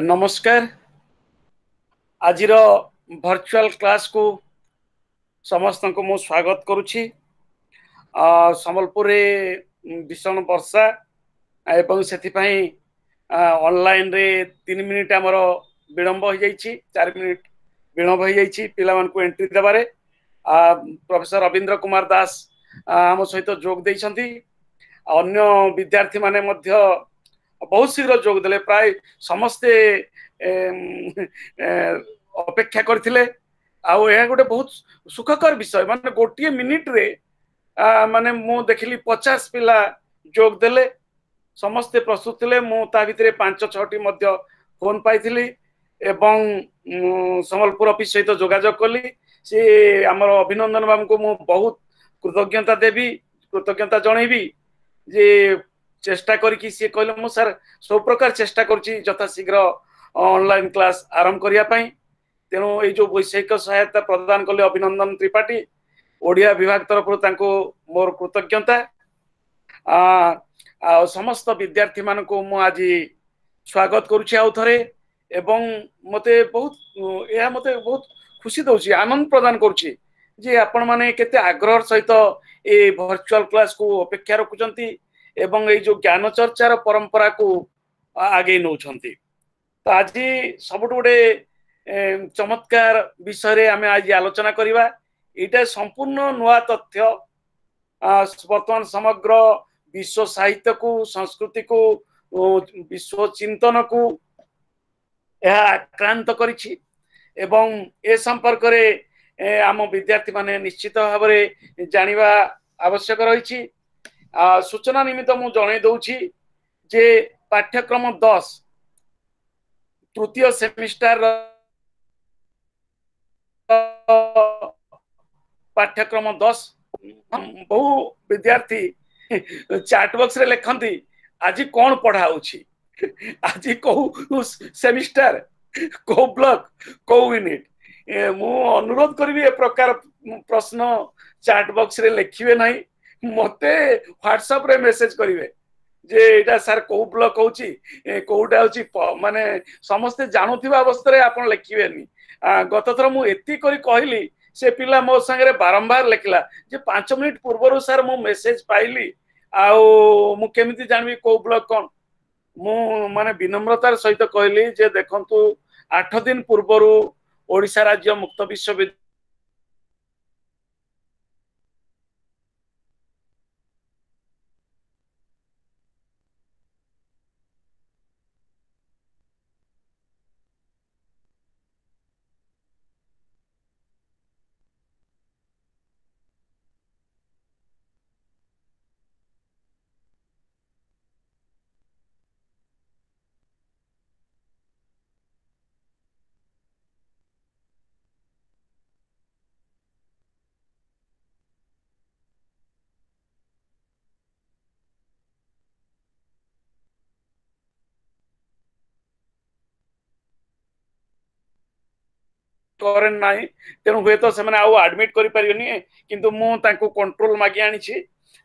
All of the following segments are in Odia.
ନମସ୍କାର। ଆଜିର ଭର୍ଚୁଆଲ କ୍ଲାସକୁ ସମସ୍ତଙ୍କୁ ମୁଁ ସ୍ୱାଗତ କରୁଛି। ସମ୍ବଲପୁରରେ ଭୀଷଣ ବର୍ଷା ଏବଂ ସେଥିପାଇଁ ଅନଲାଇନରେ 3 ମିନିଟ୍ ଆମର ବିଳମ୍ବ ହୋଇଯାଇଛି, 4 ମିନିଟ୍ ବିଳମ୍ବ ହୋଇଯାଇଛି ପିଲାମାନଙ୍କୁ ଏଣ୍ଟ୍ରି ଦେବାରେ। ପ୍ରଫେସର ରବୀନ୍ଦ୍ର କୁମାର ଦାସ ଆମ ସହିତ ଯୋଗ ଦେଇଛନ୍ତି। ଅନ୍ୟ ବିଦ୍ୟାର୍ଥୀମାନେ ମଧ୍ୟ ବହୁତ ଶୀଘ୍ର ଯୋଗ ଦେଲେ। ପ୍ରାୟ ସମସ୍ତେ ଅପେକ୍ଷା କରିଥିଲେ। ଆଉ ଏହା ଗୋଟେ ବହୁତ ସୁଖକର ବିଷୟ, ମାନେ ଗୋଟିଏ ମିନିଟରେ ମାନେ ମୁଁ ଦେଖିଲି 50 ପିଲା ଯୋଗ ଦେଲେ, ସମସ୍ତେ ପ୍ରସ୍ତୁତ ଥିଲେ। ମୁଁ ତା ଭିତରେ 5 6ଟି ମଧ୍ୟ ଫୋନ ପାଇଥିଲି ଏବଂ ସମ୍ବଲପୁର ଅଫିସ ସହିତ ଯୋଗାଯୋଗ କଲି। ସେ ଆମର ଅଭିନନ୍ଦନ ବାବୁଙ୍କୁ ମୁଁ ବହୁତ କୃତଜ୍ଞତା ଦେବି, କୃତଜ୍ଞତା ଜଣେଇବି ଯେ ଚେଷ୍ଟା କରିକି ସିଏ କହିଲେ ମୁଁ ସାର୍ ସବୁ ପ୍ରକାର ଚେଷ୍ଟା କରୁଛି ଯଥାଶୀଘ୍ର ଅନଲାଇନ କ୍ଲାସ ଆରମ୍ଭ କରିବା ପାଇଁ। ତେଣୁ ଏଇ ଯୋଉ ବୈଷୟିକ ସହାୟତା ପ୍ରଦାନ କଲେ ଅଭିନନ୍ଦନ ତ୍ରିପାଠୀ, ଓଡ଼ିଆ ବିଭାଗ ତରଫରୁ ତାଙ୍କୁ ମୋର କୃତଜ୍ଞତା। ଆଉ ସମସ୍ତ ବିଦ୍ୟାର୍ଥୀ ମାନଙ୍କୁ ମୁଁ ଆଜି ସ୍ୱାଗତ କରୁଛି ଆଉ ଥରେ, ଏବଂ ମତେ ବହୁତ ଏହା ମତେ ବହୁତ ଖୁସି ଦଉଛି, ଆନନ୍ଦ ପ୍ରଦାନ କରୁଛି ଯେ ଆପଣମାନେ କେତେ ଆଗ୍ରହର ସହିତ ଏ ଭର୍ଚୁଆଲ କ୍ଲାସକୁ ଅପେକ୍ଷା ରଖୁଛନ୍ତି ଏବଂ ଏଇ ଯୋଉ ଜ୍ଞାନ ଚର୍ଚ୍ଚାର ପରମ୍ପରାକୁ ଆଗେଇ ନଉଛନ୍ତି। ତ ଆଜି ସବୁଠୁ ଗୋଟେ ଚମତ୍କାର ବିଷୟରେ ଆମେ ଆଜି ଆଲୋଚନା କରିବା। ଏଇଟା ସମ୍ପୂର୍ଣ୍ଣ ନୂଆ ତଥ୍ୟ। ବର୍ତ୍ତମାନ ସମଗ୍ର ବିଶ୍ୱ ସାହିତ୍ୟକୁ, ସଂସ୍କୃତିକୁ, ବିଶ୍ୱ ଚିନ୍ତନକୁ ଏହା ଆକ୍ରାନ୍ତ କରିଛି ଏବଂ ଏ ସମ୍ପର୍କରେ ଆମ ବିଦ୍ୟାର୍ଥୀମାନେ ନିଶ୍ଚିତ ଭାବରେ ଜାଣିବା ଆବଶ୍ୟକ ରହିଛି। ସୂଚନା ନିମିତ୍ତ ମୁଁ ଜଣେଇ ଦଉଛି ଯେ ପାଠ୍ୟକ୍ରମ 10 ତୃତୀୟ ସେମିଷ୍ଟାର ପାଠ୍ୟକ୍ରମ 10 ବହୁ ବିଦ୍ୟାର୍ଥୀ ଚାଟ ବକ୍ସରେ ଲେଖନ୍ତି ଆଜି କଣ ପଢା ହଉଛି, ଆଜି କୋଉ ସେମିଷ୍ଟାର, କୋଉ ବ୍ଲକ, କୋଉ ୟୁନିଟ। ମୁଁ ଅନୁରୋଧ କରିବି ଏ ପ୍ରକାର ପ୍ରଶ୍ନ ଚାଟ ବକ୍ସରେ ଲେଖିବେ ନାହିଁ, ମତେ ହ୍ୱାଟ୍ସଆପରେ ମେସେଜ କରିବେ ଯେ ଏଇଟା ସାର୍ କୋଉ ବ୍ଲକ ହଉଛି, କୋଉଟା ହଉଛି, ମାନେ ସମସ୍ତେ ଜାଣୁଥିବା ଅବସ୍ଥାରେ ଆପଣ ଲେଖିବେନି। ଗତ ଥର ମୁଁ ଏତିକି କରି କହିଲି, ସେ ପିଲା ମୋ ସାଙ୍ଗରେ ବାରମ୍ବାର ଲେଖିଲା ଯେ 5 ମିନିଟ୍ ପୂର୍ବରୁ ସାର୍ ମୁଁ ମେସେଜ ପାଇଲି, ଆଉ ମୁଁ କେମିତି ଜାଣିବି କୋଉ ବ୍ଲକ କଣ। ମୁଁ ମାନେ ବିନମ୍ରତାର ସହିତ କହିଲି ଯେ ଦେଖନ୍ତୁ 8 ଦିନ ପୂର୍ବରୁ ଓଡ଼ିଶା ରାଜ୍ୟ ମୁକ୍ତ ବିଶ୍ୱବିଦ୍ୟାଳୟ କରେଣ୍ଟ ନାହିଁ, ତେଣୁ ହୁଏତ ସେମାନେ ଆଉ ଆଡମିଟ କରିପାରିବେନି, କିନ୍ତୁ ମୁଁ ତାଙ୍କୁ କଣ୍ଟ୍ରୋଲ ମାଗି ଆଣିଛି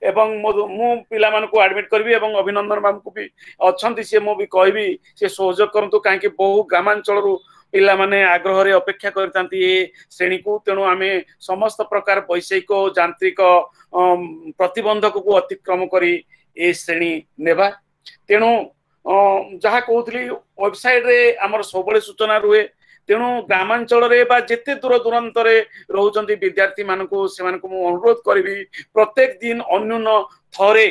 ଏବଂ ମୁଁ ପିଲାମାନଙ୍କୁ ଆଡମିଟ କରିବି। ଏବଂ ଅଭିନନ୍ଦନ ବାବୁଙ୍କୁ ବି ଅଛନ୍ତି, ସିଏ ମୁଁ ବି କହିବି ସେ ସହଯୋଗ କରନ୍ତୁ, କାହିଁକି ବହୁ ଗ୍ରାମାଞ୍ଚଳରୁ ପିଲାମାନେ ଆଗ୍ରହରେ ଅପେକ୍ଷା କରିଥାନ୍ତି ଏ ଶ୍ରେଣୀକୁ। ତେଣୁ ଆମେ ସମସ୍ତ ପ୍ରକାର ବୈଷୟିକ ଯାନ୍ତ୍ରିକ ପ୍ରତିବନ୍ଧକକୁ ଅତିକ୍ରମ କରି ଏ ଶ୍ରେଣୀ ନେବା। ତେଣୁ ଯାହା କହୁଥିଲି, ୱେବସାଇଟରେ ଆମର ସବୁବେଳେ ସୂଚନା ରୁହେ। ତେଣୁ ଗ୍ରାମାଞ୍ଚଳରେ ବା ଯେତେ ଦୂର ଦୂରାନ୍ତରେ ରହୁଛନ୍ତି ବିଦ୍ୟାର୍ଥୀ ମାନଙ୍କୁ, ସେମାନଙ୍କୁ ମୁଁ ଅନୁରୋଧ କରିବି ପ୍ରତ୍ୟେକ ଦିନ ଅନ୍ୟୁନ ଥରେ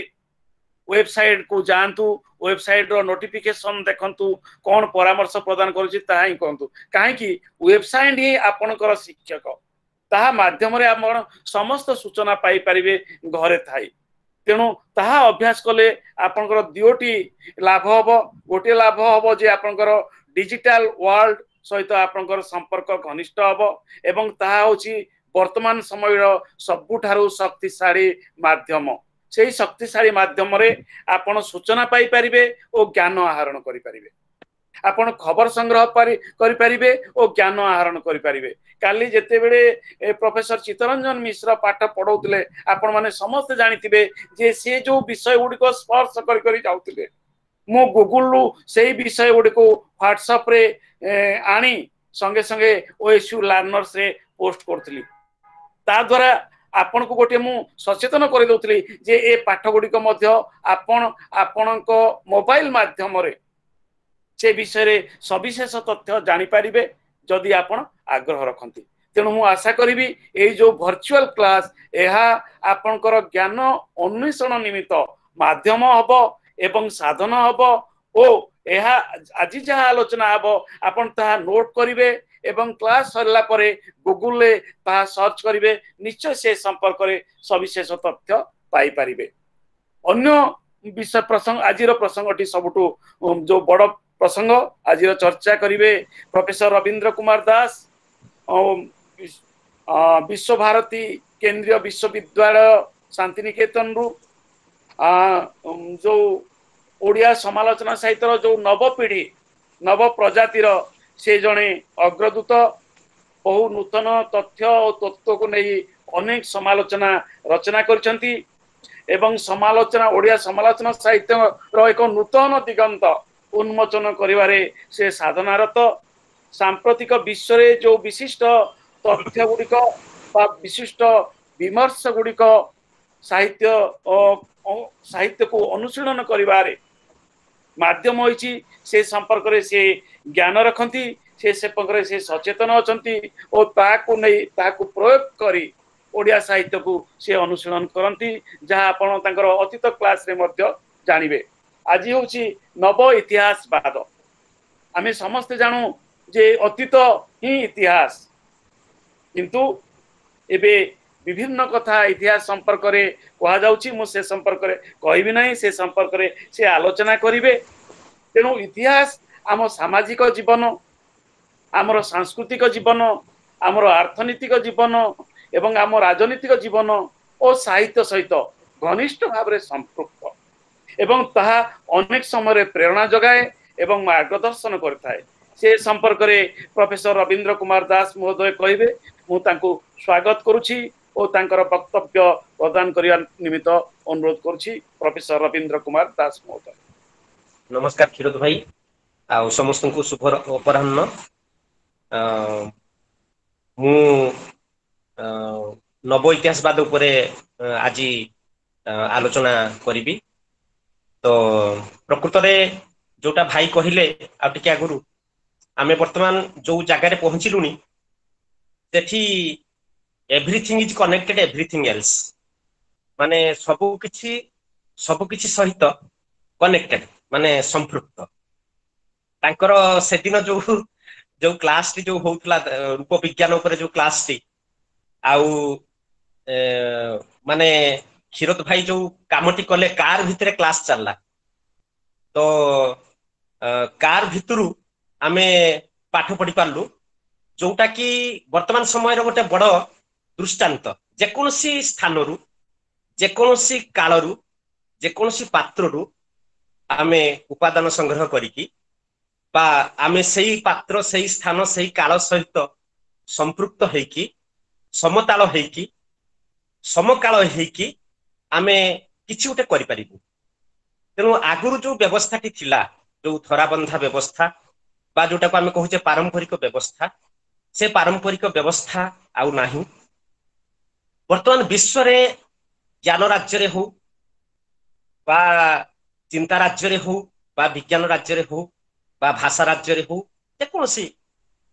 ୱେବସାଇଟ କୁ ଯାଆନ୍ତୁ, ୱେବସାଇଟ ର ନୋଟିଫିକେସନ ଦେଖନ୍ତୁ, କଣ ପରାମର୍ଶ ପ୍ରଦାନ କରୁଛି ତାହା ହିଁ କରନ୍ତୁ। କାହିଁକି ୱେବସାଇଟ ହିଁ ଆପଣଙ୍କର ଶିକ୍ଷକ, ତାହା ମାଧ୍ୟମରେ ଆପଣ ସମସ୍ତ ସୂଚନା ପାଇପାରିବେ ଘରେ ଥାଇ। ତେଣୁ ତାହା ଅଭ୍ୟାସ କଲେ ଆପଣଙ୍କର 2ଟି ଲାଭ ହବ। ଗୋଟିଏ ଲାଭ ହବ ଯେ ଆପଣଙ୍କର ଡିଜିଟାଲ ୱାର୍ଲଡ ସହିତ ଆପଣଙ୍କର ସମ୍ପର୍କ ଘନିଷ୍ଠ ହବ ଏବଂ ତାହା ହଉଛି ବର୍ତ୍ତମାନ ସମୟର ସବୁଠାରୁ ଶକ୍ତିଶାଳୀ ମାଧ୍ୟମ। ସେଇ ଶକ୍ତିଶାଳୀ ମାଧ୍ୟମରେ ଆପଣ ସୂଚନା ପାଇପାରିବେ ଓ ଜ୍ଞାନ ଆହରଣ କରିପାରିବେ, ଆପଣ ଖବର ସଂଗ୍ରହ କରିପାରିବେ ଓ ଜ୍ଞାନ ଆହରଣ କରିପାରିବେ। କାଲି ଯେତେବେଳେ ପ୍ରଫେସର ଚିତ୍ତରଞ୍ଜନ ମିଶ୍ର ପାଠ ପଢଉଥିଲେ, ଆପଣମାନେ ସମସ୍ତେ ଜାଣିଥିବେ ଯେ ସେ ଯୋଉ ବିଷୟ ଗୁଡ଼ିକ ସ୍ପର୍ଶ କରି କରି ଯାଉଥିଲେ, ମୁଁ ଗୁଗୁଲରୁ ସେଇ ବିଷୟ ଗୁଡ଼ିକୁ ହ୍ୱାଟ୍ସଆପରେ ଆଣି ସଙ୍ଗେ ସଙ୍ଗେ ଓଏସୟୁ ଲର୍ଣ୍ଣର୍ସରେ ପୋଷ୍ଟ କରୁଥିଲି। ତା ଦ୍ୱାରା ଆପଣଙ୍କୁ ଗୋଟିଏ ମୁଁ ସଚେତନ କରିଦେଉଥିଲି ଯେ ଏ ପାଠ ଗୁଡ଼ିକ ମଧ୍ୟ ଆପଣ ଆପଣଙ୍କ ମୋବାଇଲ ମାଧ୍ୟମରେ ସେ ବିଷୟରେ ସବିଶେଷ ତଥ୍ୟ ଜାଣିପାରିବେ ଯଦି ଆପଣ ଆଗ୍ରହ ରଖନ୍ତି। ତେଣୁ ମୁଁ ଆଶା କରିବି ଏଇ ଯୋଉ ଭର୍ଚୁଆଲ କ୍ଲାସ, ଏହା ଆପଣଙ୍କର ଜ୍ଞାନ ଅନ୍ୱେଷଣ ନିମିତ୍ତ ମାଧ୍ୟମ ହବ ଏବଂ ସାଧନ ହବ, ଓ ଏହା ଆଜି ଯାହା ଆଲୋଚନା ହବ ଆପଣ ତାହା ନୋଟ କରିବେ ଏବଂ କ୍ଲାସ ସରିଲା ପରେ ଗୁଗୁଲରେ ତାହା ସର୍ଚ୍ଚ କରିବେ, ନିଶ୍ଚୟ ସେ ସମ୍ପର୍କରେ ସବିଶେଷ ତଥ୍ୟ ପାଇପାରିବେ। ଅନ୍ୟ ବିଷୟ ପ୍ରସଙ୍ଗ, ଆଜିର ପ୍ରସଙ୍ଗଟି ସବୁଠୁ ଯୋଉ ବଡ ପ୍ରସଙ୍ଗ ଆଜିର ଚର୍ଚ୍ଚା କରିବେ ପ୍ରଫେସର ରବୀନ୍ଦ୍ର କୁମାର ଦାସ, ବିଶ୍ୱଭାରତୀ କେନ୍ଦ୍ରୀୟ ବିଶ୍ୱବିଦ୍ୟାଳୟ ଶାନ୍ତିନିକେତନରୁ। ଯୋଉ ଓଡ଼ିଆ ସମାଲୋଚନା ସାହିତ୍ୟର ଯୋଉ ନବପିଢ଼ି, ନବ ପ୍ରଜାତିର ସେ ଜଣେ ଅଗ୍ରଦୂତ। ବହୁ ନୂତନ ତଥ୍ୟ ଓ ତତ୍ତ୍ୱକୁ ନେଇ ଅନେକ ସମାଲୋଚନା ରଚନା କରିଛନ୍ତି ଏବଂ ସମାଲୋଚନା, ଓଡ଼ିଆ ସମାଲୋଚନା ସାହିତ୍ୟର ଏକ ନୂତନ ଦିଗନ୍ତ ଉନ୍ମୋଚନ କରିବାରେ ସେ ସାଧନାରତ। ସାମ୍ପ୍ରତିକ ବିଶ୍ୱରେ ଯୋଉ ବିଶିଷ୍ଟ ତଥ୍ୟ ଗୁଡ଼ିକ ବା ବିଶିଷ୍ଟ ବିମର୍ଶ ଗୁଡ଼ିକ ସାହିତ୍ୟ ସାହିତ୍ୟକୁ ଅନୁଶୀଳନ କରିବାରେ ମାଧ୍ୟମ ହୋଇଛି, ସେ ସମ୍ପର୍କରେ ସେ ଜ୍ଞାନ ରଖନ୍ତି, ସେ ସମ୍ପର୍କରେ ସେ ସଚେତନ ଅଛନ୍ତି ଓ ତାହାକୁ ନେଇ ତାହାକୁ ପ୍ରୟୋଗ କରି ଓଡ଼ିଆ ସାହିତ୍ୟକୁ ସେ ଅନୁଶୀଳନ କରନ୍ତି, ଯାହା ଆପଣ ତାଙ୍କର ଅତୀତ କ୍ଲାସରେ ମଧ୍ୟ ଜାଣିବେ। ଆଜି ହେଉଛି ନବ ଇତିହାସବାଦ। ଆମେ ସମସ୍ତେ ଜାଣୁ ଯେ ଅତୀତ ହିଁ ଇତିହାସ, କିନ୍ତୁ ଏବେ ବିଭିନ୍ନ କଥା ଇତିହାସ ସମ୍ପର୍କରେ କୁହାଯାଉଛି। ମୁଁ ସେ ସମ୍ପର୍କରେ କହିବି ନାହିଁ, ସେ ସମ୍ପର୍କରେ ସେ ଆଲୋଚନା କରିବେ। ତେଣୁ ଇତିହାସ ଆମ ସାମାଜିକ ଜୀବନ, ଆମର ସାଂସ୍କୃତିକ ଜୀବନ, ଆମର ଅର୍ଥନୈତିକ ଜୀବନ ଏବଂ ଆମ ରାଜନୈତିକ ଜୀବନ ଓ ସାହିତ୍ୟ ସହିତ ଘନିଷ୍ଠ ଭାବରେ ସମ୍ପୃକ୍ତ ଏବଂ ତାହା ଅନେକ ସମୟରେ ପ୍ରେରଣା ଯୋଗାଏ ଏବଂ ମାର୍ଗଦର୍ଶନ କରିଥାଏ। ସେ ସମ୍ପର୍କରେ ପ୍ରଫେସର ରବୀନ୍ଦ୍ର କୁମାର ଦାସ ମହୋଦୟ କହିବେ। ମୁଁ ତାଙ୍କୁ ସ୍ୱାଗତ କରୁଛି ଓ ତାଙ୍କର ବକ୍ତବ୍ୟ ପ୍ରଦାନ କରିବା ନିମିତ୍ତ ଅନୁରୋଧ କରୁଛି ପ୍ରଫେସର ରବୀନ୍ଦ୍ର କୁମାର ଦାସ ମହୋଦୟ। ନମସ୍କାର କ୍ଷୀରୋଦ ଭାଇ, ଆଉ ସମସ୍ତଙ୍କୁ ଶୁଭ ଅପରାହ୍ନ। ମୁଁ ନବ ଇତିହାସବାଦ ଉପରେ ଆଜି ଆଲୋଚନା କରିବି। ତ ପ୍ରକୃତରେ ଯୋଉଟା ଭାଇ କହିଲେ ଆଉ ଟିକେ ଆଗରୁ, ଆମେ ବର୍ତ୍ତମାନ ଯୋଉ ଜାଗାରେ ପହଞ୍ଚିଲୁଣି ସେଠି everything is connected everything else, ମାନେ ସବୁ କିଛି ସହିତ କନେକ୍ଟେଡ, ମାନେ ସମ୍ପୃକ୍ତ। ତାଙ୍କର ସେଦିନ ଯୋଉ ଯୋଉ କ୍ଲାସଟି ଯୋଉ ହଉଥିଲା ରୂପ ବିଜ୍ଞାନ ଉପରେ ଯୋଉ କ୍ଲାସଟି, ଆଉ ମାନେ କ୍ଷୀରୋଦ ଭାଇ ଯୋଉ କାମଟି କଲେ, କାର ଭିତରେ କ୍ଲାସ ଚାଲିଲା, ତ କାର ଭିତରୁ ଆମେ ପାଠ ପଢି ପାରିଲୁ, ଯୋଉଟା କି ବର୍ତ୍ତମାନ ସମୟର ଗୋଟେ ବଡ ଦୃଷ୍ଟାନ୍ତ। ଯେକୌଣସି ସ୍ଥାନରୁ, ଯେକୌଣସି କାଳରୁ, ଯେକୌଣସି ପାତ୍ରରୁ ଆମେ ଉପାଦାନ ସଂଗ୍ରହ କରିକି ବା ଆମେ ସେଇ ପାତ୍ର, ସେଇ ସ୍ଥାନ, ସେଇ କାଳ ସହିତ ସମ୍ପୃକ୍ତ ହେଇକି, ସମତାଳ ହେଇକି, ସମକାଳ ହେଇକି ଆମେ କିଛି ଗୋଟେ କରିପାରିବୁ। ତେଣୁ ଆଗରୁ ଯୋଉ ବ୍ୟବସ୍ଥାଟି ଥିଲା, ଯୋଉ ଧରାବନ୍ଧା ବ୍ୟବସ୍ଥା ବା ଯୋଉଟାକୁ ଆମେ କହୁଛେ ପାରମ୍ପରିକ ବ୍ୟବସ୍ଥା, ସେ ପାରମ୍ପରିକ ବ୍ୟବସ୍ଥା ଆଉ ନାହିଁ। ବର୍ତ୍ତମାନ ବିଶ୍ୱରେ ଜ୍ଞାନ ରାଜ୍ୟରେ ହଉ ବା ଚିନ୍ତା ରାଜ୍ୟରେ ହଉ ବା ବିଜ୍ଞାନ ରାଜ୍ୟରେ ହଉ ବା ଭାଷା ରାଜ୍ୟରେ ହଉ, ଯେକୌଣସି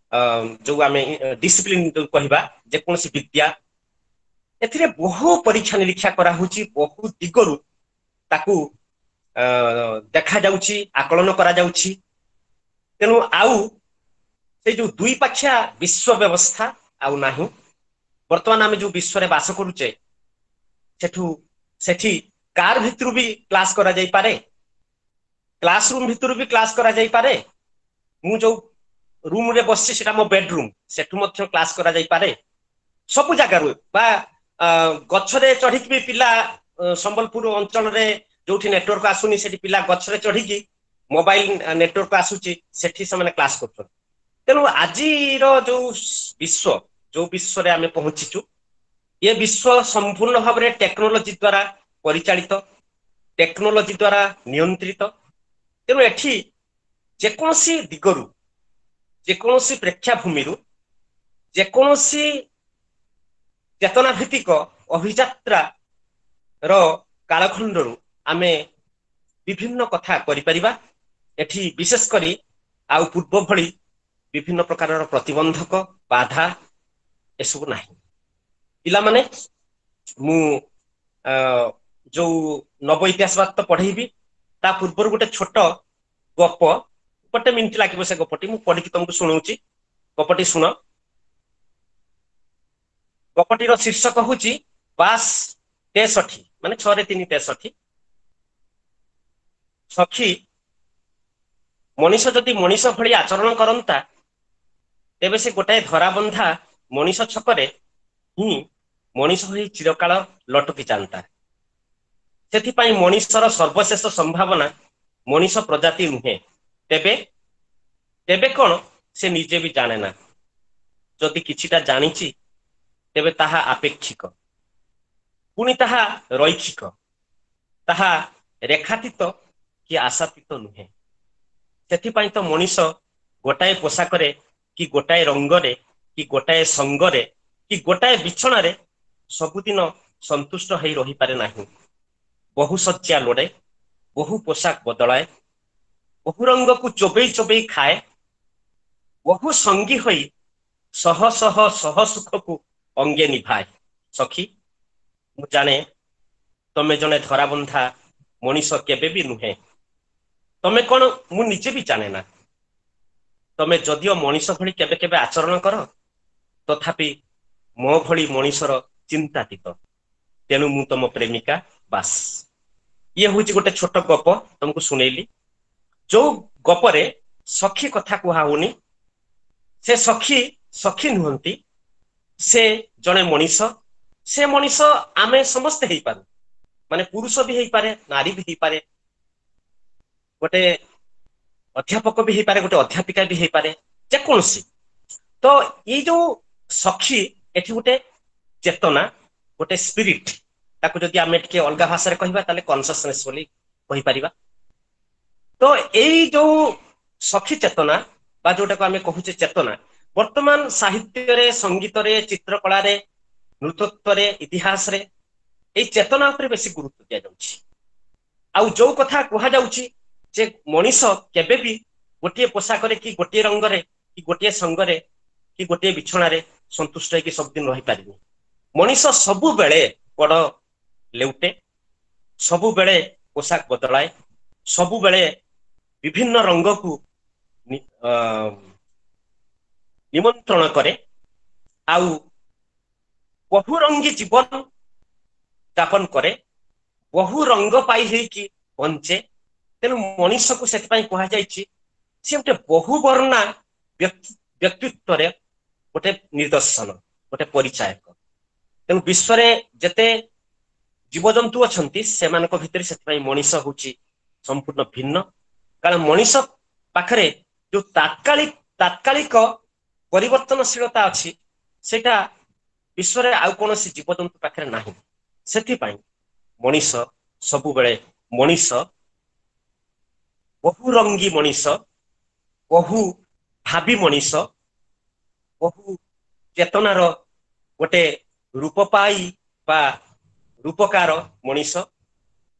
ଯୋଉ ଆମେ ଡିସିପ୍ଲିନ ଯୋଉ କହିବା, ଯେକୌଣସି ବିଦ୍ୟା, ଏଥିରେ ବହୁ ପରୀକ୍ଷା ନିରୀକ୍ଷା କରାହଉଛି, ବହୁ ଦିଗରୁ ତାକୁ ଦେଖାଯାଉଛି, ଆକଳନ କରାଯାଉଛି। ତେଣୁ ଆଉ ସେଇ ଯୋଉ ଦୁଇ ପାଖିଆ ବିଶ୍ୱ ବ୍ୟବସ୍ଥା ଆଉ ନାହିଁ। ବର୍ତ୍ତମାନ ଆମେ ଯୋଉ ବିଶ୍ୱରେ ବାସ କରୁଛେ, ସେଠି କାର ଭିତରୁ ବି କ୍ଲାସ କରାଯାଇପାରେ, କ୍ଲାସ ରୁମ୍ ଭିତରୁ ବି କ୍ଲାସ କରାଯାଇପାରେ। ମୁଁ ଯୋଉ ରୁମରେ ବସିଛି ସେଟା ମୋ ବେଡରୁମ୍, ସେଠୁ ମଧ୍ୟ କ୍ଲାସ କରାଯାଇପାରେ। ସବୁ ଜାଗାରୁ ବା ଗଛରେ ଚଢିକି ବି ପିଲା ସମ୍ବଲପୁର ଅଞ୍ଚଳରେ ଯୋଉଠି ନେଟୱାର୍କ ଆସୁନି ସେଠି ପିଲା ଗଛରେ ଚଢିକି ମୋବାଇଲ ନେଟୱାର୍କ ଆସୁଛି ସେଠି ସେମାନେ କ୍ଲାସ କରୁଛନ୍ତି। ତେଣୁ ଆଜିର ଯୋଉ ବିଶ୍ୱ, ଯୋଉ ବିଶ୍ୱରେ ଆମେ ପହଞ୍ଚିଛୁ, ଏ ବିଶ୍ୱ ସମ୍ପୂର୍ଣ୍ଣ ଭାବରେ ଟେକ୍ନୋଲୋଜି ଦ୍ଵାରା ପରିଚାଳିତ, ଟେକ୍ନୋଲୋଜି ଦ୍ଵାରା ନିୟନ୍ତ୍ରିତ। ତେଣୁ ଏଠି ଯେକୌଣସି ଦିଗରୁ, ଯେକୌଣସି ପ୍ରେକ୍ଷାଭୂମିରୁ, ଯେକୌଣସି ଚେତନା ଭିତ୍ତିକ ଅଭିଯାତ୍ରା ର କାଳଖଣ୍ଡରୁ ଆମେ ବିଭିନ୍ନ କଥା କରିପାରିବା। ଏଠି ବିଶେଷ କରି ଆଉ ପୂର୍ବ ଭଳି ବିଭିନ୍ନ ପ୍ରକାରର ପ୍ରତିବନ୍ଧକ, ବାଧା ଏସବୁ ନାହିଁ। ପିଲାମାନେ, ମୁଁ ଯୋଉ ନବ ଇତିହାସବାଦ ତ ପଢେଇବି, ତା ପୂର୍ବରୁ ଗୋଟେ ଛୋଟ ଗପ, ଗୋଟେ ମିନିଟ ଲାଗିବ ସେ ଗପଟି, ମୁଁ ପଢିକି ତମକୁ ଶୁଣଉଛି। ଗପଟି ଶୁଣ। ଗପଟିର ଶୀର୍ଷକ ହଉଛି ବାସ୍ 63, ମାନେ 6 3 63। ସଖୀ, ମଣିଷ ଯଦି ମଣିଷ ଭଳି ଆଚରଣ କରନ୍ତା ତେବେ ସେ ଗୋଟାଏ ଧରାବନ୍ଧା ମଣିଷ ଛକରେ ହିଁ ମଣିଷ ହୋଇ ଚିରକାଳ ଲଟକି ଯାଆନ୍ତା। ସେଥିପାଇଁ ମଣିଷର ସର୍ବଶେଷ ସମ୍ଭାବନା ମଣିଷ ପ୍ରଜାତି ନୁହେଁ। ତେବେ ତେବେ କଣ ସେ ନିଜେ ବି ଜାଣେ ନା। ଯଦି କିଛିଟା ଜାଣିଛି ତେବେ ତାହା ଆପେକ୍ଷିକ, ପୁଣି ତାହା ରୈଖିକ, ତାହା ରେଖାତୀତ କି ଆଶାତୀତ ନୁହେଁ। ସେଥିପାଇଁ ତ ମଣିଷ ଗୋଟାଏ ପୋଷାକରେ କି ଗୋଟାଏ ରଙ୍ଗରେ କି ଗୋଟାଏ ସଙ୍ଗରେ କି ଗୋଟାଏ ବିଛଣାରେ ସବୁଦିନ ସନ୍ତୁଷ୍ଟ ହେଇ ରହିପାରେ ନାହିଁ। ବହୁ ଶଯ୍ୟା ଲୋଡ଼େ, ବହୁ ପୋଷାକ ବଦଳାଏ, ବହୁ ରଙ୍ଗକୁ ଚୋବେଇ ଚୋବେଇ ଖାଏ, ବହୁ ସଙ୍ଗୀ ହୋଇ ଶହ ଶହ ଶହ ସୁଖକୁ ଅଙ୍ଗେ ନିଭାଏ। ସଖୀ, ମୁଁ ଜାଣେ ତମେ ଜଣେ ଧରାବନ୍ଧା ମଣିଷ କେବେ ବି ନୁହେଁ। ତମେ କଣ ମୁଁ ନିଜେ ବି ଜାଣେ ନା। ତମେ ଯଦିଓ ମଣିଷ ଭଳି କେବେ କେବେ ଆଚରଣ କର, ତଥାପି ମୋ ଭଳି ମଣିଷର ଚିନ୍ତାତୀତ। ତେଣୁ ମୁଁ ତମ ପ୍ରେମିକା, ବାସ୍। ଇଏ ହଉଛି ଗୋଟେ ଛୋଟ ଗପ ତମକୁ ଶୁଣେଇଲି, ଯୋଉ ଗପରେ ସଖୀ କଥା କୁହା ହଉନି। ସେ ସଖୀ ସଖୀ ନୁହନ୍ତି, ସେ ଜଣେ ମଣିଷ। ସେ ମଣିଷ ଆମେ ସମସ୍ତେ ହେଇପାରୁ, ମାନେ ପୁରୁଷ ବି ହେଇପାରେ, ନାରୀ ବି ହେଇପାରେ, ଗୋଟେ ଅଧ୍ୟାପକ ବି ହେଇପାରେ, ଗୋଟେ ଅଧ୍ୟାପିକା ବି ହେଇପାରେ, ଯେକୌଣସି। ତ ଏଇ ଯୋଉ ସଖୀ ଏଠି ଗୋଟେ ଚେତନା, ଗୋଟେ ସ୍ପିରିଟ, ତାକୁ ଯଦି ଆମେ ଟିକେ ଅଲଗା ଭାଷାରେ କହିବା ତାହେଲେ କନସିୟସନେସ୍ ବୋଲି କହିପାରିବା। ତ ଏଇ ଯୋଉ ସଖୀ ଚେତନା ବା ଯୋଉଟାକୁ ଆମେ କହୁଛେ ଚେତନା, ବର୍ତ୍ତମାନ ସାହିତ୍ୟରେ, ସଙ୍ଗୀତରେ, ଚିତ୍ରକଳାରେ, ନୃତତ୍ଵରେ, ଇତିହାସରେ ଏଇ ଚେତନା ଉପରେ ବେଶୀ ଗୁରୁତ୍ୱ ଦିଆଯାଉଛି। ଆଉ ଯୋଉ କଥା କୁହାଯାଉଛି ଯେ ମଣିଷ କେବେ ବି ଗୋଟିଏ ପୋଷାକରେ କି ଗୋଟିଏ ରଙ୍ଗରେ କି ଗୋଟିଏ ସଙ୍ଗରେ କି ଗୋଟିଏ ବିଛଣାରେ ସନ୍ତୁଷ୍ଟ ହେଇକି ସବୁଦିନ ରହିପାରିବନି। ମଣିଷ ସବୁବେଳେ ବଡ ଲେଉଟେ, ସବୁବେଳେ ପୋଷାକ ବଦଳାଏ, ସବୁବେଳେ ବିଭିନ୍ନ ରଙ୍ଗକୁ ନିମନ୍ତ୍ରଣ କରେ, ଆଉ ବହୁରଙ୍ଗୀ ଜୀବନ ଯାପନ କରେ, ବହୁ ରଙ୍ଗ ପାଇ ହେଇକି ବଞ୍ଚେ। ତେଣୁ ମଣିଷକୁ ସେଥିପାଇଁ କୁହାଯାଇଛି ସେ ଗୋଟେ ବହୁବର୍ଣ୍ଣା ବ୍ୟକ୍ତିତ୍ୱରେ ଗୋଟେ ନିଦର୍ଶନ, ଗୋଟେ ପରିଚାୟକ। ତେଣୁ ବିଶ୍ୱରେ ଯେତେ ଜୀବଜନ୍ତୁ ଅଛନ୍ତି ସେମାନଙ୍କ ଭିତରେ ସେଥିପାଇଁ ମଣିଷ ହଉଛି ସମ୍ପୂର୍ଣ୍ଣ ଭିନ୍ନ। କାରଣ ମଣିଷ ପାଖରେ ଯୋଉ ତାତ୍କାଳିକ ପରିବର୍ତ୍ତନଶୀଳତା ଅଛି ସେଇଟା ବିଶ୍ୱରେ ଆଉ କୌଣସି ଜୀବଜନ୍ତୁ ପାଖରେ ନାହିଁ। ସେଥିପାଇଁ ମଣିଷ ସବୁବେଳେ ମଣିଷ, ବହୁରଙ୍ଗୀ ମଣିଷ, ବହୁ ଭାବି ମଣିଷ, ବହୁ ଚେତନାର ଗୋଟେ ରୂପ ପାଇ ବା ରୂପକାର ମଣିଷ।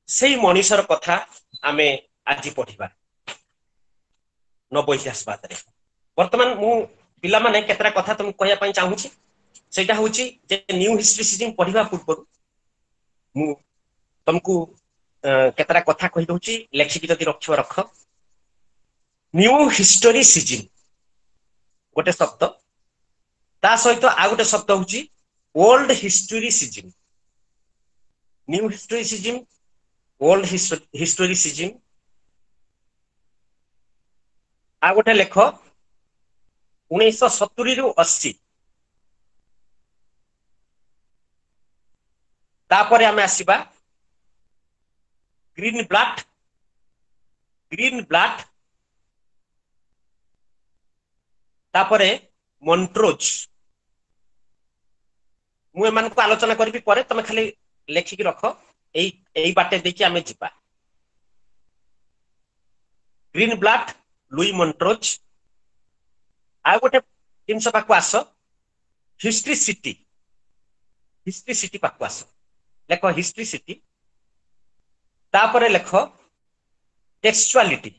ସେଇ ମଣିଷର କଥା ଆମେ ଆଜି ପଢିବା ନବ ଇତିହାସବାଦରେ। ବର୍ତ୍ତମାନ ମୁଁ ପିଲାମାନେ କେତେଟା କଥା ତମକୁ କହିବା ପାଇଁ ଚାହୁଁଛି। ସେଇଟା ହଉଛି ଯେ ନ୍ୟୁ ହିଷ୍ଟ୍ରିସିଜିମ୍ ପଢିବା ପୂର୍ବରୁ ମୁଁ ତମକୁ କେତେଟା କଥା କହିଦଉଛି, ଲେଖିକି ଯଦି ରଖିବ ରଖ। ନ୍ୟୁ ହିଷ୍ଟୋରିସିଜିମ୍ ଗୋଟେ ଶବ୍ଦ, ତା ସହିତ ଆଉ ଗୋଟେ ଶବ୍ଦ ହଉଛି old historicism. New historicism, old historicism. ଆଉ ଗୋଟେ ଲେଖ 1970ରୁ 80, ତାପରେ ଆମେ ଆସିବା ଗ୍ରୀନବ୍ଲାଟ, ଗ୍ରୀନବ୍ଲାଟ, ତାପରେ ମଣ୍ଟ୍ରୋଜ। ମୁଁ ଏମାନଙ୍କୁ ଆଲୋଚନା କରିବି ପରେ, ତମେ ଖାଲି ଲେଖିକି ରଖ। ଏଇ ଏଇ ବାଟେ ଦେଇକି ଆମେ ଯିବା। ଗ୍ରୀନବ୍ଲାଟ, ଲୁଇ ମଣ୍ଟ୍ରୋଜ। ଆଉ ଗୋଟେ ଜିନିଷ ପାଖକୁ ଆସ, ହିଷ୍ଟ୍ରିସିଟି। ହିଷ୍ଟ୍ରିସିଟି ପାଖକୁ ଆସ, ଲେଖ ହିଷ୍ଟ୍ରିସିଟି। ତାପରେ ଲେଖ ଟେକ୍ସଚୁଆଲିଟି।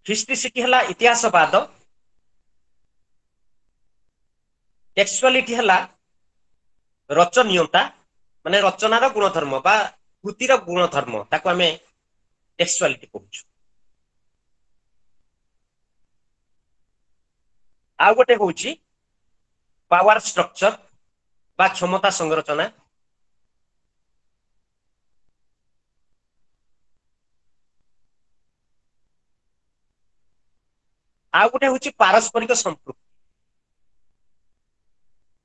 ହିଷ୍ଟ୍ରିସିଟି ହେଲା ଇତିହାସବାଦ, ଟେକ୍ସଚୁଆଲିଟି ହେଲା ରଚନୀୟତା, ମାନେ ରଚନାର ଗୁଣଧର୍ମ ବା କୃତିର ଗୁଣଧର୍ମ, ତାକୁ ଆମେ ଟେକ୍ସଚୁଆଲିଟି କହୁଛୁ। ଆଉ ଗୋଟେ ହଉଛି ପାୱାର ଷ୍ଟ୍ରକ୍ଚର ବା କ୍ଷମତା ସଂରଚନା। ଆଉ ଗୋଟେ ହଉଛି ପାରସ୍ପରିକ ସମ୍ପୃକ୍ତି।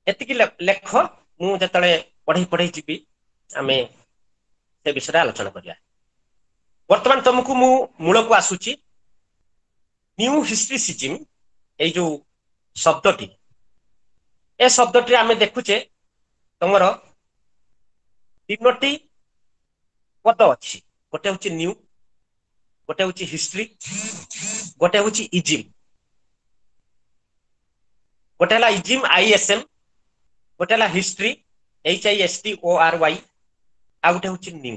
ଏତିକି ଲେଖ, ମୁଁ ଯେତେବେଳେ ପଢେଇ ପଢେଇ ଯିବି ଆମେ ସେ ବିଷୟରେ ଆଲୋଚନା କରିବା। ବର୍ତ୍ତମାନ ତମକୁ ମୁଁ ମୂଳକୁ ଆସୁଛି। ନ୍ୟୁ ହିଷ୍ଟ୍ରିସିଜିମ୍, ଏଇ ଯୋଉ ଶବ୍ଦଟି, ଏ ଶବ୍ଦଟିରେ ଆମେ ଦେଖୁଛେ ତମର ତିନୋଟି ପଦ ଅଛି। ଗୋଟେ ହଉଛି ନ୍ୟୁ, ଗୋଟେ ହଉଛି ହିଷ୍ଟ୍ରି, ଗୋଟେ ହଉଛି ଇଜିମ୍। ଗୋଟେ ହେଲା ଇଜିମ୍ ISM, ଗୋଟେ ହେଲା history HISTORY, ଆଉ ଗୋଟେ ହଉଛି ନ୍ୟୁ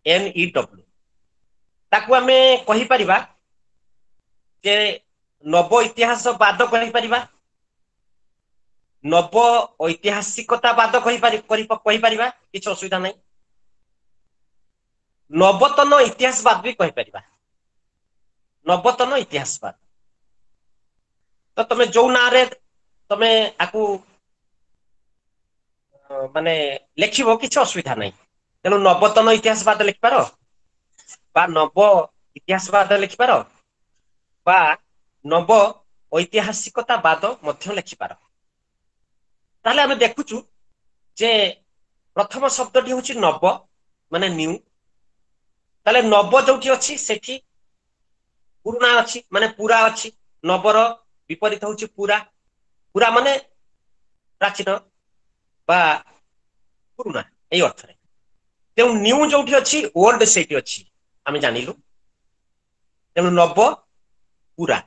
NEW। ତାକୁ ଆମେ କହିପାରିବା ଯେ ନବ ଇତିହାସବାଦ କହିପାରିବା, ନବ ଐତିହାସିକତାବାଦ କହିପାରିବା, କିଛି ଅସୁବିଧା ନାହିଁ। ନବତନ ଇତିହାସବାଦ ବି କହିପାରିବା, ନବତନ ଇତିହାସବାଦ। ତ ତମେ ଯୋଉ ନାଁରେ ତମେ ଆକୁ ମାନେ ଲେଖିବ କିଛି ଅସୁବିଧା ନାହିଁ। ତେଣୁ ନବତନ ଇତିହାସବାଦ ଲେଖିପାର, ବା ନବ ଇତିହାସବାଦ ଲେଖିପାର, ବା ନବ ଐତିହାସିକତାବାଦ ମଧ୍ୟ ଲେଖିପାର। ତାହେଲେ ଆମେ ଦେଖୁଛୁ ଯେ ପ୍ରଥମ ଶବ୍ଦଟି ହଉଛି ନବ, ମାନେ ନ୍ୟୁ। ତାହେଲେ ନବ ଯୋଉଠି ଅଛି ସେଠି ପୁରୁଣା ଅଛି, ମାନେ ପୁରା ଅଛି। ନବର ବିପରୀତ ହଉଛି ପୁରା, ପୁରା ମାନେ ପ୍ରାଚୀନ ବା ପୁରୁଣା, ଏଇ ଅର୍ଥରେ। ତେଣୁ ନ୍ୟୁ ଯୋଉଠି ଅଛି ଓଲ୍ଡ ସେଇଠି ଅଛି, ଆମେ ଜାଣିଲୁ। ତେଣୁ ନବ ପୁରା,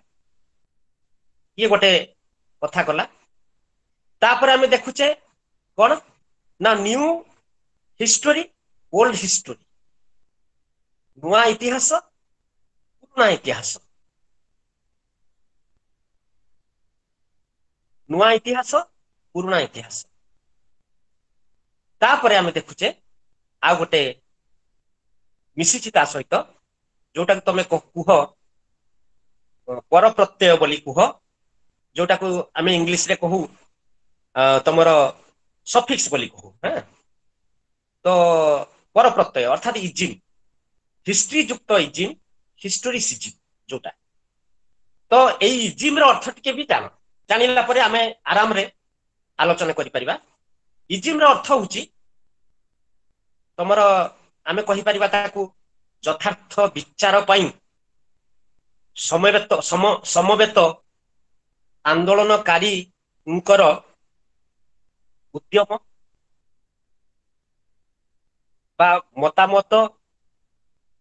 ଇଏ ଗୋଟେ କଥା କଲା। ତାପରେ ଆମେ ଦେଖୁଛେ କଣ ନା ନ୍ୟୁ ହିଷ୍ଟୋରି ଓଲ୍ଡ ହିଷ୍ଟୋରି, ନୂଆ ଇତିହାସ ପୁରୁଣା ଇତିହାସ, ନୂଆ ଇତିହାସ ପୁରୁଣା ଇତିହାସ। ତାପରେ ଆମେ ଦେଖୁଛେ ଆଉ ଗୋଟେ ମିଶିଛି ତା ସହିତ, ଯୋଉଟାକୁ ତମେ କୁହ ପରପ୍ରତ୍ୟୟ ବୋଲି କୁହ, ଯୋଉଟାକୁ ଆମେ ଇଂଲିଶରେ କହୁ ତମର ସଫିକ୍ସ ବୋଲି କହୁ। ହଁ, ତ ପରପ୍ରତ୍ୟୟ ଅର୍ଥାତ ଇଜିମ୍, ହିଷ୍ଟ୍ରି ଯୁକ୍ତ ଇଜିମ୍, ହିଷ୍ଟୋରିସିଜିମ୍ ଯୋଉଟା। ତ ଏଇ ଇଜିମ୍ ର ଅର୍ଥ ଟିକେ ବି ଜାଣ, ଜାଣିଲା ପରେ ଆମେ ଆରାମରେ ଆଲୋଚନା କରିପାରିବା। ଇଜିମ୍ ର ଅର୍ଥ ହଉଛି ତମର, ଆମେ କହିପାରିବା ତାକୁ ଯଥାର୍ଥ ବିଚାର ପାଇଁ ସମବେତ ସମବେତ ଆନ୍ଦୋଳନକାରୀଙ୍କର ଉଦ୍ୟମ ବା ମତାମତ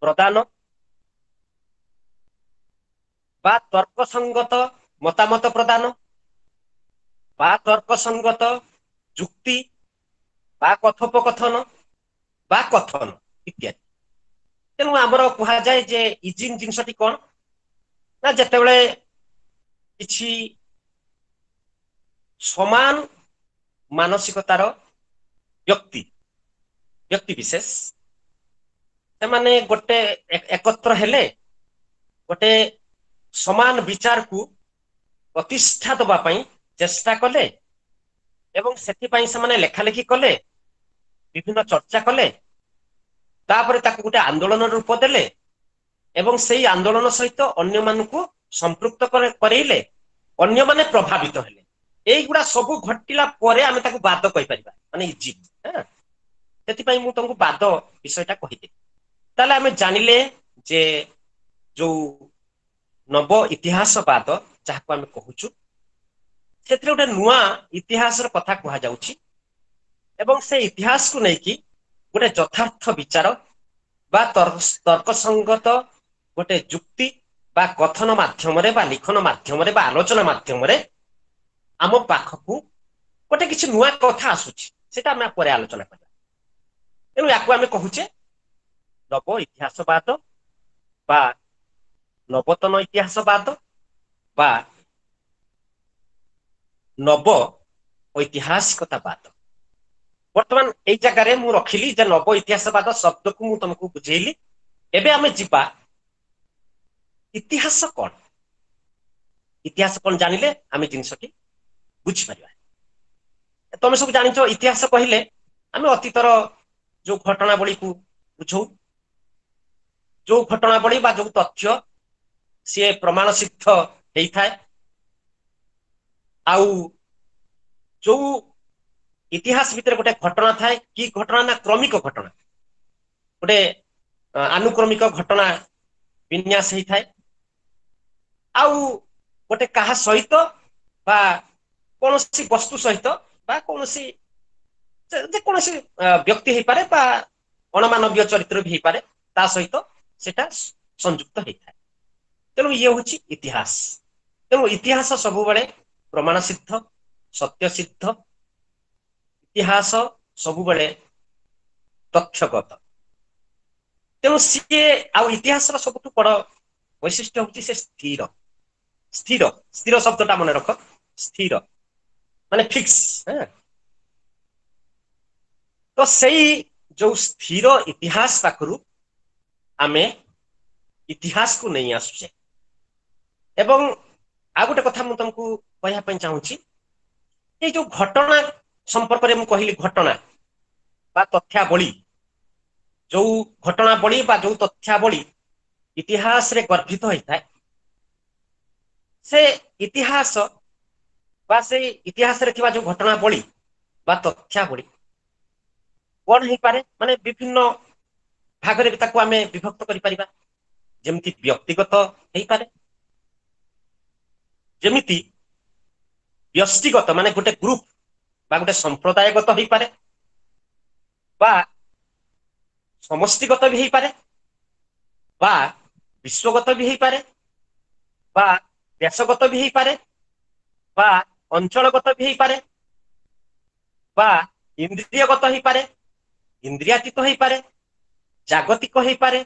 ପ୍ରଦାନ ବା ତର୍କସଙ୍ଗତ ମତାମତ ପ୍ରଦାନ ବା ତର୍କସଙ୍ଗତ ଯୁକ୍ତି ବା କଥୋପକଥନ ବା କଥନ ଇତ୍ୟାଦି। ତେଣୁ ଆମର କୁହାଯାଏ ଯେ ଇଜିମ୍ ଜିନିଷଟି କଣ ନା ଯେତେବେଳେ କିଛି ସମାନ ମାନସିକତାର ବ୍ୟକ୍ତି ବ୍ୟକ୍ତି ବିଶେଷ ସେମାନେ ଗୋଟେ ଏକତ୍ର ହେଲେ ଗୋଟେ ସମାନ ବିଚାରକୁ ପ୍ରତିଷ୍ଠା ଦବା ପାଇଁ ଚେଷ୍ଟା କଲେ ଏବଂ ସେଥିପାଇଁ ସେମାନେ ଲେଖାଲେଖି କଲେ, ବିଭିନ୍ନ ଚର୍ଚ୍ଚା କଲେ, ତାପରେ ତାକୁ ଗୋଟେ ଆନ୍ଦୋଳନ ରୂପ ଦେଲେ ଏବଂ ସେଇ ଆନ୍ଦୋଳନ ସହିତ ଅନ୍ୟମାନଙ୍କୁ ସମ୍ପୃକ୍ତ କରେଇଲେ, ଅନ୍ୟମାନେ ପ୍ରଭାବିତ ହେଲେ। ଏଇଗୁଡା ସବୁ ଘଟିଲା ପରେ ଆମେ ତାକୁ ବାଦ କହିପାରିବା, ମାନେ ଇଜିମ୍। ସେଥିପାଇଁ ମୁଁ ତମକୁ ବାଦ ବିଷୟଟା କହିଦେଲି। ତାହେଲେ ଆମେ ଜାଣିଲେ ଯେ ଯୋଉ ନବ ଇତିହାସବାଦ ଯାହାକୁ ଆମେ କହୁଛୁ, ସେଥିରେ ଗୋଟେ ନୂଆ ଇତିହାସର କଥା କୁହାଯାଉଛି ଏବଂ ସେ ଇତିହାସକୁ ନେଇକି ଗୋଟେ ଯଥାର୍ଥ ବିଚାର ବା ତର୍କସଙ୍ଗତ ଗୋଟେ ଯୁକ୍ତି ବା କଥନ ମାଧ୍ୟମରେ ବା ଲିଖନ ମାଧ୍ୟମରେ ବା ଆଲୋଚନା ମାଧ୍ୟମରେ ଆମ ପାଖକୁ ଗୋଟେ କିଛି ନୂଆ କଥା ଆସୁଛି, ସେଟା ଆମେ ପରେ ଆଲୋଚନା କରିବା। ତେଣୁ ୟାକୁ ଆମେ କହୁଛେ ନବ ଇତିହାସବାଦ ବା ନବତନ ଇତିହାସବାଦ ବା ନବ ଐତିହାସିକତାବାଦ। ବର୍ତ୍ତମାନ ଏଇ ଜାଗାରେ ମୁଁ ରଖିଲି ଯେ ନବ ଇତିହାସବାଦ ଶବ୍ଦକୁ ମୁଁ ତମକୁ ବୁଝେଇଲି। ଏବେ ଆମେ ଯିବା ଇତିହାସ କଣ, ଇତିହାସ କଣ ଜାଣିଲେ ଆମେ ଜିନିଷଟି ବୁଝିପାରିବା। ତମେ ସବୁ ଜାଣିଛ ଇତିହାସ କହିଲେ ଆମେ ଅତୀତର ଯୋଉ ଘଟଣାବଳୀକୁ ବୁଝଉ, ଯୋଉ ଘଟଣାବଳୀ ବା ଯୋଉ ତଥ୍ୟ ସିଏ ପ୍ରମାଣ ସିଦ୍ଧ ହେଇଥାଏ, ଆଉ ଯୋଉ ଇତିହାସ ଭିତରେ ଗୋଟେ ଘଟଣା ଥାଏ, କି ଘଟଣା ନା କ୍ରମିକ ଘଟଣା, ଗୋଟେ ଆନୁକ୍ରମିକ ଘଟଣା ବିନ୍ୟାସ ହେଇଥାଏ, ଆଉ ଗୋଟେ କାହା ସହିତ ବା କୌଣସି ବସ୍ତୁ ସହିତ ବା କୌଣସି ଯେକୌଣସି ବ୍ୟକ୍ତି ହେଇପାରେ ବା ଅଣମାନବୀୟ ଚରିତ୍ର ବି ହେଇପାରେ, ତା ସହିତ ସେଟା ସଂଯୁକ୍ତ ହେଇଥାଏ। ତେଣୁ ଇଏ ହଉଛି ଇତିହାସ। ତେଣୁ ଇତିହାସ ସବୁବେଳେ ପ୍ରମାଣ ସିଦ୍ଧ, ସତ୍ୟ ସିଦ୍ଧ, ଇତିହାସ ସବୁବେଳେ ତଥ୍ୟଗତ। ତେଣୁ ସିଏ ଆଉ ଇତିହାସର ସବୁଠୁ ବଡ ବୈଶିଷ୍ଟ୍ୟ ହଉଛି ସେ ସ୍ଥିର। ସ୍ଥିର, ସ୍ଥିର ଶବ୍ଦଟା ମନେ ରଖ, ସ୍ଥିର ମାନେ ଫିକ୍ସ। ତ ସେଇ ଯୋଉ ସ୍ଥିର ଇତିହାସ ପାଖରୁ ଆମେ ଇତିହାସକୁ ନେଇ ଆସୁଛେ। ଏବଂ ଆଉ ଗୋଟେ କଥା ମୁଁ ତମକୁ କହିବା ପାଇଁ ଚାହୁଁଛି, ଏଇ ଯୋଉ ଘଟଣା ସମ୍ପର୍କରେ ମୁଁ କହିଲି, ଘଟଣା ବା ତଥ୍ୟାବଳୀ, ଯୋଉ ଘଟଣାବଳୀ ବା ଯୋଉ ତଥ୍ୟାବଳୀ ଇତିହାସରେ ଗର୍ଭିତ ହେଇଥାଏ, ସେ ଇତିହାସ ବା ସେଇ ଇତିହାସରେ ଥିବା ଯୋଉ ଘଟଣାବଳୀ ବା ତଥ୍ୟାବଳୀ କଣ ହେଇପାରେ, ମାନେ ବିଭିନ୍ନ ଭାଗରେ ବି ତାକୁ ଆମେ ବିଭକ୍ତ କରିପାରିବା। ଯେମିତି ବ୍ୟକ୍ତିଗତ ହେଇପାରେ, ଯେମିତି ବ୍ୟଷ୍ଟିଗତ ମାନେ ଗୋଟେ ଗ୍ରୁପ ବା ଗୋଟେ ସମ୍ପ୍ରଦାୟଗତ ହେଇପାରେ, ବା ସମଷ୍ଟିଗତ ବି ହେଇପାରେ, ବା ବିଶ୍ୱଗତ ବି ହେଇପାରେ, ବା ଦେଶଗତ ବି ହେଇପାରେ, ବା ଅଞ୍ଚଳଗତ ବି ହେଇପାରେ, ବା ଇନ୍ଦ୍ରିୟଗତ ହେଇପାରେ, ଇନ୍ଦ୍ରିୟାତୀତ ହେଇପାରେ, ଜାଗତିକ ହେଇପାରେ,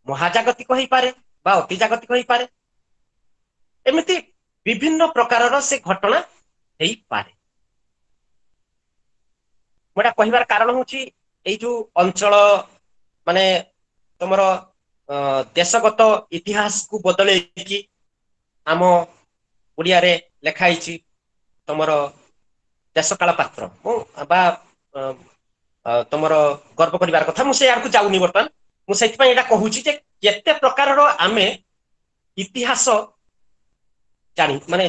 ମହାଜାଗତିକ ହେଇପାରେ ବା ଅତିଜାଗତିକ ହେଇପାରେ। ଏମିତି ବିଭିନ୍ନ ପ୍ରକାରର ସେ ଘଟଣା ହେଇପାରେ। ମୁଁ ଏଟା କହିବାର କାରଣ ହଉଛି ଏଇ ଯୋଉ ଅଞ୍ଚଳ ମାନେ ତମର ଦେଶଗତ ଇତିହାସକୁ ବଦଳେଇକି ଆମ ଓଡ଼ିଆରେ ଲେଖା ହେଇଛି ତମର ଦେଶକାଳ ପାତ୍ର, ମୁଁ ବା ତମର ଗର୍ବ କରିବାର କଥା, ମୁଁ ସେ ଆଡ଼କୁ ଯାଉନି ବର୍ତ୍ତମାନ। ମୁଁ ସେଇଥିପାଇଁ ଏଇଟା କହୁଛି ଯେ କେତେ ପ୍ରକାରର ଆମେ ଇତିହାସ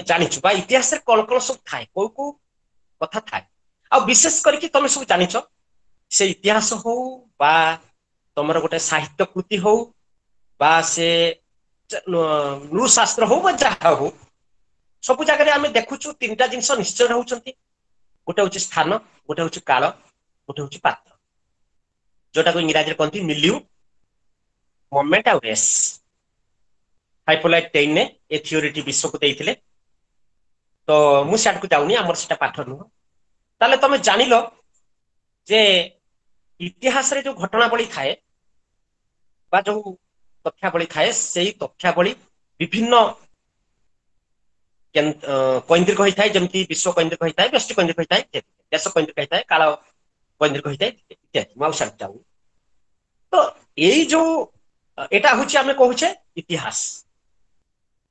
ଜାଣିଛୁ ବା ଇତିହାସରେ କଣ କଣ ସବୁ ଥାଏ, କୋଉ କୋଉ କଥା ଥାଏ। ଆଉ ବିଶେଷ କରିକି ତମେ ସବୁ ଜାଣିଛ ସେ ଇତିହାସ ହଉ ବା ତମର ଗୋଟେ ସାହିତ୍ୟ କୃତି ହଉ ବା ସେ ନୃଶାସ୍ତ୍ର ହଉ ବା ଯାହା ହଉ, ସବୁ ଜାଗାରେ ଆମେ ଦେଖୁଛୁ ତିନିଟା ଜିନିଷ ନିଶ୍ଚୟ ରହୁଛନ୍ତି। ଗୋଟେ ହଉଛି ସ୍ଥାନ, ଗୋଟେ ହଉଛି କାଳ, ଗୋଟେ ହଉଛି ପାତ୍ର, ଯୋଉଟାକୁ ଇଂରାଜୀରେ କହନ୍ତି ମିଲିୟୁ, ମୋମେଣ୍ଟ ଆଉ ରେସ୍। ହାଇପୋଲାଇଟ୍ ଟେଇନେ ଏ ଥିଓରିଟି ବିଶ୍ୱକୁ ଦେଇଥିଲେ। ତ ମୁଁ ସିଆଡ଼କୁ ଯାଉନି, ଆମର ସେଟା ପାଠ ନୁହଁ। ତାହେଲେ ତମେ ଜାଣିଲ ଯେ ଇତିହାସରେ ଯୋଉ ଘଟଣାବଳୀ ଥାଏ ବା ଯୋଉ ତଥ୍ୟାବଳୀ ଥାଏ, ସେଇ ତଥ୍ୟାବଳୀ ବିଭିନ୍ନ କୈନ୍ଦ୍ରିକ ହେଇଥାଏ, ଯେମିତି ବିଶ୍ୱ କୈନ୍ଦ୍ରିକ ହେଇଥାଏ, ବ୍ୟଷ୍ଟି କୈନ୍ଦ୍ରିକ ହେଇଥାଏ, ଦେଶ କୈନ୍ଦ୍ରିକ ହେଇଥାଏ, କାଳ କୈନ୍ଦ୍ରିକ ହେଇଥାଏ ଇତ୍ୟାଦି। ମୁଁ ଆଉ ସିଆଡ଼କୁ ଯାଉନି। ତ ଏଇ ଯୋଉ ଏଟା ହଉଛି ଆମେ କହୁଛେ ଇତିହାସ,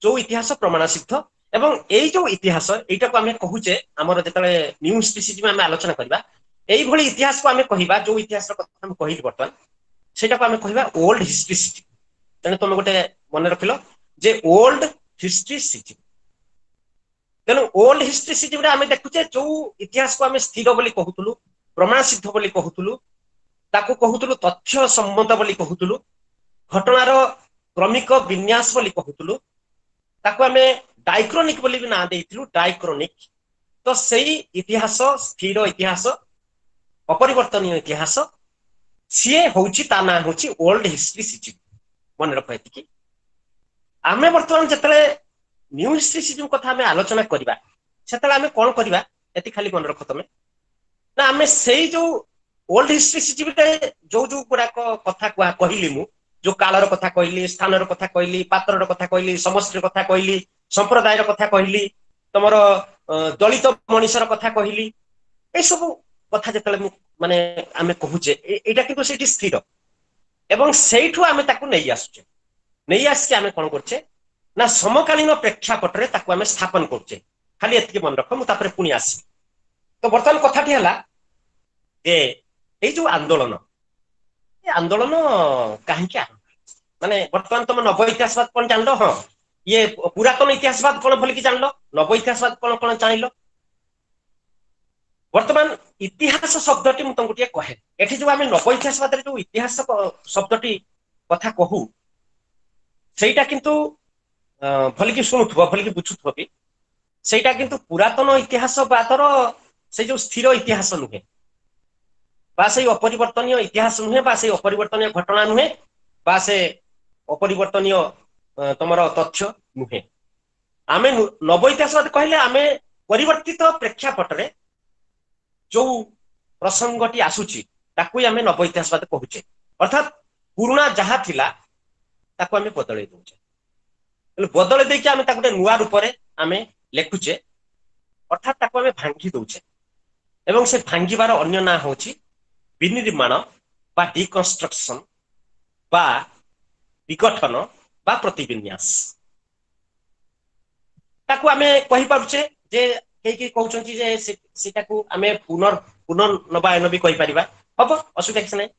ଯୋଉ ଇତିହାସ ପ୍ରମାଣ ସିଦ୍ଧ। ଏବଂ ଏଇ ଯୋଉ ଇତିହାସ ଏଇଟାକୁ ଆମେ କହୁଛେ, ଆମର ଯେତେବେଳେ ନ୍ୟୁ ହିଷ୍ଟ୍ରିସିଜମ ଆମେ ଆଲୋଚନା କରିବା, ଏଇଭଳି ଇତିହାସକୁ ଆମେ କହିବା, ଯୋଉ ଇତିହାସର କଥା ମୁଁ କହିଲି ବର୍ତ୍ତମାନ, ସେଇଟାକୁ ଆମେ କହିବା ଓଲ୍ଡ ହିଷ୍ଟ୍ରିସିଜମ। ତେଣୁ ତମେ ଗୋଟେ ମନେ ରଖିଲ ଯେ ଓଲ୍ଡ ହିଷ୍ଟ୍ରିସିଜମ। ତେଣୁ ଓଲ୍ଡ ହିଷ୍ଟ୍ରିସିଜମରେ ଆମେ ଦେଖୁଛେ ଯୋଉ ଇତିହାସକୁ ଆମେ ସ୍ଥିର ବୋଲି କହୁଥିଲୁ, ପ୍ରମାଣ ସିଦ୍ଧ ବୋଲି କହୁଥିଲୁ, ତାକୁ କହୁଥିଲୁ ତଥ୍ୟ ସମ୍ମତ ବୋଲି କହୁଥିଲୁ, ଘଟଣାର କ୍ରମିକ ବିନ୍ୟାସ ବୋଲି କହୁଥିଲୁ, ତାକୁ ଆମେ ଡାଇକ୍ରୋନିକ ବୋଲି ବି ନାଁ ଦେଇଥିଲୁ, ଡାଇକ୍ରୋନିକ। ତ ସେଇ ଇତିହାସ, ସ୍ଥିର ଇତିହାସ, ଅପରିବର୍ତ୍ତନୀୟ ଇତିହାସ, ସିଏ ହଉଛି, ତା ନାଁ ହଉଛି ଓଲ୍ଡ ହିଷ୍ଟ୍ରିସିଜିମ୍। ମନେ ରଖ ଏତିକି। ଆମେ ବର୍ତ୍ତମାନ ଯେତେବେଳେ ନ୍ୟୁ ହିଷ୍ଟ୍ରିସିଜିମ୍ କଥା ଆମେ ଆଲୋଚନା କରିବା, ସେତେବେଳେ ଆମେ କଣ କରିବା ଏତିକି ଖାଲି ମନେ ରଖ ତମେ ନା, ଆମେ ସେଇ ଯୋଉ ଓଲ୍ଡ ହିଷ୍ଟ୍ରିସିଜିମରେ ଯୋଉ ଯୋଉ ଗୁଡାକ କଥା କହିଲି ମୁଁ, ଯୋଉ କାଳର କଥା କହିଲି, ସ୍ଥାନର କଥା କହିଲି, ପାତ୍ରର କଥା କହିଲି, ସମଷ୍ଟିର କଥା କହିଲି, ସମ୍ପ୍ରଦାୟର କଥା କହିଲି, ତମର ଦଳିତ ମଣିଷର କଥା କହିଲି, ଏସବୁ କଥା ଯେତେବେଳେ ମୁଁ ମାନେ ଆମେ କହୁଛେ, ଏଇଟା କିନ୍ତୁ ସେଇଠି ସ୍ଥିର ଏବଂ ସେଇଠୁ ଆମେ ତାକୁ ନେଇ ଆସୁଛେ। ନେଇ ଆସିକି ଆମେ କଣ କରୁଛେ ନା ସମକାଳୀନ ପ୍ରେକ୍ଷାପଟରେ ତାକୁ ଆମେ ସ୍ଥାପନ କରୁଛେ। ଖାଲି ଏତିକି ମନେ ରଖ, ମୁଁ ତାପରେ ପୁଣି ଆସିବି। ତ ବର୍ତ୍ତମାନ କଥାଟି ହେଲା ଯେ ଏଇ ଯୋଉ ଆନ୍ଦୋଳନ, ଏ ଆନ୍ଦୋଳନ କାହିଁକି ଆରମ୍ଭ, ମାନେ ବର୍ତ୍ତମାନ ତମ ନବ ଇତିହାସବାଦ କଣ ଜାଣିଲ? ହଁ, ଇଏ ପୁରାତନ ଇତିହାସବାଦ କଣ ବୋଲିକି ଜାଣିଲ, ନବ ଇତିହାସବାଦ କଣ କଣ ଜାଣିଲ। ବର୍ତ୍ତମାନ ଇତିହାସ ଶବ୍ଦଟି ମୁଁ ତମକୁ ଟିକେ କହେ। ଏଠି ଯୋଉ ଆମେ ନବ ଇତିହାସବାଦରେ ଯୋଉ ଇତିହାସ ଶବ୍ଦଟି କଥା କହୁ, ସେଇଟା କିନ୍ତୁ ଭଲିକି ଶୁଣୁଥିବ, ଭଲିକି ବୁଝୁଥିବ ବି, ସେଇଟା କିନ୍ତୁ ପୁରାତନ ଇତିହାସବାଦର ସେଇ ଯୋଉ ସ୍ଥିର ଇତିହାସ ନୁହେଁ, ବା ସେଇ ଅପରିବର୍ତ୍ତନୀୟ ଇତିହାସ ନୁହେଁ, ବା ସେଇ ଅପରିବର୍ତ୍ତନୀୟ ଘଟଣା ନୁହେଁ, ବା ସେ ଅପରିବର୍ତ୍ତନୀୟ ତମର ତଥ୍ୟ ନୁହେଁ। ଆମେ ନବ ଇତିହାସବାଦ କହିଲେ ଆମେ ପରିବର୍ତ୍ତିତ ପ୍ରେକ୍ଷାପଟରେ ଯୋଉ ପ୍ରସଙ୍ଗଟି ଆସୁଛି ତାକୁ ହିଁ ଆମେ ନବ ଇତିହାସବାଦ କହୁଛେ। ଅର୍ଥାତ୍ ପୁରୁଣା ଯାହା ଥିଲା ତାକୁ ଆମେ ବଦଳେଇ ଦଉଛେ, ହେଲେ ବଦଳେଇ ଦେଇକି ଆମେ ତାକୁ ଗୋଟେ ନୂଆ ରୂପରେ ଆମେ ଲେଖୁଛେ, ଅର୍ଥାତ୍ ତାକୁ ଆମେ ଭାଙ୍ଗି ଦଉଛେ। ଏବଂ ସେ ଭାଙ୍ଗିବାର ଅନ୍ୟ ନାଁ ହଉଛି ବିନିର୍ମାଣ ବା ଡିକନଷ୍ଟ୍ରକ୍ସନ ବା ବିଗଠନ ବା ପ୍ରତିବିନ୍ୟାସ। ତାକୁ ଆମେ କହିପାରୁଛେ ଯେ କେହି କେହି କହୁଛନ୍ତି ଯେ ସେଇଟାକୁ ଆମେ ପୁନର୍ନବାୟନ ବି କହିପାରିବା, ହବ, ଅସୁବିଧା କିଛି ନାହିଁ।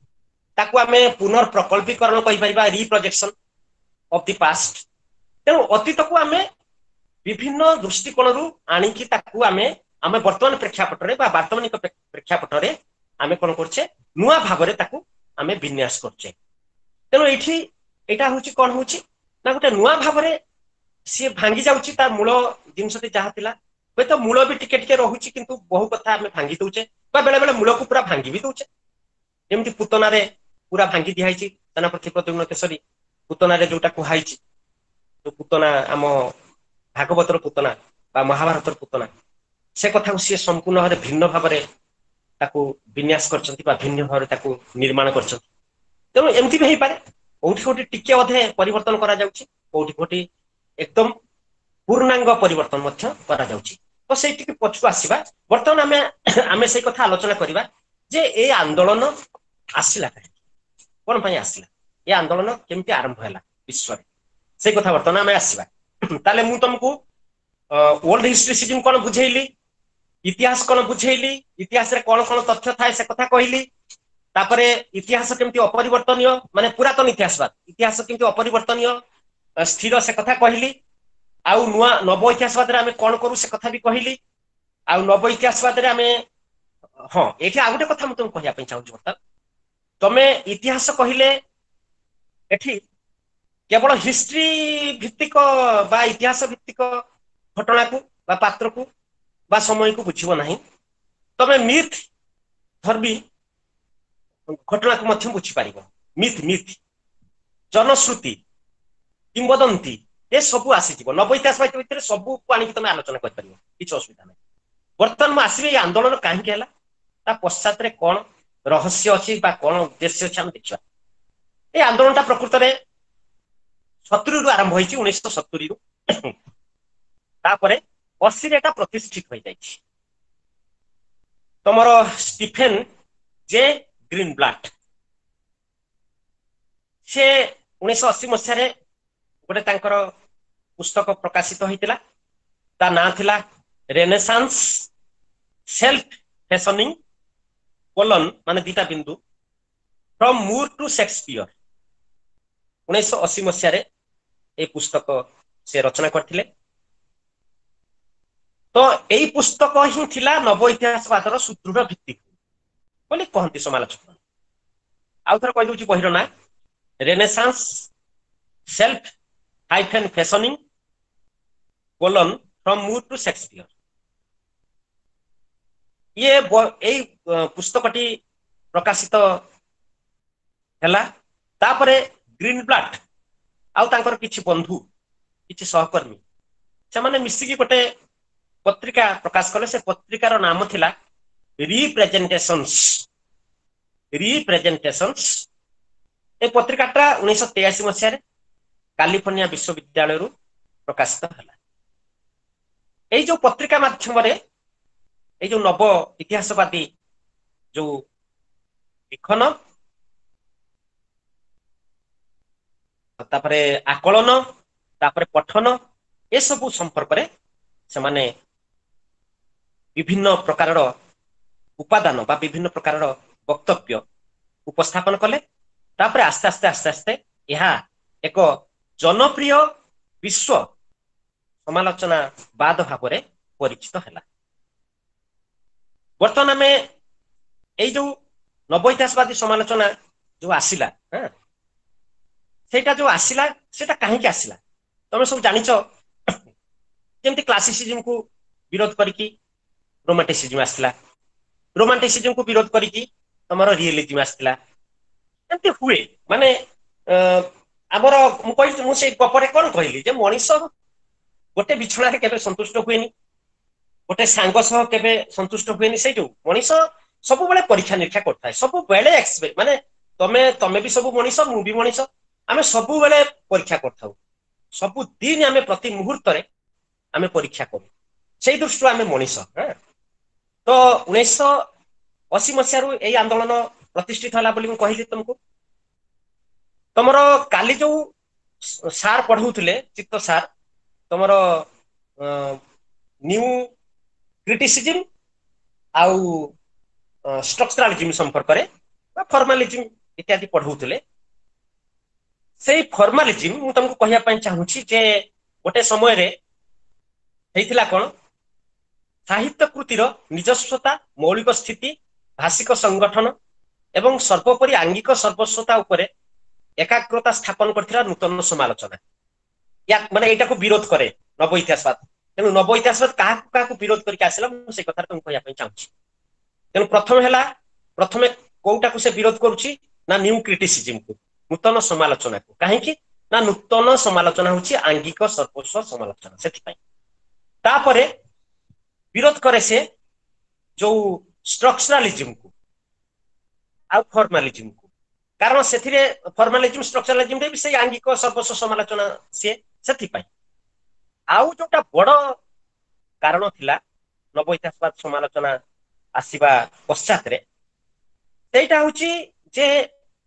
ତାକୁ ଆମେ ପୁନର୍ପ୍ରକଳ୍ପୀକରଣ କହିପାରିବା, ରିପ୍ରଜେକ୍ସନ ଅଫ the past. ତେଣୁ ଅତୀତକୁ ଆମେ ବିଭିନ୍ନ ଦୃଷ୍ଟିକୋଣରୁ ଆଣିକି ତାକୁ ଆମେ ଆମେ ବର୍ତ୍ତମାନ ପ୍ରେକ୍ଷାପଟରେ ବା ବର୍ତ୍ତମାନିକ ପ୍ରେକ୍ଷାପଟରେ ଆମେ କଣ କରୁଛେ, ନୂଆ ଭାବରେ ତାକୁ ଆମେ ବିନ୍ୟାସ କରୁଛେ। ତେଣୁ ଏଇଠି ଏଇଟା ହଉଛି କଣ ହଉଛି ନା ଗୋଟେ ନୂଆ ଭାବରେ ସିଏ ଭାଙ୍ଗି ଯାଉଛି, ତା ମୂଳ ଜିନିଷଟି ଯାହା ଥିଲା, ହୁଏତ ମୂଳ ବି ଟିକେ ଟିକେ ରହୁଛି, କିନ୍ତୁ ବହୁ କଥା ଆମେ ଭାଙ୍ଗି ଦଉଛେ, ବା ବେଳେ ବେଳେ ମୂଳକୁ ପୁରା ଭାଙ୍ଗି ବି ଦଉଛେ। ଯେମିତି ପୁତନାରେ ପୁରା ଭାଙ୍ଗି ଦିଆହେଇଛି, ସେନାପତି ପ୍ରଦ୍ୟୁମ୍ନ କେଶରୀ ପୁତନାରେ ଯୋଉଟା କୁହାହେଇଛି, ଯୋଉ ପୁତନା ଆମ ଭାଗବତର ପୁତନା ବା ମହାଭାରତର ପୁତନା, ସେ କଥାକୁ ସିଏ ସମ୍ପୂର୍ଣ୍ଣ ଭାବରେ ଭିନ୍ନ ଭାବରେ ତାକୁ ବିନ୍ୟାସ କରିଛନ୍ତି ବା ଭିନ୍ନ ଭାବରେ ତାକୁ ନିର୍ମାଣ କରିଛନ୍ତି। ତେଣୁ ଏମିତି ବି ହେଇପାରେ କୋଉଠି କୋଉଠି ଟିକେ ଅଧେ ପରିବର୍ତ୍ତନ କରାଯାଉଛି, କୋଉଠି କୋଉଠି ଏକଦମ ପୂର୍ଣ୍ଣାଙ୍ଗ ପରିବର୍ତ୍ତନ ମଧ୍ୟ କରାଯାଉଛି। ତ ସେଇଠିକି ପଛକୁ ଆସିବା। ବର୍ତ୍ତମାନ ଆମେ ସେଇ କଥା ଆଲୋଚନା କରିବା ଯେ ଏ ଆନ୍ଦୋଳନ ଆସିଲା କାହିଁକି, କଣ ପାଇଁ ଆସିଲା, ଏ ଆନ୍ଦୋଳନ କେମିତି ଆରମ୍ଭ ହେଲା ବିଶ୍ୱରେ, ସେଇ କଥା ବର୍ତ୍ତମାନ ଆମେ ଆସିବା। ତାହେଲେ ମୁଁ ତମକୁ ଓଲ୍ଡ ହିଷ୍ଟ୍ରିସିଜିମ୍ କଣ ବୁଝେଇଲି, ଇତିହାସ କଣ ବୁଝେଇଲି, ଇତିହାସରେ କଣ କଣ ତଥ୍ୟ ଥାଏ ସେ କଥା କହିଲି, ତାପରେ ଇତିହାସ କେମିତି ଅପରିବର୍ତ୍ତନୀୟ, ମାନେ ପୁରାତନ ଇତିହାସବାଦ ଇତିହାସ କେମିତି ଅପରିବର୍ତ୍ତନୀୟ ସ୍ଥିର ସେ କଥା କହିଲି, ଆଉ ନୂଆ ନବ ଇତିହାସବାଦରେ ଆମେ କଣ କରୁ ସେ କଥା ବି କହିଲି, ଆଉ ନବ ଇତିହାସବାଦରେ ଆମେ, ହଁ ଏଇଠି ଆଉ ଗୋଟେ କଥା ମୁଁ ତମକୁ କହିବା ପାଇଁ ଚାହୁଁଛି। ବର୍ତ୍ତମାନ ତମେ ଇତିହାସ କହିଲେ ଏଠି କେବଳ ହିଷ୍ଟ୍ରି ଭିତ୍ତିକ ବା ଇତିହାସ ଭିତ୍ତିକ ଘଟଣାକୁ ବା ପାତ୍ରକୁ ବା ସମୟକୁ ବୁଝିବ ନାହିଁ, ତମେ ମିଥ୍ ଧର୍ମୀ ଘଟଣାକୁ ମଧ୍ୟ ବୁଝିପାରିବ। ମିଥ୍, ମିଥ୍, ଜନଶ୍ରୁତି, କିମ୍ବଦନ୍ତୀ, ଏସବୁ ଆସିଯିବ। ନବ ଇତିହାସ ଭିତରେ ସବୁକୁ ଆଣିକି ତମେ ଆଲୋଚନା କରିପାରିବ, କିଛି ଅସୁବିଧା ନାହିଁ। ବର୍ତ୍ତମାନ ମୁଁ ଆସିବି ଏଇ ଆନ୍ଦୋଳନ କାହିଁକି ହେଲା, ତା ପଶ୍ଚାତରେ କଣ ରହସ୍ୟ ଅଛି ବା କଣ ଉଦ୍ଦେଶ୍ୟ ଅଛି ଆମେ ଦେଖିବା। ଏଇ ଆନ୍ଦୋଳନଟା ପ୍ରକୃତରେ 70ରୁ ଆରମ୍ଭ ହେଇଛି, 1970ରୁ, ତାପରେ 80ରେ ଏଟା ପ୍ରତିଷ୍ଠିତ ହୋଇଯାଇଛି। ତମର ଷ୍ଟିଫେନ ଜେ ଗ୍ରୀନବ୍ଲାଟ, ସେ 1980 ମସିହାରେ ଗୋଟେ ତାଙ୍କର ପୁସ୍ତକ ପ୍ରକାଶିତ ହେଇଥିଲା, ତା ନାଁ ଥିଲା ରେନେସାନ୍ସ ସେଲ୍ଫ ଫ୍ୟାସନିଂ କୋଲନ ମାନେ ଦିଟା ବିନ୍ଦୁ ଫ୍ରମ ମୁର ଟୁ ସେକ୍ସପିୟର। 1980 ମସିହାରେ ଏଇ ପୁସ୍ତକ ସେ ରଚନା କରିଥିଲେ। ତ ଏଇ ପୁସ୍ତକ ହିଁ ଥିଲା ନବ ଇତିହାସବାଦର ସୁଦୃଢ ଭିତ୍ତି ବୋଲି କହନ୍ତି ସମାଲୋଚକ। ଆଉ ଥରେ କହିଦଉଛି ବହିର ନାଁ, Renaissance self hyphen fashioning colon from Moore to Shakespeare. ଇଏ ଏଇ ପୁସ୍ତକଟି ପ୍ରକାଶିତ ହେଲା। ତାପରେ ଗ୍ରୀନବ୍ଲାଟ ଆଉ ତାଙ୍କର କିଛି ବନ୍ଧୁ, କିଛି ସହକର୍ମୀ, ସେମାନେ ମିଶିକି ଗୋଟେ ପତ୍ରିକା ପ୍ରକାଶ କଲେ। ସେ ପତ୍ରିକାର ନାମ ଥିଲା ରିପ୍ରେଜେଣ୍ଟେସନ୍ସ। ରିପ୍ରେଜେଣ୍ଟେସନ୍ସ ଏ ପତ୍ରିକାଟା 1983 ମସିହାରେ କାଲିଫର୍ଣ୍ଣିଆ ବିଶ୍ୱବିଦ୍ୟାଳୟରୁ ପ୍ରକାଶିତ ହେଲା। ଏଇ ଯୋଉ ପତ୍ରିକା ମାଧ୍ୟମରେ ଏଇ ଯୋଉ ନବ ଇତିହାସବାଦୀ ଯୋଉ ଲିଖନ, ତାପରେ ଆକଳନ, ତାପରେ ପଠନ, ଏସବୁ ସମ୍ପର୍କରେ ସେମାନେ ବିଭିନ୍ନ ପ୍ରକାରର ଉପାଦାନ ବା ବିଭିନ୍ନ ପ୍ରକାରର ବକ୍ତବ୍ୟ ଉପସ୍ଥାପନ କଲେ। ତାପରେ ଆସ୍ତେ ଆସ୍ତେ ଆସ୍ତେ ଆସ୍ତେ ଏହା ଏକ ଜନପ୍ରିୟ ବିଶ୍ୱ ସମାଲୋଚନାବାଦ ଭାବରେ ପରିଚିତ ହେଲା। ବର୍ତ୍ତମାନ ଆମେ ଏଇ ଯୋଉ ନବ ଇତିହାସବାଦୀ ସମାଲୋଚନା ଯୋଉ ଆସିଲା, ସେଇଟା ଯୋଉ ଆସିଲା ସେଇଟା କାହିଁକି ଆସିଲା ତମେ ସବୁ ଜାଣିଛ। ଯେମିତି କ୍ଲାସିସିଜିମକୁ ବିରୋଧ କରିକି ରୋମାଣ୍ଟିସିଜିମ ଆସିଥିଲା, ରୋମାଣ୍ଟିସିଜିମକୁ ବିରୋଧ କରିକି ତମର ରିଏଲିଜିମ ଆସିଥିଲା। ଏମିତି ହୁଏ। ମାନେ ଆମର ମୁଁ କହିଲି, ମୁଁ ସେଇ ଗପରେ କଣ କହିଲି ଯେ ମଣିଷ ଗୋଟେ ବିଛଣାରେ କେବେ ସନ୍ତୁଷ୍ଟ ହୁଏନି, ଗୋଟେ ସାଙ୍ଗ ସହ କେବେ ସନ୍ତୁଷ୍ଟ ହୁଏନି। ସେଇ ଯୋଉ ମଣିଷ ସବୁବେଳେ ପରୀକ୍ଷା ନିରୀକ୍ଷା କରୁଥାଏ, ସବୁବେଳେ ମାନେ ତମେ ତମେ ବି ସବୁ ମଣିଷ, ମୁଁ ବି ମଣିଷ, ଆମେ ସବୁବେଳେ ପରୀକ୍ଷା କରିଥାଉ। ସବୁଦିନ ଆମେ ପ୍ରତି ମୁହୂର୍ତ୍ତରେ ଆମେ ପରୀକ୍ଷା କରୁ, ସେଇ ଦୃଷ୍ଟିରୁ ଆମେ ମଣିଷ। ତ 1980 ମସିହାରୁ ଏଇ ଆନ୍ଦୋଳନ ପ୍ରତିଷ୍ଠିତ ହେଲା ବୋଲି ମୁଁ କହିଲି ତମକୁ। ତମର କାଲି ଯୋଉ ସାର୍ ପଢଉଥିଲେ, ଚିତ୍ତ ସାର୍, ତମର ନ୍ୟୁ କ୍ରିଟିସିଜିମ ଆଉ ଷ୍ଟ୍ରକ୍ଚରାଲିଜିମ ସମ୍ପର୍କରେ ବା ଫର୍ମାଲିଜିମ ଇତ୍ୟାଦି ପଢଉଥିଲେ। ସେଇ ଫର୍ମାଲିଜିମ ମୁଁ ତମକୁ କହିବା ପାଇଁ ଚାହୁଁଛି ଯେ ଗୋଟେ ସମୟରେ ହେଇଥିଲା କଣ, ସାହିତ୍ୟ କୃତିର ନିଜସ୍ୱତା, ମୌଳିକ ସ୍ଥିତି, ଭାଷିକ ସଂଗଠନ ଏବଂ ସର୍ବୋପରି ଆଙ୍ଗିକ ସର୍ବସ୍ୱତା ଉପରେ ଏକାଗ୍ରତା ସ୍ଥାପନ କରିଥିଲା ନୂତନ ସମାଲୋଚନା। ମାନେ ଏଇଟାକୁ ବିରୋଧ କରେ ନବ ଇତିହାସବାଦ। ତେଣୁ ନବ ଇତିହାସବାଦ କାହାକୁ କାହାକୁ ବିରୋଧ କରିକି ଆସିଲା ମୁଁ ସେଇ କଥାଟା ତମକୁ କହିବା ପାଇଁ ଚାହୁଁଛି। ତେଣୁ ପ୍ରଥମେ ହେଲା, ପ୍ରଥମେ କୋଉଟାକୁ ସେ ବିରୋଧ କରୁଛି ନା ନ୍ୟୁ କ୍ରିଟିସିଜିମକୁ, ନୂତନ ସମାଲୋଚନାକୁ। କାହିଁକି ନା ନୂତନ ସମାଲୋଚନା ହଉଛି ଆଙ୍ଗିକ ସର୍ବସ୍ୱ ସମାଲୋଚନା, ସେଥିପାଇଁ। ତାପରେ ବିରୋଧ କରେ ସେ ଯୋଉ ଷ୍ଟ୍ରକ୍ଚରାଲିଜିମକୁ ଆଉ ଫର୍ମାଲିଜିମକୁ, କାରଣ ସେଥିରେ ଫର୍ମାଲିଜିମ ଷ୍ଟ୍ରକ୍ଚରାଲିଜିମରେ ବି ସେଇ ଆଙ୍ଗିକ ସର୍ବସ୍ୱ ସମାଲୋଚନା ସିଏ, ସେଥିପାଇଁ। ଆଉ ଯୋଉଟା ବଡ କାରଣ ଥିଲା ନବ ଇତିହାସବାଦ ସମାଲୋଚନା ଆସିବା ପଶ୍ଚାତରେ, ସେଇଟା ହଉଛି ଯେ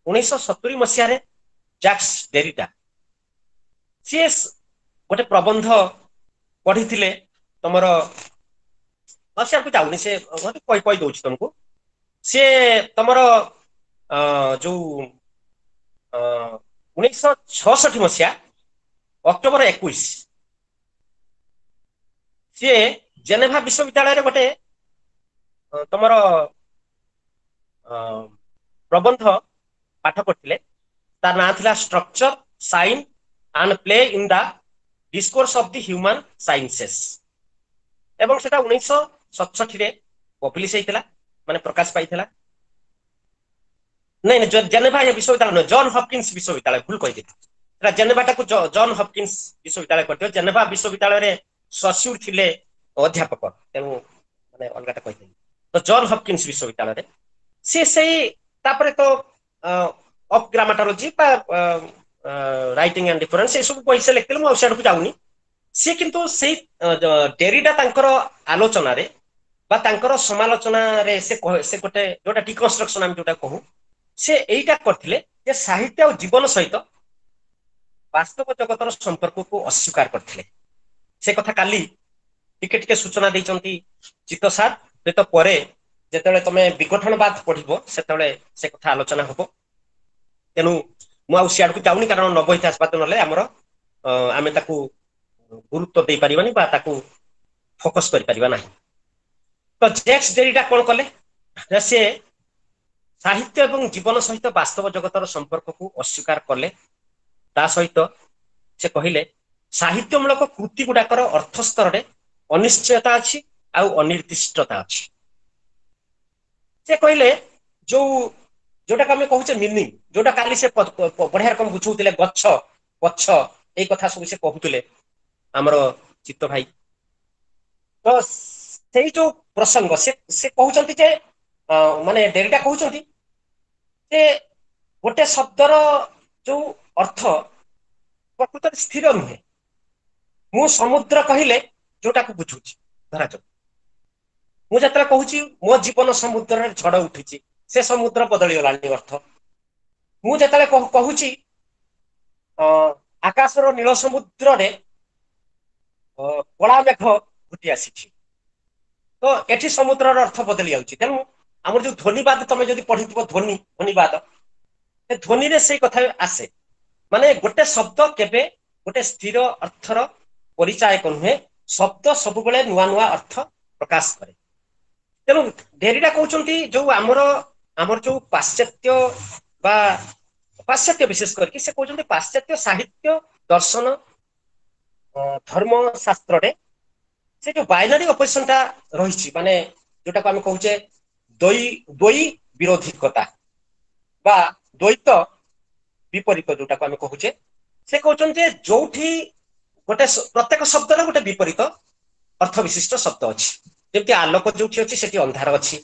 1970 ମସିହାରେ ଜାକ୍ସ ଡେରିଡା ସିଏ ଗୋଟେ ପ୍ରବନ୍ଧ ପଢିଥିଲେ ତମର, ସିଆକୁ ଯାଉନି, ସେ କହି ଦଉଛି ତମକୁ। ସିଏ ତମର ଯୋଉ 1966 ମସିହା ଅକ୍ଟୋବର 21 ସିଏ ଜେନେଭା ବିଶ୍ୱବିଦ୍ୟାଳୟରେ ଗୋଟେ ତମର ପ୍ରବନ୍ଧ ପାଠ କରିଥିଲେ। ତା ନାଁ ଥିଲା structure, sign and play in the discourse of the human sciences, ଏବଂ ସେଟା 1967ରେ ପବ୍ଲିଶ ହେଇଥିଲା, ମାନେ ପ୍ରକାଶ ପାଇଥିଲା। ନାଇଁ ନାଇଁ, ଜେନେଭା ବିଶ୍ୱବିଦ୍ୟାଳୟ ନୁହେଁ, ଜନ୍ ହପକିନ୍ସ ବିଶ୍ୱବିଦ୍ୟାଳୟ, ଭୁଲ କହିଦେଲି। ସେଟା ଜେନେଭାଟାକୁ ଜନ୍ ହପକିନ୍ସ ବିଶ୍ୱବିଦ୍ୟାଳୟ କରିଥିବ। ଜେନେଭା ବିଶ୍ୱବିଦ୍ୟାଳୟରେ ସସ୍ୟୁର ଥିଲେ ଅଧ୍ୟାପକ, ତେଣୁ ମାନେ ଅଲଗାଟା କହିଦେଲି। ତ ଜନ୍ ହପକିନ୍ସ ବିଶ୍ୱବିଦ୍ୟାଳୟରେ ସିଏ ସେଇ, ତାପରେ ତ ଅଫ୍ ଗ୍ରାମାଟୋଲୋଜି ବା ରାଇଟିଂ ଆଣ୍ଡ ଡିଫରେନ୍ସ ଏସବୁ ବହି ସେ ଲେଖିଥିଲେ, ମୁଁ ଆଉ ସିଆଡ଼କୁ ଯାଉନି। ସିଏ କିନ୍ତୁ ସେଇ ଡେରିଡା ତାଙ୍କର ଆଲୋଚନାରେ ବା ତାଙ୍କର ସମାଲୋଚନାରେ ସେ ଗୋଟେ ଯୋଉଟା ଡିକନଷ୍ଟ୍ରକ୍ସନ ଆମେ ଯୋଉଟା କହୁ, ସେ ଏଇଟା କରିଥିଲେ ଯେ ସାହିତ୍ୟ ଆଉ ଜୀବନ ସହିତ ବାସ୍ତବ ଜଗତର ସମ୍ପର୍କକୁ ଅସ୍ୱୀକାର କରିଥିଲେ। ସେ କଥା କାଲି ଟିକେ ଟିକେ ସୂଚନା ଦେଇଛନ୍ତି ଚିତ୍ତ ସାର୍, ହୁଏତ ପରେ ଯେତେବେଳେ ତମେ ବିଗଠନବାଦ ପଢିବ ସେତେବେଳେ ସେ କଥା ଆଲୋଚନା ହବ। ତେଣୁ ମୁଁ ଆଉ ସିଆଡ଼କୁ ଯାଉନି, କାରଣ ନବ ଇତିହାସବାଦ ନହେଲେ ଆମର ଆମେ ତାକୁ ଗୁରୁତ୍ୱ ଦେଇପାରିବାନି ବା ତାକୁ ଫୋକସ କରିପାରିବା ନାହିଁ। ତ ଜେକ୍ସ ଡେରିଡା କଣ କଲେ, ସେ ସାହିତ୍ୟ ଏବଂ ଜୀବନ ସହିତ ବାସ୍ତବ ଜଗତର ସମ୍ପର୍କକୁ ଅସ୍ୱୀକାର କଲେ। ତା ସହିତ ସେ କହିଲେ ସାହିତ୍ୟମୂଳକ କୃତି ଗୁଡାକର ଅର୍ଥ ସ୍ତରରେ ଅନିଶ୍ଚୟତା ଅଛି ଆଉ ଅନିର୍ଦ୍ଦିଷ୍ଟତା ଅଛି। ସେ କହିଲେ ଯୋଉଟାକୁ ଆମେ କହୁଛେ ମିନିଂ, ଯୋଉଟା କାଲି ସେ ବଢିଆ ରକମ ବୁଝଉଥିଲେ, ଗଛ ପଛ ଏଇ କଥା ସବୁ ସେ କହୁଥିଲେ ଆମର ଚିତ୍ତ ଭାଇ। ତ ସେଇ ଯୋଉ ପ୍ରସଙ୍ଗ ସେ କହୁଛନ୍ତି ଯେ ମାନେ ଡେରିଡା କହୁଛନ୍ତି ଯେ ଗୋଟେ ଶବ୍ଦର ଯୋଉ ଅର୍ଥ ପ୍ରକୃତରେ ସ୍ଥିର ନୁହେଁ। ମୁଁ ସମୁଦ୍ର କହିଲେ ଯୋଉଟାକୁ ବୁଝୁଛି, ଧରାଯାଉ ମୁଁ ଯେତେବେଳେ କହୁଛି ମୋ ଜୀବନ ସମୁଦ୍ରରେ ଝଡ ଉଠିଛି, ସେ ସମୁଦ୍ର ବଦଳିଗଲାଣି ଅର୍ଥ। ମୁଁ ଯେତେବେଳେ କହୁଛି ଆକାଶର ନୀଳ ସମୁଦ୍ରରେ କଳା ମେଘ ଘୋଟି ଆସିଛି, ତ ଏଠି ସମୁଦ୍ରର ଅର୍ଥ ବଦଳି ଯାଉଛି। ତେଣୁ ଆମର ଯୋଉ ଧ୍ୱନିବାଦ ତମେ ଯଦି ପଢିଥିବ, ଧ୍ୱନିବାଦ, ସେ ଧ୍ୱନିରେ ସେଇ କଥା ଆସେ। ମାନେ ଗୋଟେ ଶବ୍ଦ କେବେ ଗୋଟେ ସ୍ଥିର ଅର୍ଥର ପରିଚାୟକ ନୁହେଁ, ଶବ୍ଦ ସବୁବେଳେ ନୂଆ ନୂଆ ଅର୍ଥ ପ୍ରକାଶ କରେ। ତେଣୁ ଡେରିଡା କହୁଛନ୍ତି ଯୋଉ ଆମର ଯୋଉ ପାଶ୍ଚାତ୍ୟ ବା ପାଶ୍ଚାତ୍ୟ ବିଶେଷ କରିକି ସେ କହୁଛନ୍ତି ପାଶ୍ଚାତ୍ୟ ସାହିତ୍ୟ ଦର୍ଶନ ଧର୍ମ ଶାସ୍ତ୍ରରେ ସେ ଯୋଉ ବାଇନାରୀ ଅପୋଜିସନ ଟା ରହିଛି, ମାନେ ଯୋଉଟାକୁ ଆମେ କହୁଛେ ଦ୍ୱୈ ବିରୋଧିକତା ବା ଦ୍ୱୈତ ବିପରୀତ ଯୋଉଟାକୁ ଆମେ କହୁଛେ, ସେ କହୁଛନ୍ତି ଯେ ଯୋଉଠି ଗୋଟେ ପ୍ରତ୍ୟେକ ଶବ୍ଦର ଗୋଟେ ବିପରୀତ ଅର୍ଥ ବିଶିଷ୍ଟ ଶବ୍ଦ ଅଛି। ଯେମିତି ଆଲୋକ ଯୋଉଠି ଅଛି ସେଠି ଅନ୍ଧାର ଅଛି,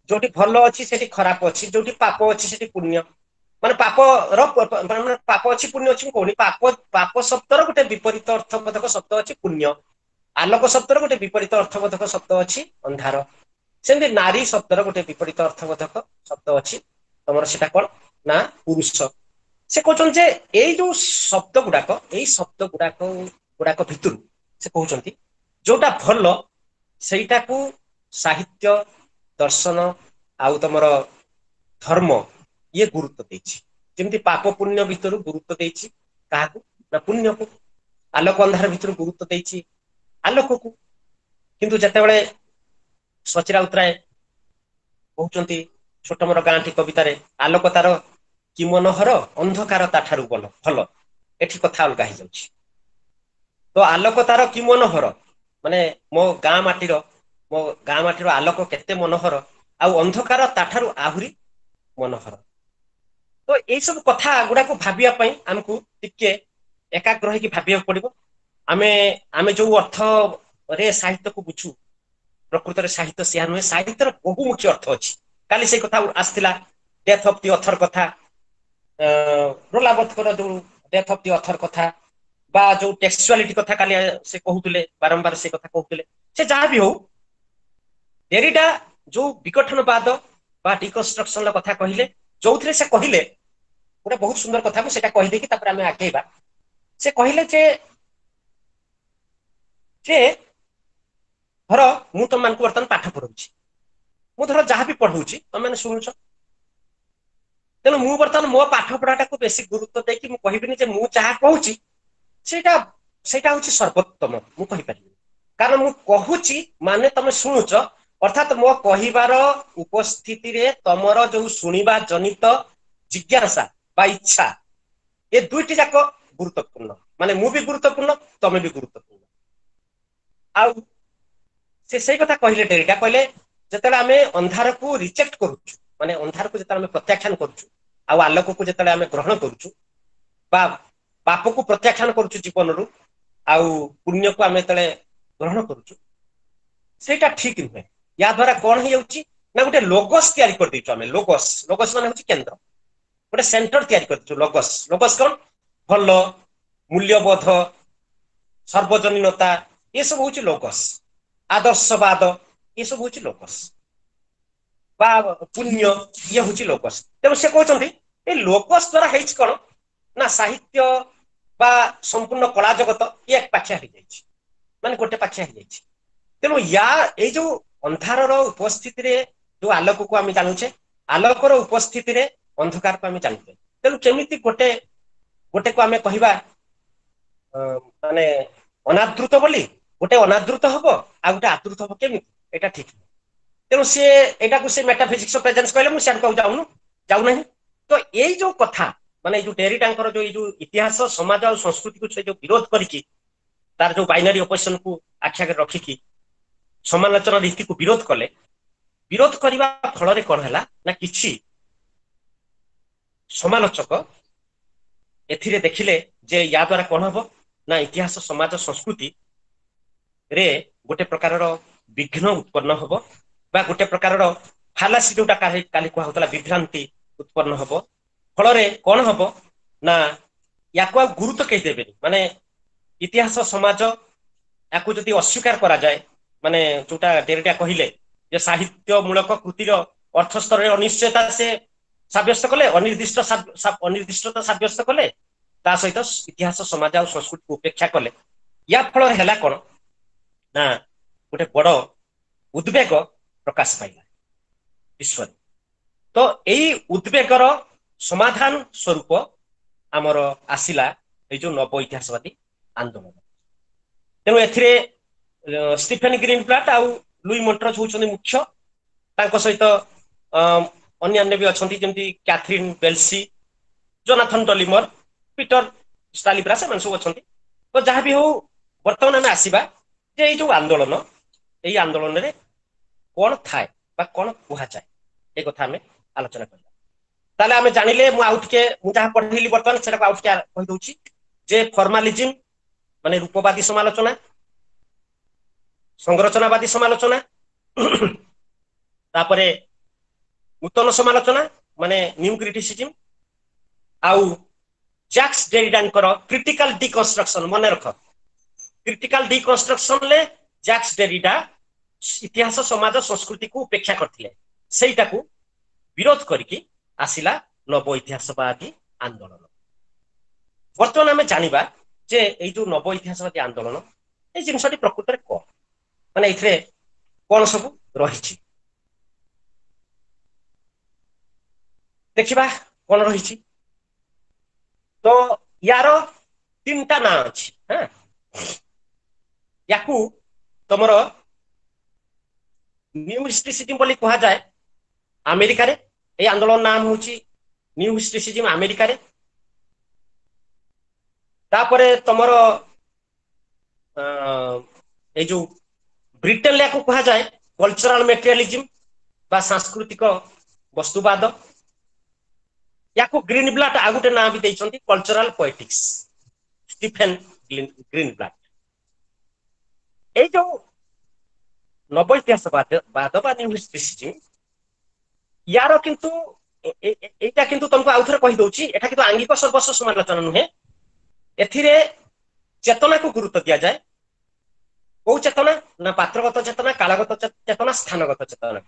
ଯୋଉଠି ଭଲ ଅଛି ସେଠି ଖରାପ ଅଛି, ଯୋଉଠି ପାପ ଅଛି ସେଠି ପୁଣ୍ୟ, ମାନେ ପାପର ମାନେ ପାପ ଅଛି ପୁଣ୍ୟ ଅଛି ମୁଁ କହୁନି, ପାପ ଶବ୍ଦର ଗୋଟେ ବିପରୀତ ଅର୍ଥବୋଧକ ଶବ୍ଦ ଅଛି ପୁଣ୍ୟ, ଆଲୋକ ଶବ୍ଦର ଗୋଟେ ବିପରୀତ ଅର୍ଥବୋଧକ ଶବ୍ଦ ଅଛି ଅନ୍ଧାର, ସେମିତି ନାରୀ ଶବ୍ଦର ଗୋଟେ ବିପରୀତ ଅର୍ଥବୋଧକ ଶବ୍ଦ ଅଛି ତମର ସେଟା କଣ ନା ପୁରୁଷ। ସେ କହୁଛନ୍ତି ଯେ ଏଇ ଯୋଉ ଶବ୍ଦ ଗୁଡାକ, ଏଇ ଶବ୍ଦ ଗୁଡାକ ଭିତରୁ ସେ କହୁଛନ୍ତି ଯୋଉଟା ଭଲ ସେଇଟାକୁ ସାହିତ୍ୟ ଦର୍ଶନ ଆଉ ତମର ଧର୍ମ ଇଏ ଗୁରୁତ୍ୱ ଦେଇଛି। ଯେମିତି ପାପ ପୁଣ୍ୟ ଭିତରୁ ଗୁରୁତ୍ୱ ଦେଇଛି କାହାକୁ ନା ପୁଣ୍ୟକୁ, ଆଲୋକ ଅନ୍ଧାର ଭିତରୁ ଗୁରୁତ୍ୱ ଦେଇଛି ଆଲୋକକୁ। କିନ୍ତୁ ଯେତେବେଳେ ସଚି ରାଉତରାୟ କହୁଛନ୍ତି ଛୋଟ ମୋର ଗାଁଟି କବିତାରେ, ଆଲୋକ ତାର କି ମନୋହର ଅନ୍ଧକାର ତା ଠାରୁ ଭଲ, ଏଠି କଥା ଅଲଗା ହେଇଯାଉଛି। ତ ଆଲୋକ ତାର କି ମନୋହର ମାନେ ମୋ ଗାଁ ମାଟିର ଆଲୋକ କେତେ ମନୋହର, ଆଉ ଅନ୍ଧକାର ତାଠାରୁ ଆହୁରି ମନୋହର। ତ ଏଇ ସବୁ କଥା ଗୁଡାକୁ ଭାବିବା ପାଇଁ ଆମକୁ ଟିକେ ଏକାଗ୍ର ହେଇକି ଭାବିବାକୁ ପଡିବ। ଆମେ ଯୋଉ ଅର୍ଥରେ ସାହିତ୍ୟକୁ ବୁଝୁ, ପ୍ରକୃତରେ ସାହିତ୍ୟ ସେୟା ନୁହେଁ, ସାହିତ୍ୟର ବହୁମୁଖୀ ଅର୍ଥ ଅଛି। କାଲି ସେଇ କଥା ଆସିଥିଲା ଡେଥ୍ ଅଫ୍ the ଅଥର କଥା, ରୋଲାବର୍ଥଙ୍କର ଯୋଉ ଡେଥ୍ ଅଫ୍ the ଅଥର କଥା ବା ଯୋଉ ଟେକ୍ସଚୁଆଲିଟି କଥା କାଲି ସେ କହୁଥିଲେ, ବାରମ୍ବାର ସେ କଥା କହୁଥିଲେ। ସେ ଯାହା ବି ହଉ, ଡେରିଡା ଯୋଉ ବିଗଠନବାଦ ବା ଡିକନଷ୍ଟ୍ରକ୍ସନର କଥା କହିଲେ, ଯୋଉଥିରେ ସେ କହିଲେ ଗୋଟେ ବହୁତ ସୁନ୍ଦର କଥା, ମୁଁ ସେଇଟା କହିଦେଇକି ତାପରେ ଆମେ ଆଗେଇବା। ସେ କହିଲେ ଯେ ଧର ମୁଁ ତମମାନଙ୍କୁ ବର୍ତ୍ତମାନ ପାଠ ପଢଉଛି, ମୁଁ ଧର ଯାହା ବି ପଢଉଛି ତମେମାନେ ଶୁଣୁଛ, ତେଣୁ ମୁଁ ବର୍ତ୍ତମାନ ମୋ ପାଠ ପଢାଟାକୁ ବେଶୀ ଗୁରୁତ୍ୱ ଦେଇକି ମୁଁ କହିବିନି ଯେ ମୁଁ ଯାହା କହୁଛି ସେଇଟା ହଉଛି ସର୍ବୋତ୍ତମ, ମୁଁ କହିପାରିବିନି। କାରଣ ମୁଁ କହୁଛି ମାନେ ତମେ ଶୁଣୁଛ, ଅର୍ଥାତ ମୋ କହିବାର ଉପସ୍ଥିତିରେ ତମର ଯୋଉ ଶୁଣିବା ଜନିତ ଜିଜ୍ଞାସା ବା ଇଚ୍ଛା, ଏ ଦୁଇଟି ଯାକ ଗୁରୁତ୍ୱପୂର୍ଣ୍ଣ। ମାନେ ମୁଁ ବି ଗୁରୁତ୍ୱପୂର୍ଣ୍ଣ, ତମେ ବି ଗୁରୁତ୍ୱପୂର୍ଣ୍ଣ। ଆଉ ସେ ସେଇ କଥା କହିଲେ ଡେରିଡା, କହିଲେ ଯେତେବେଳେ ଆମେ ଅନ୍ଧାରକୁ ରିଜେକ୍ଟ କରୁଛୁ, ମାନେ ଅନ୍ଧାରକୁ ଯେତେବେଳେ ଆମେ ପ୍ରତ୍ୟାଖ୍ୟାନ କରୁଛୁ ଆଉ ଆଲୋକକୁ ଯେତେବେଳେ ଆମେ ଗ୍ରହଣ କରୁଛୁ, ବା ପାପକୁ ପ୍ରତ୍ୟାଖ୍ୟାନ କରୁଛୁ ଜୀବନରୁ ଆଉ ପୁଣ୍ୟକୁ ଆମେ ଯେତେବେଳେ ଗ୍ରହଣ କରୁଛୁ, ସେଇଟା ଠିକ ନୁହେଁ। ୟା ଦ୍ୱାରା କଣ ହେଇଯାଉଛି ନା ଗୋଟେ ଲୋଗସ୍ ତିଆରି କରିଦେଇଛୁ ଆମେ। ଲୋଗସ୍ ମାନେ ହଉଛି କେନ୍ଦ୍ର, ଗୋଟେ ସେଣ୍ଟର ତିଆରି କରିଦେଇଛୁ। ଲୋଗସ୍ କଣ? ଭଲ, ମୂଲ୍ୟବୋଧ, ସର୍ବଜନୀନତା, ଏସବୁ ହଉଛି ଲୋଗସ୍। ଆଦର୍ଶବାଦ, ଏସବୁ ହଉଛି ଲୋଗସ୍, ବା ପୁଣ୍ୟ, ଇଏ ହଉଛି ଲୋଗସ୍। ତେଣୁ ସେ କହୁଛନ୍ତି ଏଇ ଲୋଗସ୍ ଦ୍ୱାରା ହେଇଛି କଣ ନା ସାହିତ୍ୟ ବା ସମ୍ପୂର୍ଣ୍ଣ କଳା ଜଗତ ଇଏ ଏକ ପାଖିଆ ହେଇଯାଇଛି, ମାନେ ଗୋଟେ ପାଖିଆ ହେଇଯାଇଛି। ତେଣୁ ଏଇ ଯୋଉ ଅନ୍ଧାରର ଉପସ୍ଥିତିରେ ଯୋଉ ଆଲୋକକୁ ଆମେ ଜାଣୁଛେ, ଆଲୋକର ଉପସ୍ଥିତିରେ ଅନ୍ଧକାରକୁ ଆମେ ଜାଣୁଛେ। ତେଣୁ କେମିତି ଗୋଟେକୁ ଆମେ କହିବା ମାନେ ଅନାଦୃତ ବୋଲି, ଗୋଟେ ଅନାଦୃତ ହବ ଆଉ ଗୋଟେ ଆଦୃତ ହବ କେମିତି? ଏଇଟା ଠିକ ନୁହେଁ। ତେଣୁ ସିଏ ଏଇଟାକୁ ସେ ମେଟାଫିଜିକ୍ସ ଅଫ ପ୍ରେଜେନ୍ସ କହିଲେ, ମୁଁ ସିଆଡ଼କୁ ଆଉ ଯାଉନାହିଁ। ତ ଏଇ ଯୋଉ କଥା, ମାନେ ଏଇ ଯୋଉ ଡେରିଡାଙ୍କର ଯୋଉ ଏଇ ଯୋଉ ଇତିହାସ, ସମାଜ ଆଉ ସଂସ୍କୃତିକୁ ସେ ଯୋଉ ବିରୋଧ କରିକି ତାର ଯୋଉ ବାଇନାରୀ ଅପୋଜିସନକୁ ଆଖି ଆଗରେ ରଖିକି ସମାଲୋଚନା ରୀତିକୁ ବିରୋଧ କଲେ, ବିରୋଧ କରିବା ଫଳରେ କଣ ହେଲା ନା କିଛି ସମାଲୋଚକ ଏଥିରେ ଦେଖିଲେ ଯେ ୟା ଦ୍ୱାରା କଣ ହବ ନା ଇତିହାସ, ସମାଜ, ସଂସ୍କୃତି ରେ ଗୋଟେ ପ୍ରକାରର ବିଘ୍ନ ଉତ୍ପନ୍ନ ହବ ବା ଗୋଟେ ପ୍ରକାରର ଫାଲାସି ଯୋଉଟା କାଲି କୁହାହଉଥିଲା ବିଭ୍ରାନ୍ତି ଉତ୍ପନ୍ନ ହବ। ଫଳରେ କଣ ହବ ନା ୟାକୁ ଆଉ ଗୁରୁତ୍ୱ କେହି ଦେବେନି। ମାନେ ଇତିହାସ, ସମାଜ ୟାକୁ ଯଦି ଅସ୍ୱୀକାର କରାଯାଏ, ମାନେ ଯୋଉଟା ଡେରିଡା କହିଲେ ଯେ ସାହିତ୍ୟ ମୂଳକ କୃତିର ଅର୍ଥ ସ୍ତରରେ ଅନିଶ୍ଚୟତା ସେ ସାବ୍ୟସ୍ତ କଲେ, ଅନିର୍ଦ୍ଦିଷ୍ଟତା ସାବ୍ୟସ୍ତ କଲେ, ତା ସହିତ ଇତିହାସ, ସମାଜ ଆଉ ସଂସ୍କୃତିକୁ ଉପେକ୍ଷା କଲେ। ୟା ଫଳରେ ହେଲା କଣ ନା ଗୋଟେ ବଡ ଉଦ୍ବେଗ ପ୍ରକାଶ ପାଇଲା ବିଶ୍ୱରେ। ତ ଏଇ ଉଦ୍ବେଗର ସମାଧାନ ସ୍ୱରୂପ ଆମର ଆସିଲା ଏଇ ଯୋଉ ନବ ଇତିହାସବାଦୀ ଆନ୍ଦୋଳନ। ତେଣୁ ଏଥିରେ ଷ୍ଟିଫେନ ଗ୍ରୀନବ୍ଲାଟ ଆଉ ଲୁଇ ମଣ୍ଟ୍ରଜ ହଉଛନ୍ତି ମୁଖ୍ୟ। ତାଙ୍କ ସହିତ ଅନ୍ୟାନ୍ୟ ବି ଅଛନ୍ତି, ଯେମିତି କ୍ୟାଥରିନ ବେଲସି, ଜୋନାଥନ ଡଲିମର, ପିଟର ଷ୍ଟାଲିବ୍ରା, ସେମାନେ ସବୁ ଅଛନ୍ତି। ତ ଯାହା ବି ହଉ, ବର୍ତ୍ତମାନ ଆମେ ଆସିବା ଯେ ଏଇ ଯୋଉ ଆନ୍ଦୋଳନ, ଏଇ ଆନ୍ଦୋଳନରେ କଣ ଥାଏ ବା କଣ କୁହାଯାଏ, ଏ କଥା ଆମେ ଆଲୋଚନା କରିବା। ତାହେଲେ ଆମେ ଜାଣିଲେ, ମୁଁ ଆଉ ଟିକେ, ମୁଁ ଯାହା ପଢେଇଲି ବର୍ତ୍ତମାନ ସେଟାକୁ ଆଉ ଟିକେ କହିଦଉଛି ଯେ ଫର୍ମାଲିଜିମ୍ ମାନେ ରୂପବାଦୀ ସମାଲୋଚନା, ସଂରଚନାବାଦୀ ସମାଲୋଚନା, ତାପରେ ନୂତନ ସମାଲୋଚନା ମାନେ ନ୍ୟୁ କ୍ରିଟିସିଜିମ୍, ଆଉ ଜ୍ୟାକ୍ସ ଡେରିଡାଙ୍କର କ୍ରିଟିକାଲ ଡିକନଷ୍ଟ୍ରକ୍ସନ। ମନେ ରଖ, କ୍ରିଟିକାଲ ଡିକନଷ୍ଟ୍ରକ୍ସନରେ ଜ୍ୟାକ୍ସ ଡେରିଡା ଇତିହାସ, ସମାଜ, ସଂସ୍କୃତିକୁ ଉପେକ୍ଷା କରିଥିଲେ, ସେଇଟାକୁ ବିରୋଧ କରିକି ଆସିଲା ନବ ଇତିହାସବାଦୀ ଆନ୍ଦୋଳନ। ବର୍ତ୍ତମାନ ଆମେ ଜାଣିବା ଯେ ଏଇ ଯୋଉ ନବ ଇତିହାସବାଦୀ ଆନ୍ଦୋଳନ, ଏଇ ଜିନିଷଟି ପ୍ରକୃତରେ କଣ, ମାନେ ଏଥିରେ କଣ ସବୁ ରହିଛି, ଦେଖିବା କଣ ରହିଛି। ତ ୟାର ତିନିଟା ନାଁ ଅଛି। ହଁ, ୟାକୁ ତମର ନ୍ୟୁ ହିଷ୍ଟ୍ରିସିଜିମ୍ ବୋଲି କୁହାଯାଏ ଆମେରିକାରେ। ଏଇ ଆନ୍ଦୋଳନ ନାମ ହଉଛି ନ୍ୟୁ ହିଷ୍ଟ୍ରିସିଜିମ୍ ଆମେରିକାରେ। ତାପରେ ତମର ଏଇ ଯୋଉ ବ୍ରିଟେନରେ ୟାକୁ କୁହାଯାଏ କଲଚରାଲ ମେଟେରିଆଲିଜିମ୍ ବା ସାଂସ୍କୃତିକ ବସ୍ତୁବାଦ। ୟାକୁ ଗ୍ରୀନବ୍ଲାଟ ଆଉ ଗୋଟେ ନାଁ ବି ଦେଇଛନ୍ତି, କଲଚରାଲ ପଏଟିକ୍ସ, ଷ୍ଟିଫେନ ଗ୍ରୀନବ୍ଲାଟ। ଏଇ ଯୋଉ ନବ ଇତିହାସବାଦ ବା ନ୍ୟୁ ହିଷ୍ଟ୍ରିସିଜିମ୍, ୟାର କିନ୍ତୁ ଏଇଟା କିନ୍ତୁ ତମକୁ ଆଉ ଥରେ କହିଦଉଛି, ଏଟା କିନ୍ତୁ ଆଙ୍ଗିକ ସର୍ବସ୍ୱ ସମାଲୋଚନା ନୁହେଁ। ଏଥିରେ ଚେତନାକୁ ଗୁରୁତ୍ୱ ଦିଆଯାଏ। କୋଉ ଚେତନା ନା ପାତ୍ରଗତ ଚେତନା, କାଳଗତ ଚେତନା, ସ୍ଥାନଗତ ଚେତନା।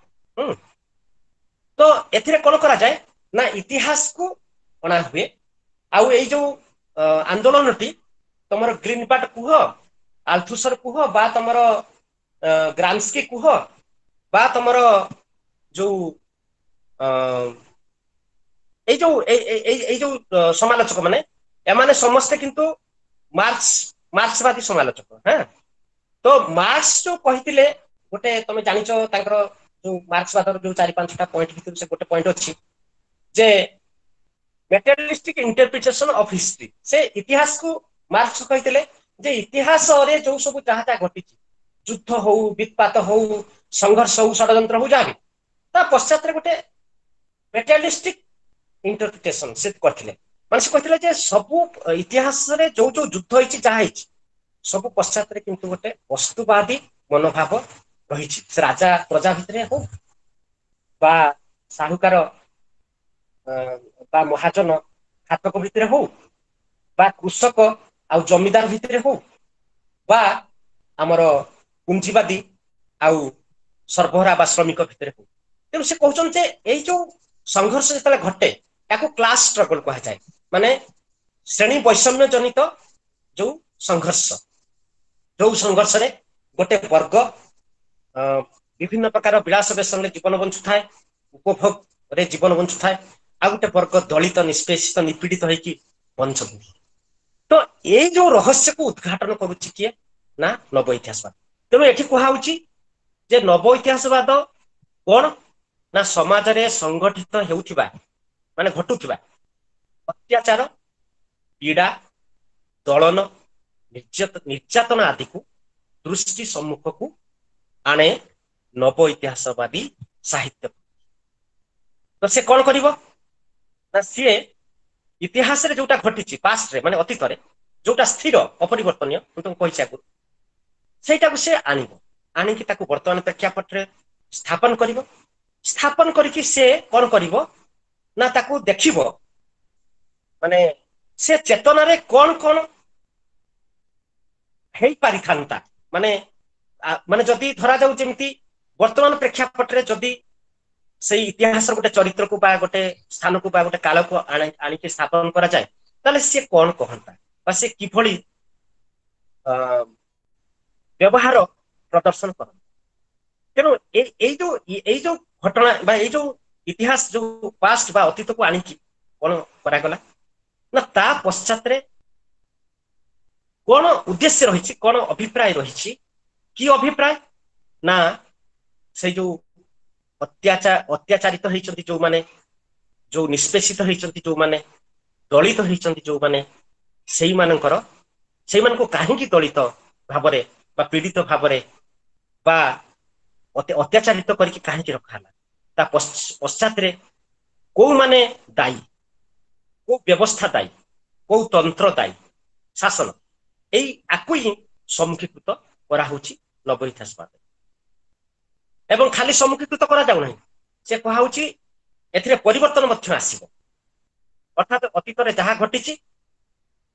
ତ ଏଥିରେ କଣ କରାଯାଏ ନା ଇତିହାସକୁ ଅଣା ହୁଏ। ଆଉ ଏଇ ଯୋଉ ଆନ୍ଦୋଳନଟି ତମର ଗ୍ରୀନବାଟ କୁହ, ଆଲଥୁସର କୁହ, ବା ତମର ଗ୍ରାମସ୍କି କୁହ, ବା ତମର ଯୋଉ ଏଇ ଯୋଉ ଏଇ ଯୋଉ ସମାଲୋଚକ ମାନେ, ଏମାନେ ସମସ୍ତେ କିନ୍ତୁ ମାର୍କ୍ସବାଦୀ ସମାଲୋଚକ। ହଁ, ତ ମାର୍କ୍ସ ଯୋଉ କହିଥିଲେ ଗୋଟେ, ତମେ ଜାଣିଛ ତାଙ୍କର ଯୋଉ ମାର୍କ୍ସବାଦର ଯୋଉ 4-5ଟା ପଏଣ୍ଟ ଭିତରୁ ସେ ଗୋଟେ ପଏଣ୍ଟ ଅଛି ଯେ ମେଟେରିଆଲିଷ୍ଟିକ ଇଣ୍ଟରପ୍ରିଟେସନ ଅଫ ହିଷ୍ଟ୍ରି। ସେ ଇତିହାସକୁ ମାର୍କ୍ସ କହିଥିଲେ ଯେ ଇତିହାସରେ ଯୋଉ ସବୁ ଯାହା ଯାହା ଘଟିଛି, ଯୁଦ୍ଧ ହଉ, ବିତ୍ପାତ ହଉ, ସଂଘର୍ଷ ହଉ, ଷଡଯନ୍ତ୍ର ହଉ, ଯାହା ବି, ତା ପଶ୍ଚାତରେ ଗୋଟେ ମେଟେରିଆଲିଷ୍ଟିକ ଇଣ୍ଟରପ୍ରିଟେସନ ସେ କରିଥିଲେ। ମାନେ ସେ କହିଥିଲେ ଯେ ସବୁ ଇତିହାସରେ ଯୋଉ ଯୋଉ ଯୁଦ୍ଧ ହେଇଛି, ଯାହା ହେଇଛି, ସବୁ ପଶ୍ଚାତରେ କିନ୍ତୁ ଗୋଟେ ବସ୍ତୁବାଦୀ ମନୋଭାବ ରହିଛି। ସେ ରାଜା ପ୍ରଜା ଭିତରେ ହଉ ବା ସାହୁକାର ବା ମହାଜନ ଖାତକ ଭିତରେ ହଉ ବା କୃଷକ ଆଉ ଜମିଦାର ଭିତରେ ହଉ ବା ଆମର ପୁଞ୍ଜିବାଦୀ ଆଉ ସର୍ବହରା ବା ଶ୍ରମିକ ଭିତରେ ହଉ। ତେଣୁ ସେ କହୁଛନ୍ତି ଯେ ଏଇ ଯୋଉ ସଂଘର୍ଷ ଯେତେବେଳେ ଘଟେ ତାକୁ କ୍ଲାସ ଷ୍ଟ୍ରଗଲ କୁହାଯାଏ, ମାନେ ଶ୍ରେଣୀ ବୈଷମ୍ୟ ଜନିତ ଯୋଉ ସଂଘର୍ଷ, ଯୋଉ ସଂଘର୍ଷରେ ଗୋଟେ ବର୍ଗ ବିଭିନ୍ନ ପ୍ରକାର ବିଳାସ ବ୍ୟସନରେ ଜୀବନ ବଞ୍ଚୁଥାଏ, ଉପଭୋଗରେ ଜୀବନ ବଞ୍ଚୁଥାଏ, ଆଉ ଗୋଟେ ବର୍ଗ ଦଳିତ, ନିଷ୍ପେଷିତ, ନିପୀଡ଼ିତ ହେଇକି ବଞ୍ଚନ୍ତି। ତ ଏଇ ଯୋଉ ରହସ୍ୟକୁ ଉଦ୍ଘାଟନ କରୁଛି କିଏ ନା ନବ ଇତିହାସବାଦ। ତେଣୁ ଏଠି କୁହାହଉଛି ଯେ ନବ ଇତିହାସବାଦ କଣ ନା ସମାଜରେ ସଂଗଠିତ ହେଉଥିବା ମାନେ ଘଟୁଥିବା ଅତ୍ୟାଚାର, ପୀଡ଼ା, ଦଳନ, ନିର୍ଯାତନା ଆଦିକୁ ଦୃଷ୍ଟି ସମ୍ମୁଖକୁ ଆଣେ ନବ ଇତିହାସବାଦୀ ସାହିତ୍ୟ। ତ ସେ କଣ କରିବ ନା ସିଏ ଇତିହାସରେ ଯୋଉଟା ଘଟିଛି ପାଷ୍ଟରେ, ମାନେ ଅତୀତରେ ଯୋଉଟା ସ୍ଥିର ଅପରିବର୍ତ୍ତନୀୟ, ମୁଁ ତମକୁ କହିଛି ଆଗରୁ, ସେଇଟାକୁ ସେ ଆଣିବ, ଆଣିକି ତାକୁ ବର୍ତ୍ତମାନ ପ୍ରେକ୍ଷାପଟରେ ସ୍ଥାପନ କରିବ। ସ୍ଥାପନ କରିକି ସେ କଣ କରିବ ନା ତାକୁ ଦେଖିବ, ମାନେ ସେ ଚେତନାରେ କଣ କଣ ହେଇପାରିଥାନ୍ତା। ମାନେ ମାନେ ଯଦି ଧରାଯାଉ ଯେମିତି ବର୍ତ୍ତମାନ ପ୍ରେକ୍ଷାପଟରେ ଯଦି ସେଇ ଇତିହାସର ଗୋଟେ ଚରିତ୍ରକୁ ବା ଗୋଟେ ସ୍ଥାନକୁ ବା ଗୋଟେ କାଳକୁ ଆଣିକି ସ୍ଥାପନ କରାଯାଏ, ତାହେଲେ ସିଏ କଣ କହନ୍ତା ବା ସେ କିଭଳି ବ୍ୟବହାର ପ୍ରଦର୍ଶନ କରନ୍ତା। ତେଣୁ ଏଇ ଯୋଉ ଘଟଣା ବା ଏଇ ଯୋଉ ଇତିହାସ ଯୋଉ ପାଷ୍ଟ ବା ଅତୀତକୁ ଆଣିକି କଣ କରାଗଲା ନା ତା ପଶ୍ଚାତରେ କଣ ଉଦ୍ଦେଶ୍ୟ ରହିଛି, କଣ ଅଭିପ୍ରାୟ ରହିଛି। କି ଅଭିପ୍ରାୟ ନା ସେଇ ଯୋଉ ଅତ୍ୟାଚାରିତ ହେଇଛନ୍ତି ଯୋଉମାନେ, ଯୋଉ ନିଷ୍ପେଷିତ ହେଇଛନ୍ତି ଯୋଉମାନେ, ଦଳିତ ହେଇଛନ୍ତି ଯୋଉମାନେ, ସେଇମାନଙ୍କୁ କାହିଁକି ଦଳିତ ଭାବରେ ବା ପୀଡ଼ିତ ଭାବରେ ବା ଅତ୍ୟାଚାରିତ କରିକି କାହିଁକି ରଖା ହେଲା, ତା ପଶ୍ଚାତରେ କୋଉମାନେ ଦାୟୀ, କୋଉ ବ୍ୟବସ୍ଥା ଦାୟୀ, କୋଉ ତନ୍ତ୍ର ଦାୟୀ, ଶାସନ, ଏଇ ଆକୁ ହିଁ ସମ୍ମୁଖୀକୃତ କରାହଉଛି ନବ ଇତିହାସବାଦ। ଏବଂ ଖାଲି ସମ୍ମୁଖୀକୃତ କରାଯାଉନାହିଁ, ସେ କୁହାହଉଛି ଏଥିରେ ପରିବର୍ତ୍ତନ ମଧ୍ୟ ଆସିବ। ଅର୍ଥାତ ଅତୀତରେ ଯାହା ଘଟିଛି,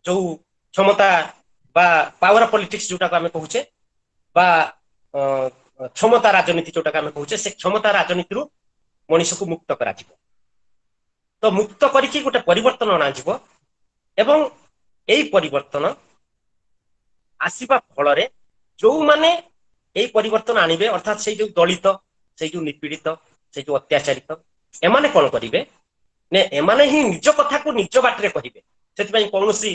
ଯୋଉ କ୍ଷମତା ବା ପାୱାର ପଲିଟିକ୍ସ ଯୋଉଟାକୁ ଆମେ କହୁଛେ ବା କ୍ଷମତା ରାଜନୀତି ଯୋଉଟାକୁ ଆମେ କହୁଛେ, ସେ କ୍ଷମତା ରାଜନୀତିରୁ ମଣିଷକୁ ମୁକ୍ତ କରାଯିବ। ତ ମୁକ୍ତ କରିକି ଗୋଟେ ପରିବର୍ତ୍ତନ ଅଣାଯିବ ଏବଂ ଏଇ ପରିବର୍ତ୍ତନ ଆସିବା ଫଳରେ ଯୋଉମାନେ ଏଇ ପରିବର୍ତ୍ତନ ଆଣିବେ, ଅର୍ଥାତ ସେଇ ଯୋଉ ଦଳିତ, ସେଇ ଯୋଉ ନିପୀଡ଼ିତ, ସେଇ ଯୋଉ ଅତ୍ୟାଚାରିତ, ଏମାନେ କଣ କରିବେ ନା ଏମାନେ ହିଁ ନିଜ କଥାକୁ ନିଜ ବାଟରେ କହିବେ। ସେଥିପାଇଁ କୌଣସି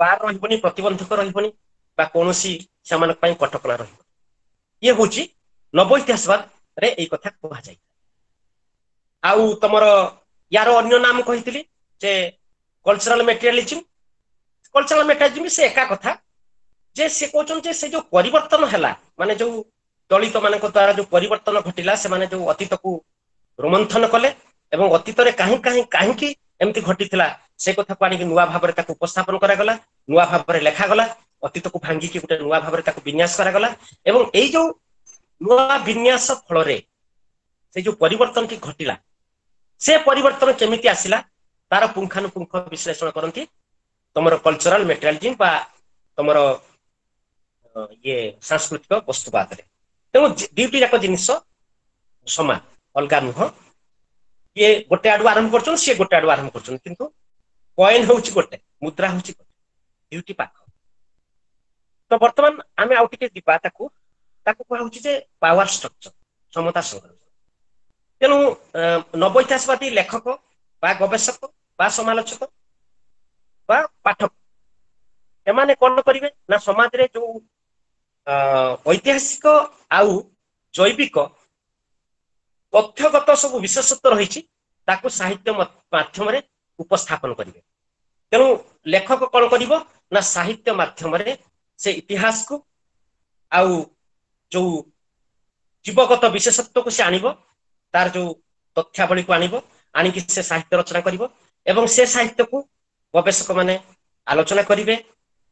ବାର ରହିବନି, ପ୍ରତିବନ୍ଧକ ରହିବନି ବା କୌଣସି ସେମାନଙ୍କ ପାଇଁ କଟକଣା ରହିବନି। ଇଏ ହଉଛି ନବ ଇତିହାସବାଦରେ ଏଇ କଥା କୁହାଯାଇଥାଏ। ଆଉ ତମର ୟାର ଅନ୍ୟ ନାମ କହିଥିଲି ଯେ କଲଚରାଲ ମେଟେରିଆଲିଜିମ। କଲଚରାଲ ମେଟେରିଆଲିଜିମ ସେ ଏକା କଥା ଯେ ସେ କହୁଛନ୍ତି ଯେ ସେ ଯୋଉ ପରିବର୍ତ୍ତନ ହେଲା, ମାନେ ଯୋଉ ଦଳିତ ମାନଙ୍କ ଦ୍ଵାରା ଯୋଉ ପରିବର୍ତ୍ତନ ଘଟିଲା, ସେମାନେ ଯୋଉ ଅତୀତକୁ ରୋମନ୍ଥନ କଲେ ଏବଂ ଅତୀତରେ କାହିଁ କାହିଁ କାହିଁକି ଏମିତି ଘଟିଥିଲା ସେ କଥାକୁ ଆଣିକି ନୂଆ ଭାବରେ ତାକୁ ଉପସ୍ଥାପନ କରାଗଲା, ନୂଆ ଭାବରେ ଲେଖାଗଲା, ଅତୀତକୁ ଭାଙ୍ଗିକି ଗୋଟେ ନୂଆ ଭାବରେ ତାକୁ ବିନ୍ୟାସ କରାଗଲା। ଏବଂ ଏଇ ଯୋଉ ନୂଆ ବିନ୍ୟାସ ଫଳରେ ସେ ଯୋଉ ପରିବର୍ତ୍ତନଟି ଘଟିଲା, ସେ ପରିବର୍ତ୍ତନ କେମିତି ଆସିଲା ତାର ପୁଙ୍ଖାନୁପୁଙ୍ଖ ବିଶ୍ଳେଷଣ କରନ୍ତି ତମର କଲଚରାଲ ମେଟେରିଆଲିଜିମ ବା ତମର ଇଏ ସାଂସ୍କୃତିକ ବସ୍ତୁବାଦରେ। ତେଣୁ ଦୁଇଟି ଯାକ ଜିନିଷ ସମାନ, ଅଲଗା ନୁହଁ। ଇଏ ଗୋଟେ ଆଡୁ ଆରମ୍ଭ କରୁଛନ୍ତି, ସିଏ ଗୋଟେ ଆଡୁ ଆରମ୍ଭ କରୁଛନ୍ତି, କିନ୍ତୁ କଏନ ହଉଛି ଗୋଟେ, ମୁଦ୍ରା ହଉଛି ଗୋଟେ, ଦୁଇଟି ପାଖ। ତ ବର୍ତ୍ତମାନ ଆମେ ଆଉ ଟିକେ ଯିବା, ତାକୁ ତାକୁ କୁହାହଉଛି ଯେ ପାୱାର ଷ୍ଟ୍ରକ୍ଚର, କ୍ଷମତା ସଂଗ୍ରହ। ତେଣୁ ନବ ଇତିହାସବାଦୀ ଲେଖକ ବା ଗବେଷକ ବା ସମାଲୋଚକ ବା ପାଠକ ଏମାନେ କଣ କରିବେ ନା ସମାଜରେ ଯୋଉ ଐତିହାସିକ ଆଉ ଜୈବିକ ତଥ୍ୟଗତ ସବୁ ବିଶେଷତ୍ୱ ରହିଛି ତାକୁ ସାହିତ୍ୟ ମାଧ୍ୟମରେ ଉପସ୍ଥାପନ କରିବେ। ତେଣୁ ଲେଖକ କଣ କରିବ ନା ସାହିତ୍ୟ ମାଧ୍ୟମରେ ସେ ଇତିହାସକୁ ଆଉ ଯୋଉ ଜୀବଗତ ବିଶେଷତ୍ୱକୁ ସେ ଆଣିବ, ତାର ଯୋଉ ତଥ୍ୟାବଳୀକୁ ଆଣିବ, ଆଣିକି ସେ ସାହିତ୍ୟ ରଚନା କରିବ ଏବଂ ସେ ସାହିତ୍ୟକୁ ଗବେଷକ ମାନେ ଆଲୋଚନା କରିବେ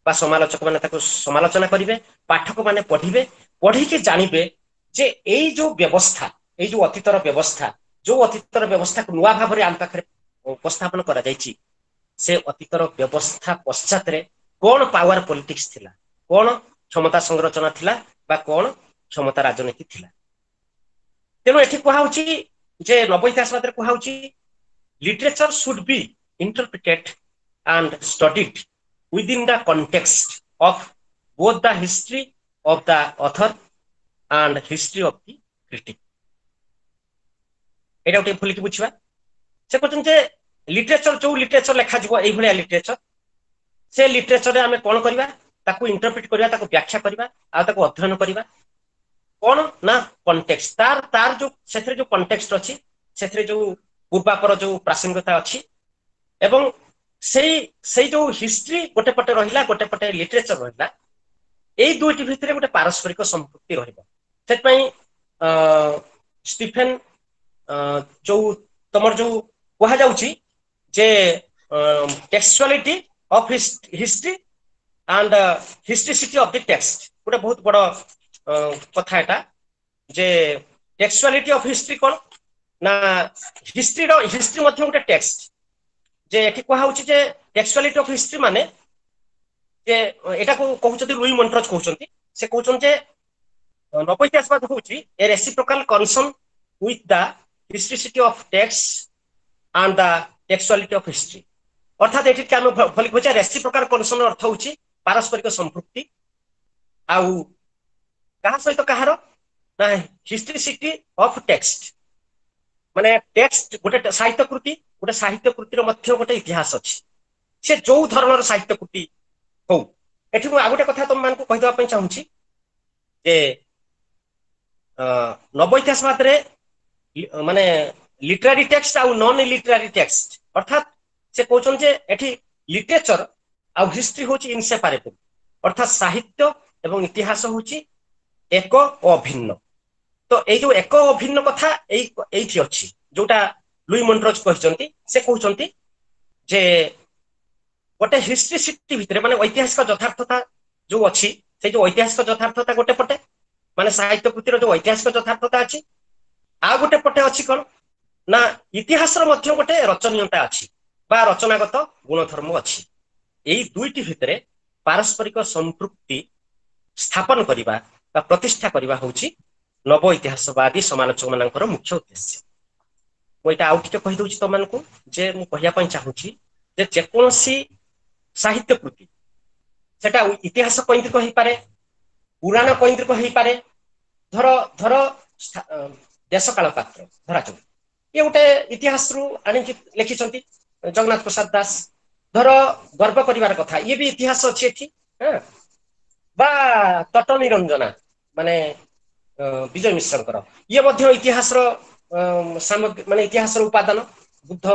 ବା ସମାଲୋଚକ ମାନେ ତାକୁ ସମାଲୋଚନା କରିବେ, ପାଠକ ମାନେ ପଢିବେ, ପଢିକି ଜାଣିବେ ଯେ ଏଇ ଯୋଉ ବ୍ୟବସ୍ଥା, ଏଇ ଯୋଉ ଅତୀତର ବ୍ୟବସ୍ଥା, ଯୋଉ ଅତୀତର ବ୍ୟବସ୍ଥାକୁ ନୂଆ ଭାବରେ ଆମ ପାଖରେ ଉପସ୍ଥାପନ କରାଯାଇଛି, ସେ ଅତୀତର ବ୍ୟବସ୍ଥା ପଶ୍ଚାତରେ କଣ ପାୱାର ପଲିଟିକ୍ସ ଥିଲା, କଣ କ୍ଷମତା ସଂରଚନା ଥିଲା ବା କଣ କ୍ଷମତା ରାଜନୀତି ଥିଲା। ତେଣୁ ଏଠି କୁହାହଉଛି ଯେ ନବ ଇତିହାସବାଦରେ କୁହାହଉଛି literature should be interpreted and studied within the context of both the history of the author and history of the critic. ଏଇଟା ଟିକେ ଖୋଲିକି ବୁଝିବା। ସେ କହୁଛନ୍ତି ଯେ ଲିଟରେଚର, ଯୋଉ ଲିଟରେଚର ଲେଖାଯିବ ଏଇଭଳିଆ ଲିଟରେଚର, ସେ ଲିଟରେଚରରେ ଆମେ କଣ କରିବା? ତାକୁ ଇଣ୍ଟରପ୍ରିଟ କରିବା, ତାକୁ ବ୍ୟାଖ୍ୟା କରିବା ଆଉ ତାକୁ ଅଧ୍ୟୟନ କରିବା। କଣ ନା କଣ୍ଟେକ୍ସଟ, ତାର ତାର ଯୋଉ ସେଥିରେ ଯୋଉ କଣ୍ଟେକ୍ସଟ ଅଛି, ସେଥିରେ ଯୋଉ ପୂର୍ବାପର ଯୋଉ ପ୍ରାସଙ୍ଗିକତା ଅଛି, ଏବଂ ସେଇ ସେଇ ଯୋଉ ହିଷ୍ଟ୍ରି ଗୋଟେ ପଟେ ରହିଲା, ଗୋଟେ ପଟେ ଲିଟରେଚର ରହିଲା, ଏଇ ଦୁଇଟି ଭିତରେ ଗୋଟେ ପାରସ୍ପରିକ ସମ୍ପୃକ୍ତି ରହିବ। ସେଥିପାଇଁ ଷ୍ଟିଫେନ ଯୋଉ ତମର ଯୋଉ କୁହାଯାଉଛି ଯେ textuality of history and historicity of the text, ଗୋଟେ ବହୁତ ବଡ କଥା ଏଟା, ଯେ ଟେକ୍ସଚୁଆଲିଟି ଅଫ ହିଷ୍ଟ୍ରି କଣ ନା ହିଷ୍ଟ୍ରିର ହିଷ୍ଟ୍ରି ମଧ୍ୟ ଗୋଟେ ଟେକ୍ସଟ। ଯେ ଏଠି କୁହାହଉଛି ଯେ ଟେକ୍ସଚୁଆଲିଟି ଅଫ ହିଷ୍ଟ୍ରି ମାନେ ଯେ ଏଟାକୁ କହୁଛନ୍ତି ଲୁଇ ମଣ୍ଟ୍ରଜ କହୁଛନ୍ତି, ସେ କହୁଛନ୍ତି ଯେ ନବ ଇତିହାସବାଦ ହଉଛି a reciprocal concern with the historicity of text and the textuality of history. ଅର୍ଥାତ ଏଠି ଆମେ ଭଲ କହୁଛେ, ରେସିପ୍ରୋକାଲ କନସର୍ନ ଅର୍ଥ ହଉଛି ପାରସ୍ପରିକ ସମ୍ପୃକ୍ତି, ଆଉ କାହା ସହିତ କାହାର ନା ହିଷ୍ଟ୍ରିସିଟି ଅଫ ଟେକ୍ସଟ, ମାନେ ଟେକ୍ସଟ ଗୋଟେ ସାହିତ୍ୟ କୃତି, ଗୋଟେ ସାହିତ୍ୟ କୃତିର ମଧ୍ୟ ଗୋଟେ ଇତିହାସ ଅଛି, ସେ ଯୋଉ ଧରଣର ସାହିତ୍ୟ କୃତି ହଉ। ଏଠି ମୁଁ ଆଉ ଗୋଟେ କଥା ତମମାନଙ୍କୁ କହିଦେବା ପାଇଁ ଚାହୁଁଛି ଯେ ନବ ଇତିହାସବାଦରେ ମାନେ ଲିଟରାରୀ ଟେକ୍ସଟ ଆଉ ନନ୍ ଲିଟରାରୀ ଟେକ୍ସଟ, ଅର୍ଥାତ ସେ କହୁଛନ୍ତି ଯେ ଏଠି ଲିଟରେଚର ଆଉ ହିଷ୍ଟ୍ରି ହଉଛି ଇନସେପାରେବଲ, ଅର୍ଥାତ ସାହିତ୍ୟ ଏବଂ ଇତିହାସ ହଉଛି ଏକ ଓ ଅଭିନ୍ନ। ତ ଏଇ ଯୋଉ ଏକ ଅଭିନ୍ନ କଥା ଏଇଠି ଅଛି, ଯୋଉଟା ଲୁଇ ମଣ୍ଟ୍ରଜ କହିଛନ୍ତି, ସେ କହୁଛନ୍ତି ଯେ ଗୋଟେ ହିଷ୍ଟ୍ରିସିଟି ଭିତରେ ମାନେ ଐତିହାସିକ ଯଥାର୍ଥତା ଯୋଉ ଅଛି, ସେଇ ଯୋଉ ଐତିହାସିକ ଯଥାର୍ଥତା ଗୋଟେ ପଟେ, ମାନେ ସାହିତ୍ୟ କୃତିର ଯୋଉ ଐତିହାସିକ ଯଥାର୍ଥତା ଅଛି, ଆଉ ଗୋଟେ ପଟେ ଅଛି କଣ ନା ଇତିହାସର ମଧ୍ୟ ଗୋଟେ ରଚନୀୟତା ଅଛି ବା ରଚନାଗତ ଗୁଣଧର୍ମ ଅଛି। ଏଇ ଦୁଇଟି ଭିତରେ ପାରସ୍ପରିକ ସମ୍ପୃକ୍ତି ସ୍ଥାପନ କରିବା ବା ପ୍ରତିଷ୍ଠା କରିବା ହଉଛି ନବ ଇତିହାସବାଦୀ ସମାଲୋଚକ ମାନଙ୍କର ମୁଖ୍ୟ ଉଦ୍ଦେଶ୍ୟ। ମୁଁ ଏଇଟା ଆଉ ଟିକେ କହିଦଉଛି ତମମାନଙ୍କୁ ଯେ ମୁଁ କହିବା ପାଇଁ ଚାହୁଁଛି ଯେ ଯେକୌଣସି ସାହିତ୍ୟ କୃତି, ସେଟା ଇତିହାସ କୈନ୍ଦ୍ରିକ ହେଇପାରେ, ପୁରାଣ କୈନ୍ଦ୍ରିକ ହେଇପାରେ, ଧର ଧର ଦେଶକାଳ ପାତ୍ର ଧରାଯାଉ, ଇଏ ଗୋଟେ ଇତିହାସରୁ ଆଣିକି ଲେଖିଛନ୍ତି ଜଗନ୍ନାଥ ପ୍ରସାଦ ଦାସ। ଧର ଗର୍ବ କରିବାର କଥା, ଇଏ ବି ଇତିହାସ ଅଛି ଏଠି, ବା ତଟ ନିରଞ୍ଜନା ମାନେ ବିଜୟ ମିଶ୍ରଙ୍କର, ଇଏ ମଧ୍ୟ ଇତିହାସର ସାମଗ୍ରୀ, ମାନେ ଇତିହାସର ଉପାଦାନ, ବୁଦ୍ଧ,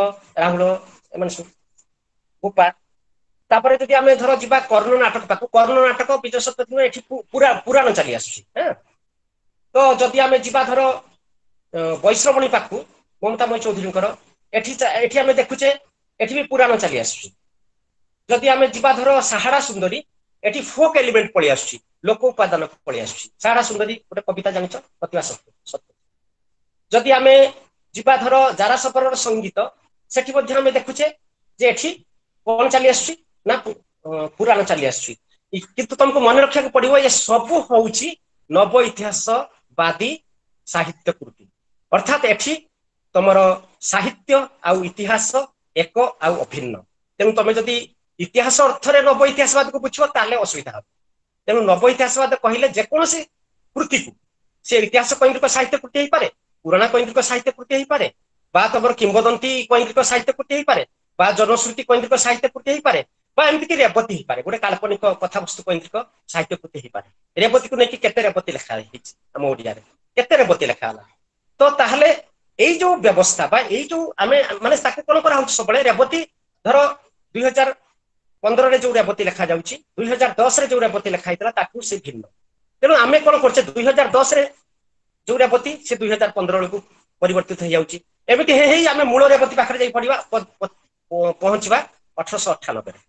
ରାହୁଳ ଏମାନେ ସବୁ ଗୋପା। ତାପରେ ଯଦି ଆମେ ଧର ଯିବା କର୍ଣ୍ଣ ନାଟକ ପାଖକୁ, କର୍ଣ୍ଣ ନାଟକ ବିଜୟ ଶତପଥୀ ଏଠି ପୁରା ପୁରାଣ ଚାଲି ଆସୁଛି। ତ ଯଦି ଆମେ ଯିବା ଧର ବୈଶ୍ରବଣୀ ପାଖକୁ, ମମତାମୟୀ ଚୌଧୁରୀଙ୍କର, ଏଠି ଏଠି ଆମେ ଦେଖୁଛେ ଏଠି ବି ପୁରାଣ ଚାଲି ଆସୁଛି। ଯଦି ଆମେ ଯିବା ଧର ସାହାରା ସୁନ୍ଦରୀ, ଏଠି ଫୋକ୍ ଏଲିମେଣ୍ଟ ପଳେଇ ଆସୁଛି, ଲୋକ ଉପାଦାନ ପଳେଇ ଆସୁଛି। ସାହାରା ସୁନ୍ଦରୀ ଗୋଟେ କବିତା ଜାଣିଛ, ପ୍ରତିଭା ସତ୍ୟ। ଯଦି ଆମେ ଯିବା ଧର ଜାରାସପରର ସଙ୍ଗୀତ, ସେଠି ମଧ୍ୟ ଆମେ ଦେଖୁଛେ ଯେ ଏଠି କଣ ଚାଲି ଆସୁଛି ନା ପୁରାଣ ଚାଲି ଆସୁଛି। କିନ୍ତୁ ତମକୁ ମନେ ରଖିବାକୁ ପଡିବ ଏ ସବୁ ହଉଛି ନବ ଇତିହାସବାଦୀ ସାହିତ୍ୟ କୃତି, ଅର୍ଥାତ ଏଠି ତମର ସାହିତ୍ୟ ଆଉ ଇତିହାସ ଏକ ଆଉ ଅଭିନ୍ନ। ତେଣୁ ତମେ ଯଦି ଇତିହାସ ଅର୍ଥରେ ନବ ଇତିହାସବାଦକୁ ବୁଝିବ ତାହେଲେ ଅସୁବିଧା ହବ। ତେଣୁ ନବ ଇତିହାସବାଦ କହିଲେ ଯେକୌଣସି କୃତିକୁ, ସେ ଇତିହାସ କୈନ୍ଦ୍ରିକ ସାହିତ୍ୟ କୃତି ହେଇପାରେ, ପୁରାଣ କୈନ୍ଦ୍ରିକ ସାହିତ୍ୟ କୃତି ହେଇପାରେ, ବା ତମର କିମ୍ବଦନ୍ତୀ କୈନ୍ଦ୍ରିକ ସାହିତ୍ୟ କୃତି ହେଇପାରେ, ବା ଜନଶ୍ରୁତି କୈନ୍ଦ୍ରିକ ସାହିତ୍ୟ କୃତି ହେଇପାରେ, ବା ଏମିତିକି ରେବତୀ ହେଇପାରେ, ଗୋଟେ କାଳ୍ପନିକ କଥାବସ୍ତୁ କୈନ୍ଦ୍ରିକ ସାହିତ୍ୟ କୃତି ହେଇପାରେ। ରେବତୀକୁ ନେଇକି କେତେ ରେବତୀ ଲେଖା ହେଇଛି ଆମ ଓଡିଆରେ, କେତେ ରେବତୀ ଲେଖା ହେଲା। ତ ତାହେଲେ ଏଇ ଯୋଉ ବ୍ୟବସ୍ଥା ବା ଏଇ ଯୋଉ ଆମେ ମାନେ ତାକୁ କଣ କରାହଉଛି ସବୁବେଳେ, ରେବତୀ ଧର 2015ରେ ଯୋଉ ରେବତୀ ଲେଖାଯାଉଛି, 2010ରେ ଯୋଉ ରେବତୀ ଲେଖା ହେଇଥିଲା ତାକୁ ସେ ଭିନ୍ନ। ତେଣୁ ଆମେ କଣ କରୁଛେ, 2010ରେ ଯୋଉ ରେବତୀ ସେ 2015 ବେଳକୁ ପରିବର୍ତ୍ତିତ ହେଇଯାଉଛି। ଏମିତି ହେଇ ହେଇ ଆମେ ମୂଳ ରେବତୀ ପାଖରେ ଯାଇ ପଡିବା, ପହଞ୍ଚିବା 1898ରେ।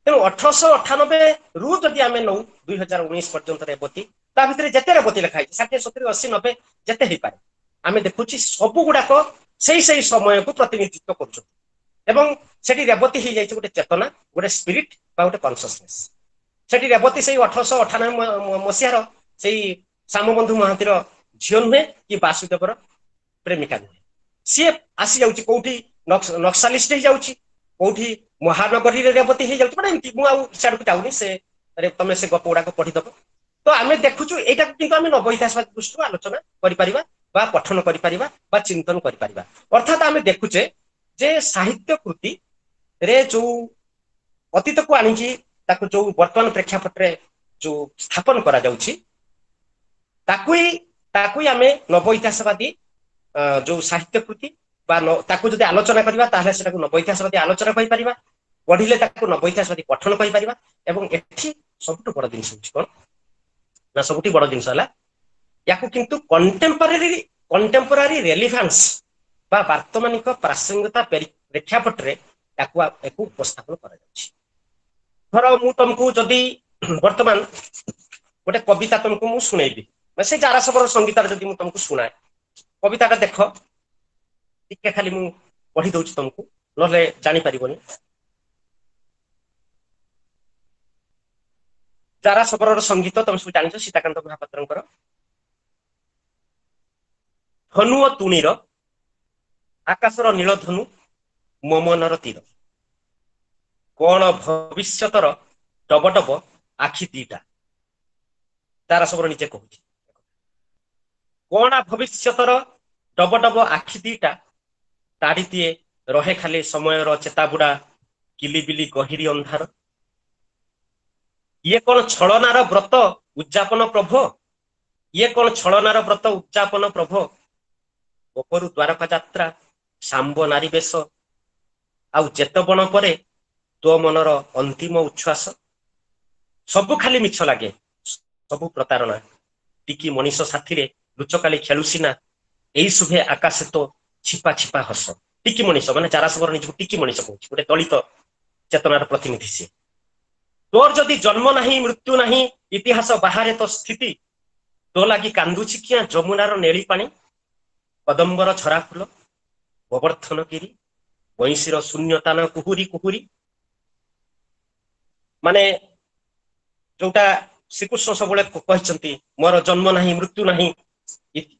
ତେଣୁ 1898 ରୁ ଯଦି ଆମେ ନଉ 2019 ପର୍ଯ୍ୟନ୍ତ ରେବତୀ, ତା ଭିତରେ ଯେତେ ରେବତୀ ଲେଖା ହେଇଛି, 60, 70, 80, 90 ଯେତେ ହେଇପାରେ, ଆମେ ଦେଖୁଛି ସବୁ ଗୁଡାକ ସେଇ ସେଇ ସମୟକୁ ପ୍ରତିନିଧିତ୍ୱ କରୁଛନ୍ତି। ଏବଂ ସେଠି ରେବତୀ ହେଇଯାଇଛି ଗୋଟେ ଚେତନା, ଗୋଟେ ସ୍ପିରିଟ ବା ଗୋଟେ କନସିୟସନେସ। ସେଠି ରେବତୀ ସେଇ 1898 ମସିହାର ସେଇ ଶ୍ୟାମବନ୍ଧୁ ମହାନ୍ତିର ଝିଅ ନୁହେଁ କି ବାସୁଦେବର ପ୍ରେମିକା ନୁହେଁ। ସିଏ ଆସିଯାଉଛି କୋଉଠି ନକ୍ସାଲିଷ୍ଟ ହେଇଯାଉଛି, କୋଉଠି ମହାନଗରୀରେ ରେବତୀ ହେଇଯାଉଛି। ମାନେ ଏମିତି ମୁଁ ଆଉ ସିଆଡକୁ ଯାଉନି, ସେ ତମେ ସେ ଗପ ଗୁଡାକ ପଢିଦବ। ତ ଆମେ ଦେଖୁଛୁ ଏଇଟାକୁ କିନ୍ତୁ ଆମେ ନବ ଇତିହାସବାଦୀ ଦୃଷ୍ଟିରୁ ଆଲୋଚନା କରିପାରିବା ବା ପଠନ କରିପାରିବା ବା ଚିନ୍ତନ କରିପାରିବା। ଅର୍ଥାତ ଆମେ ଦେଖୁଛେ ଯେ ସାହିତ୍ୟ କୃତିରେ ଯୋଉ ଅତୀତକୁ ଆଣିକି ତାକୁ ଯୋଉ ବର୍ତ୍ତମାନ ପ୍ରେକ୍ଷାପଟରେ ଯୋଉ ସ୍ଥାପନ କରାଯାଉଛି, ତାକୁ ହିଁ ତାକୁ ହିଁ ଆମେ ନବ ଇତିହାସବାଦୀ ଯୋଉ ସାହିତ୍ୟ କୃତି ବା ତାକୁ ଯଦି ଆଲୋଚନା କରିବା ତାହେଲେ ସେଟାକୁ ନବ ଇତିହାସବାଦୀ ଆଲୋଚନା କହିପାରିବା, ପଢିଲେ ତାକୁ ନବ ଇତିହାସବାଦୀ ପଠନ କହିପାରିବା। ଏବଂ ଏଠି ସବୁଠୁ ବଡ ଜିନିଷ ହଉଛି କଣ ନା, ସବୁଠୁ ବଡ ଜିନିଷ ହେଲା ୟାକୁ କିନ୍ତୁ କଣ୍ଟେମ୍ପୋରାରୀ ରେଲିଭାନ୍ସ ବା ବର୍ତ୍ତମାନିକ ପ୍ରାସଙ୍ଗିକତା ପ୍ରେକ୍ଷାପଟରେ ୟାକୁ ଉପସ୍ଥାପନ କରାଯାଉଛି। ଧର ମୁଁ ତମକୁ ଯଦି ବର୍ତ୍ତମାନ ଗୋଟେ କବିତା ତମକୁ ମୁଁ ଶୁଣେଇବି, ସେ ଜାରାସବର ସଙ୍ଗୀତରେ ଯଦି ମୁଁ ତମକୁ ଶୁଣାଏ କବିତାଟା, ଦେଖ ଟିକେ ଖାଲି ମୁଁ ପଢି ଦଉଛି ତମକୁ, ନହେଲେ ଜାଣିପାରିବନି। ଜାରାସବରର ସଙ୍ଗୀତ ତମେ ସବୁ ଜାଣିଛ, ସୀତାକାନ୍ତ ମହାପାତ୍ରଙ୍କର। ଧନୁ ଓ ତୁଣୀର, ଆକାଶର ନୀଳ ଧନୁ ମୋ ମନର ତୀର, କଣ ଭବିଷ୍ୟତର ଡବ ଡବ ଆଖି ଦିଟା। ଜାରାସବର ନିଜେ କହୁଛି, କଣ ଭବିଷ୍ୟତର ଡବ ଡବ ଆଖି ଦିଟା, ତାଡ଼ି ଦିଏ ରହେ ଖାଲି ସମୟର ଚେତାବୁଡା କିଲିବିଲି ଗହିରୀ ଅନ୍ଧାର। ଇଏ କଣ ଛଳନାର ବ୍ରତ ଉଦଯାପନ ପ୍ରଭୋ, ଇଏ କଣ ଛଳନାର ବ୍ରତ ଉଦଯାପନ ପ୍ରଭୋ, ଗୋପରୁ ଦ୍ୱାରକା ଯାତ୍ରା ଶାମ୍ବ ନାରୀ ବେଶ, ଆଉ ଜେତବଣ ପରେ ତୋ ମନର ଅନ୍ତିମ ଉଚ୍ଛ୍ୱାସ। ସବୁ ଖାଲି ମିଛ ଲାଗେ, ସବୁ ପ୍ରତାରଣା, ଟିକି ମଣିଷ ସାଥିରେ ଲୁଚକାଳି ଖେଳୁ ସିନା, ଏଇ ଶୁଭେ ଆକାଶେ ତୋ ଛିପା ଛିପା ହସ। ଟିକି ମଣିଷ ମାନେ ଜାରାସବର ନିଜକୁ ଟିକି ମଣିଷ କହୁଛି, ଗୋଟେ ଦଳିତ ଚେତନାର ପ୍ରତିନିଧି ସିଏ। ତୋର ଯଦି ଜନ୍ମ ନାହିଁ ମୃତ୍ୟୁ ନାହିଁ, ଇତିହାସ ବାହାରେ ତୋ ସ୍ଥିତି, ତୋ ଲାଗି କାନ୍ଦୁଛି କିଆଁ ଯମୁନାର ନେଳି ପାଣି, କଦମ୍ବର ଝରା ଫୁଲ, ଗୋବର୍ଦ୍ଧନ ଗିରି, ବଇଁଶୀର ଶୂନ୍ୟତାନ କୁହୁରି କୁହୁରି। ମାନେ ଯୋଉଟା ଶ୍ରୀକୃଷ୍ଣ ସବୁବେଳେ କହିଛନ୍ତି, ମୋର ଜନ୍ମ ନାହିଁ ମୃତ୍ୟୁ ନାହିଁ,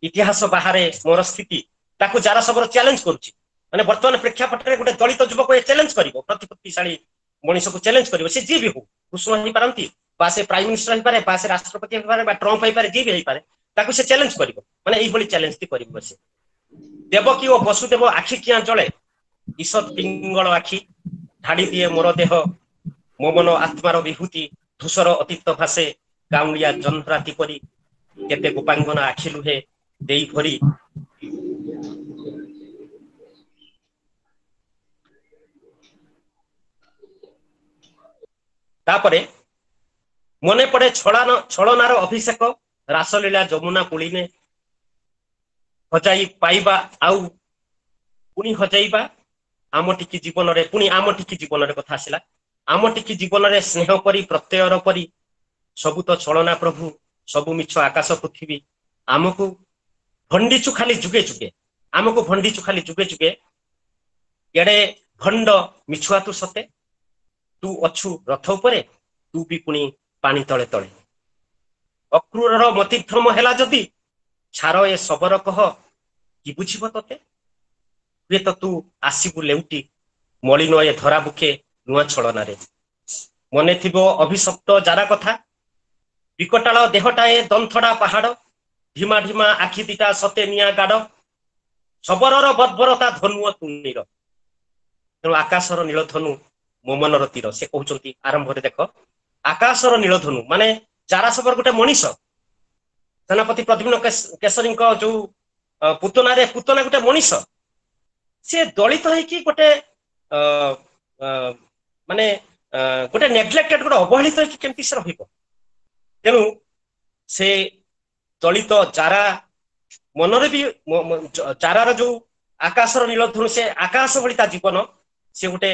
ଇତିହାସ ବାହାରେ ମୋର ସ୍ଥିତି, ତାକୁ ଜାରାସବର ଚ୍ୟାଲେଞ୍ଜ କରୁଛି। ମାନେ ବର୍ତ୍ତମାନ ପ୍ରେକ୍ଷାପଟରେ ଗୋଟେ ଦଳିତ ଯୁବକ ଏ ଚ୍ୟାଲେଞ୍ଜ କରିବ, ପ୍ରତିପତ୍ତିଶାଳୀ ମଣିଷକୁ ଚ୍ୟାଲେଞ୍ଜ କରିବ, ସେ ଯିଏ ବି ହଉ, କୃଷ୍ଣ ହେଇପାରନ୍ତି ବା ସେ ପ୍ରାଇମ ମିନିଷ୍ଟର ହେଇପାରେ ବା ସେ ରାଷ୍ଟ୍ରପତି ହେଇପାରେ ବା ଟ୍ରମ୍ପ ହେଇପାରେ, ଯିଏ ବି ହେଇପାରେ ତାକୁ ସେ ଚ୍ୟାଲେଞ୍ଜ କରିବ। ମାନେ ଏଇଭଳି ଚ୍ୟାଲେଞ୍ଜ କରିବ ସେ। ଦେବକୀ ଓ ବସୁଦେବ ଆଖି କିଆଁ ଜଳେ, ଈଷତ୍ ପିଙ୍ଗଳ ଆଖି, ଢାଳି ଦିଏ ମୋର ଦେହ, ମୋ ମନ ଆତ୍ମାର ବିଭୂତି, ଧୂସର ଅତୀତ ଭାସେ ଗାଉଁଳିଆ ଜହ୍ନରାତି ପରି, କେତେ ଗୋପାଙ୍ଗନା ଆଖି ଲୁହେ ଦେଇ ଭରି। ତାପରେ ମନେ ପଡେ ଛଳନାର ଅଭିଷେକ, ରାସଲୀଳା ଯମୁନା ପୁଳିନେ, ହଜାଇ ପାଇବା ଆଉ ପୁଣି ହଜାଇବା, ଆମ ଟିକି ଜୀବନରେ, ପୁଣି ଆମ ଟିକି ଜୀବନରେ କଥା ଆସିଲା, ଆମ ଟିକି ଜୀବନରେ ସ୍ନେହ ପରି ପ୍ରତ୍ୟୟର ପରି, ସବୁ ତ ଛଳନା ପ୍ରଭୁ, ସବୁ ମିଛ ଆକାଶ ପୃଥିବୀ, ଆମକୁ ଭଣ୍ଡିଛୁ ଖାଲି ଯୁଗେ ଯୁଗେ, ଆମକୁ ଭଣ୍ଡିଛୁ ଖାଲି ଯୁଗେ ଯୁଗେ, ଏଡେ ଭଣ୍ଡ ମିଛୁଆ ତୁ ସତେ, ତୁ ଅଛୁ ରଥ ଉପରେ, ତୁ ବି ପୁଣି ପାଣି ତଳେ ତଳେ। ଅକ୍ରୂରର ମତିଭ୍ରମ ହେଲା ଯଦି, ଛାର ଏ ଶବର କହ କି ବୁଝିବ ତତେ, ହୁଏତ ତୁ ଆସିବୁ ଲେଉଟି, ମଳିନ ଏ ଧରା ବୁକେ ନୂଆ ଛଳନାରେ। ମନେ ଥିବ ଅଭିଶପ୍ତ ଯାରା କଥା, ବିକଟାଳ ଦେହଟାଏ ଦନ୍ଥଡା ପାହାଡ, ଢିମା ଢିମା ଆଖି ଦିଟା ସତେ ନିଆଁ ଗାଡ, ଶବରର ବର୍ବରତା ଧନୁ ଓ ତୁଣୀର। ତେଣୁ ଆକାଶର ନୀଳଧନୁ ମୋ ମନର ତୀର। ସେ କହୁଛନ୍ତି ଆରମ୍ଭରେ ଦେଖ, ଆକାଶର ନୀଳଧନୁ ମାନେ ଜାରାସବର ଗୋଟେ ମଣିଷ, ସେନାପତି ପ୍ରଦ୍ୟୁମ୍ନ କେଶରୀଙ୍କ ଯୋଉ ପୁତନାରେ, ପୁତନା ଗୋଟେ ମଣିଷ, ସେ ଦଳିତ ହେଇକି ଗୋଟେ ମାନେ ଗୋଟେ ନେଗ୍ଲେକ୍ଟେଡ, ଗୋଟେ ଅବହେଳିତ ହେଇକି କେମିତି ସେ ରହିବ। ତେଣୁ ସେ ଦଳିତ ଜାରା ମନରେ ବି ଜାରାର ଯୋଉ ଆକାଶର ନୀଳଧନୁ, ସେ ଆକାଶ ଭଳି ତା ଜୀବନ, ସେ ଗୋଟେ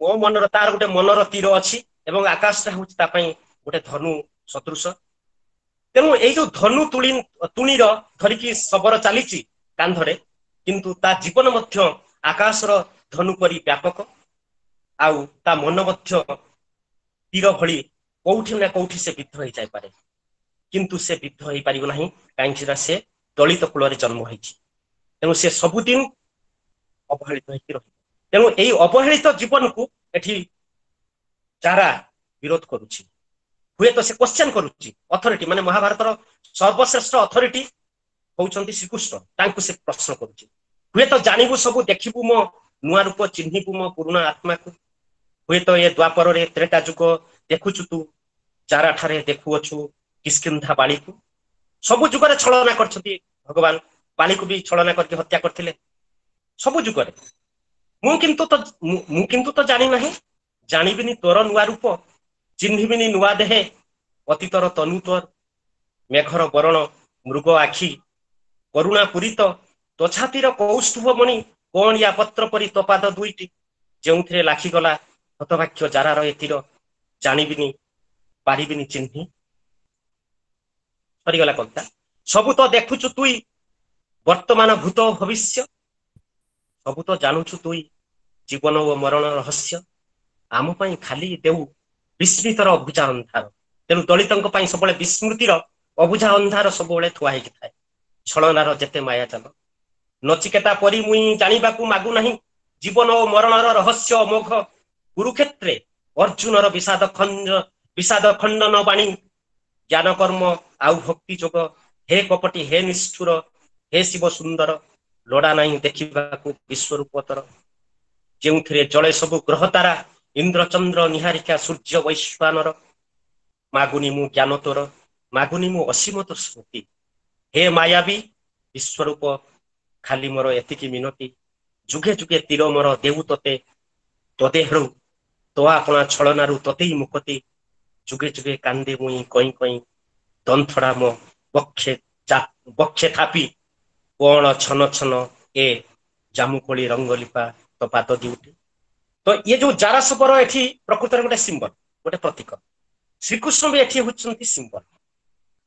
ମୋ ମନର, ତାର ଗୋଟେ ମନର ତୀର ଅଛି ଏବଂ ଆକାଶଟା ହଉଛି ତା ପାଇଁ ଗୋଟେ ଧନୁ ସଦୃଶ। ତେଣୁ ଏଇ ଯୋଉ ଧନୁ ତୁଣୀର ଧରିକି ଶବର ଚାଲିଛି କାନ୍ଧରେ, କିନ୍ତୁ ତା ଜୀବନ ମଧ୍ୟ ଆକାଶର ଧନୁ ପରି ବ୍ୟାପକ, ଆଉ ତା ମନ ମଧ୍ୟ ତୀର ଭଳି କୋଉଠି ନା କୋଉଠି ସେ ବିଦ୍ଧ ହେଇଯାଇପାରେ, କିନ୍ତୁ ସେ ବିଦ୍ଧ ହେଇପାରିବ ନାହିଁ, କାହିଁକି ନା ସେ ଦଳିତ କୂଳରେ ଜନ୍ମ ହେଇଛି। ତେଣୁ ସେ ସବୁଦିନ ଅବହେଳିତ ହେଇକି ରହିବ। ତେଣୁ ଏଇ ଅବହେଳିତ ଜୀବନକୁ ଏଠି ଯାରା ବିରୋଧ କରୁଛି, ହୁଏତ ସେ କ୍ୱେଶ୍ଚନ କରୁଛି ଅଥରିଟି, ମାନେ ମହାଭାରତର ସର୍ବଶ୍ରେଷ୍ଠ ଅଥରିଟି ହଉଛନ୍ତି ଶ୍ରୀକୃଷ୍ଣ, ତାଙ୍କୁ ସେ ପ୍ରଶ୍ନ କରୁଛି। ହୁଏତ ଜାଣିବୁ ସବୁ ଦେଖିବୁ ମୋ ନୂଆ ରୂପ, ଚିହ୍ନିବୁ ମୋ ପୁରୁଣା ଆତ୍ମାକୁ, ହୁଏତ ଏ ଦ୍ୱାପରରେ ତ୍ରେତା ଯୁଗ ଦେଖୁଛୁ ତୁ, ଯାରା ଠାରେ ଦେଖୁଅଛୁ କିଷ୍କିନ୍ଧା ବାଳିକୁ, ସବୁ ଯୁଗରେ ଛଳନା କରିଛନ୍ତି ଭଗବାନ, ବାଲିକୁ ବି ଛଳନା କରିକି ହତ୍ୟା କରିଥିଲେ ସବୁ ଯୁଗରେ। ମୁଁ କିନ୍ତୁ ତ ଜାଣିନାହିଁ, ଜାଣିବିନି ତୋର ନୂଆ ରୂପ, ଚିହ୍ନିବିନି ନୂଆ ଦେହେ ଅତୀତର ତନୁ ତୋର, ମେଘର ବରଣ ମୃଗ ଆଖି କରୁଣା ପୂରିତ ତୋ ଛାତିର କୌସ୍ତୁଭ ମଣି କଅଁଳିଆ ପତ୍ର ପରି ତୋ ପାଦ ଦୁଇଟି, ଯେଉଁଥିରେ ଲାଖିଗଲା ହତବାକ୍ୟ ଜାରାର ଏ ତୀର, ଜାଣିବିନି ପାରିବିନି ଚିହ୍ନି। ସରିଗଲା କବିତା। ସବୁ ତ ଦେଖୁଛୁ ତୁଇ ବର୍ତ୍ତମାନ ଭୂତ ଭବିଷ୍ୟ, ସବୁ ତ ଜାଣୁଛୁ ତୁଇ ଜୀବନ ଓ ମରଣ ରହସ୍ୟ, ଆମ ପାଇଁ ଖାଲି ଦେଉ ବିସ୍ମିତର ଅବୁଝା ଅନ୍ଧାର। ତେଣୁ ଦଳିତଙ୍କ ପାଇଁ ସବୁବେଳେ ବିସ୍ମୃତିର ଅବୁଝା ଅନ୍ଧାର ସବୁବେଳେ ଥୁଆ ହେଇକି ଥାଏ। ଛଳନାର ଯେତେ ମାୟାଜାଲ ନଚିକେତା ପରି ମୁଇଁ ଜାଣିବାକୁ ମାଗୁନାହିଁ ଜୀବନ ଓ ମରଣର ରହସ୍ୟ ଅମୋଘ। କୁରୁକ୍ଷେତ୍ରେ ଅର୍ଜୁନର ବିଷାଦ ଖଣ୍ଡନ ବାଣୀ, ଜ୍ଞାନ କର୍ମ ଆଉ ଭକ୍ତି ଯୋଗ, ହେ କପଟି ହେ ନିଷ୍ଠୁର ହେ ଶିବ ସୁନ୍ଦର, ଲୋଡ଼ା ନାହିଁ ଦେଖିବାକୁ ବିଶ୍ୱରୂପତର। ଯେଉଁଥିରେ ଜଳେ ସବୁ ଗ୍ରହ ତାରା, ଇନ୍ଦ୍ରଚନ୍ଦ୍ର ନିହାରିକା ସୂର୍ଯ୍ୟ ବୈଶ୍ୱାନର, ମାଗୁନି ମୁଁ ଜ୍ଞାନ ତୋର, ମାଗୁନି ମୁଁ ଅସୀମ ତୋ ସ୍ମୃତି, ହେ ମାୟାବୀ ବିଶ୍ୱରୂପ ଖାଲି ମୋର ଏତିକି ମିନତି, ଯୁଗେ ଯୁଗେ ତୀର ମୋର ଦେଉ ତତେ, ତୋ ଦେହରୁ ତୋ ଆପଣା ଛଳନାରୁ ତତେଇ ମୁକତି, ଯୁଗେ ଯୁଗେ କାନ୍ଦେ ମୁଇଁ କଇଁ କଇଁ, ଦନ୍ଥଡ଼ା ମୋ ବକ୍ଷେ ଥାପି, କଣ ଛନ ଛନ ଏ ଜାମୁକୋଳି ରଙ୍ଗଲିପା ତୋ ପାଦ ଦିଉଟି। ତ ଇଏ ଯୋଉ ଜାରାସବର ଏଠି ପ୍ରକୃତରେ ଗୋଟେ ସିମ୍ବଲ, ଗୋଟେ ପ୍ରତୀକ। ଶ୍ରୀକୃଷ୍ଣ ବି ଏଠି ହଉଛନ୍ତି ସିମ୍ବଲ।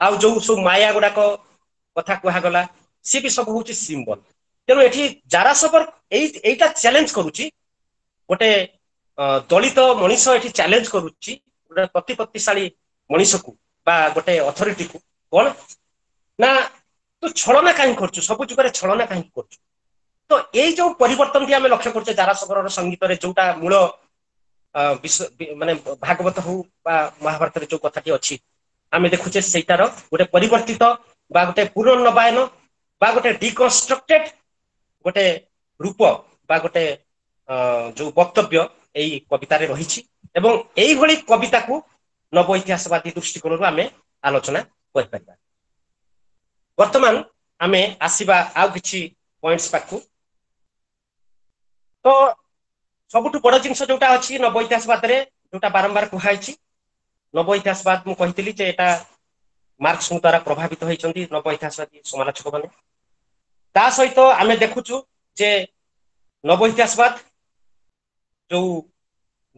ଆଉ ଯୋଉ ସବୁ ମାୟା ଗୁଡାକ କଥା କୁହାଗଲା ସିଏ ବି ସବୁ ହଉଛି ସିମ୍ବଲ। ତେଣୁ ଏଠି ଜାରାସବର ଏଇଟା ଚ୍ୟାଲେଞ୍ଜ କରୁଛି, ଗୋଟେ ଦଳିତ ମଣିଷ ଏଠି ଚ୍ୟାଲେଞ୍ଜ କରୁଛି ଗୋଟେ ପ୍ରତିପତ୍ତିଶାଳୀ ମଣିଷକୁ ବା ଗୋଟେ ଅଥରିଟିକୁ। କଣ ନା ତୁ ଛଳନା କାହିଁକି କରୁଛୁ, ସବୁ ଯୁଗରେ ଛଳନା କାହିଁକି କରୁଛୁ? ତ ଏଇ ଯୋଉ ପରିବର୍ତ୍ତନଟି ଆମେ ଲକ୍ଷ୍ୟ କରୁଛେ ଜାରାସବରର ସଙ୍ଗୀତରେ, ଯୋଉଟା ମୂଳ ମାନେ ଭାଗବତ ହଉ ବା ମହାଭାରତରେ ଯୋଉ କଥାଟି ଅଛି, ଆମେ ଦେଖୁଛେ ସେଇଟାର ଗୋଟେ ପରିବର୍ତ୍ତିତ ବା ଗୋଟେ ପୁନର୍ନବାୟନ ବା ଗୋଟେ ଡିକନଷ୍ଟ୍ରକ୍ଟେଡ ଗୋଟେ ରୂପ ବା ଗୋଟେ ଯୋଉ ବକ୍ତବ୍ୟ ଏଇ କବିତାରେ ରହିଛି। ଏବଂ ଏଇଭଳି କବିତାକୁ ନବ ଇତିହାସବାଦୀ ଦୃଷ୍ଟିକୋଣରୁ ଆମେ ଆଲୋଚନା କରିପାରିବା। ବର୍ତ୍ତମାନ ଆମେ ଆସିବା ଆଉ କିଛି ପଏଣ୍ଟସ ପାଖକୁ। ତ ସବୁଠୁ ବଡ ଜିନିଷ ଯୋଉଟା ଅଛି ନବ ଇତିହାସବାଦରେ, ଯୋଉଟା ବାରମ୍ବାର କୁହାଯାଇଛି, ନବ ଇତିହାସବାଦ ମୁଁ କହିଥିଲି ଯେ ଏଟା ମାର୍କ୍ସଙ୍କ ଦ୍ୱାରା ପ୍ରଭାବିତ ହେଇଛନ୍ତି ନବ ଇତିହାସବାଦୀ ସମାଲୋଚକ ମାନେ। ତା ସହିତ ଆମେ ଦେଖୁଛୁ ଯେ ନବ ଇତିହାସବାଦ ଯୋଉ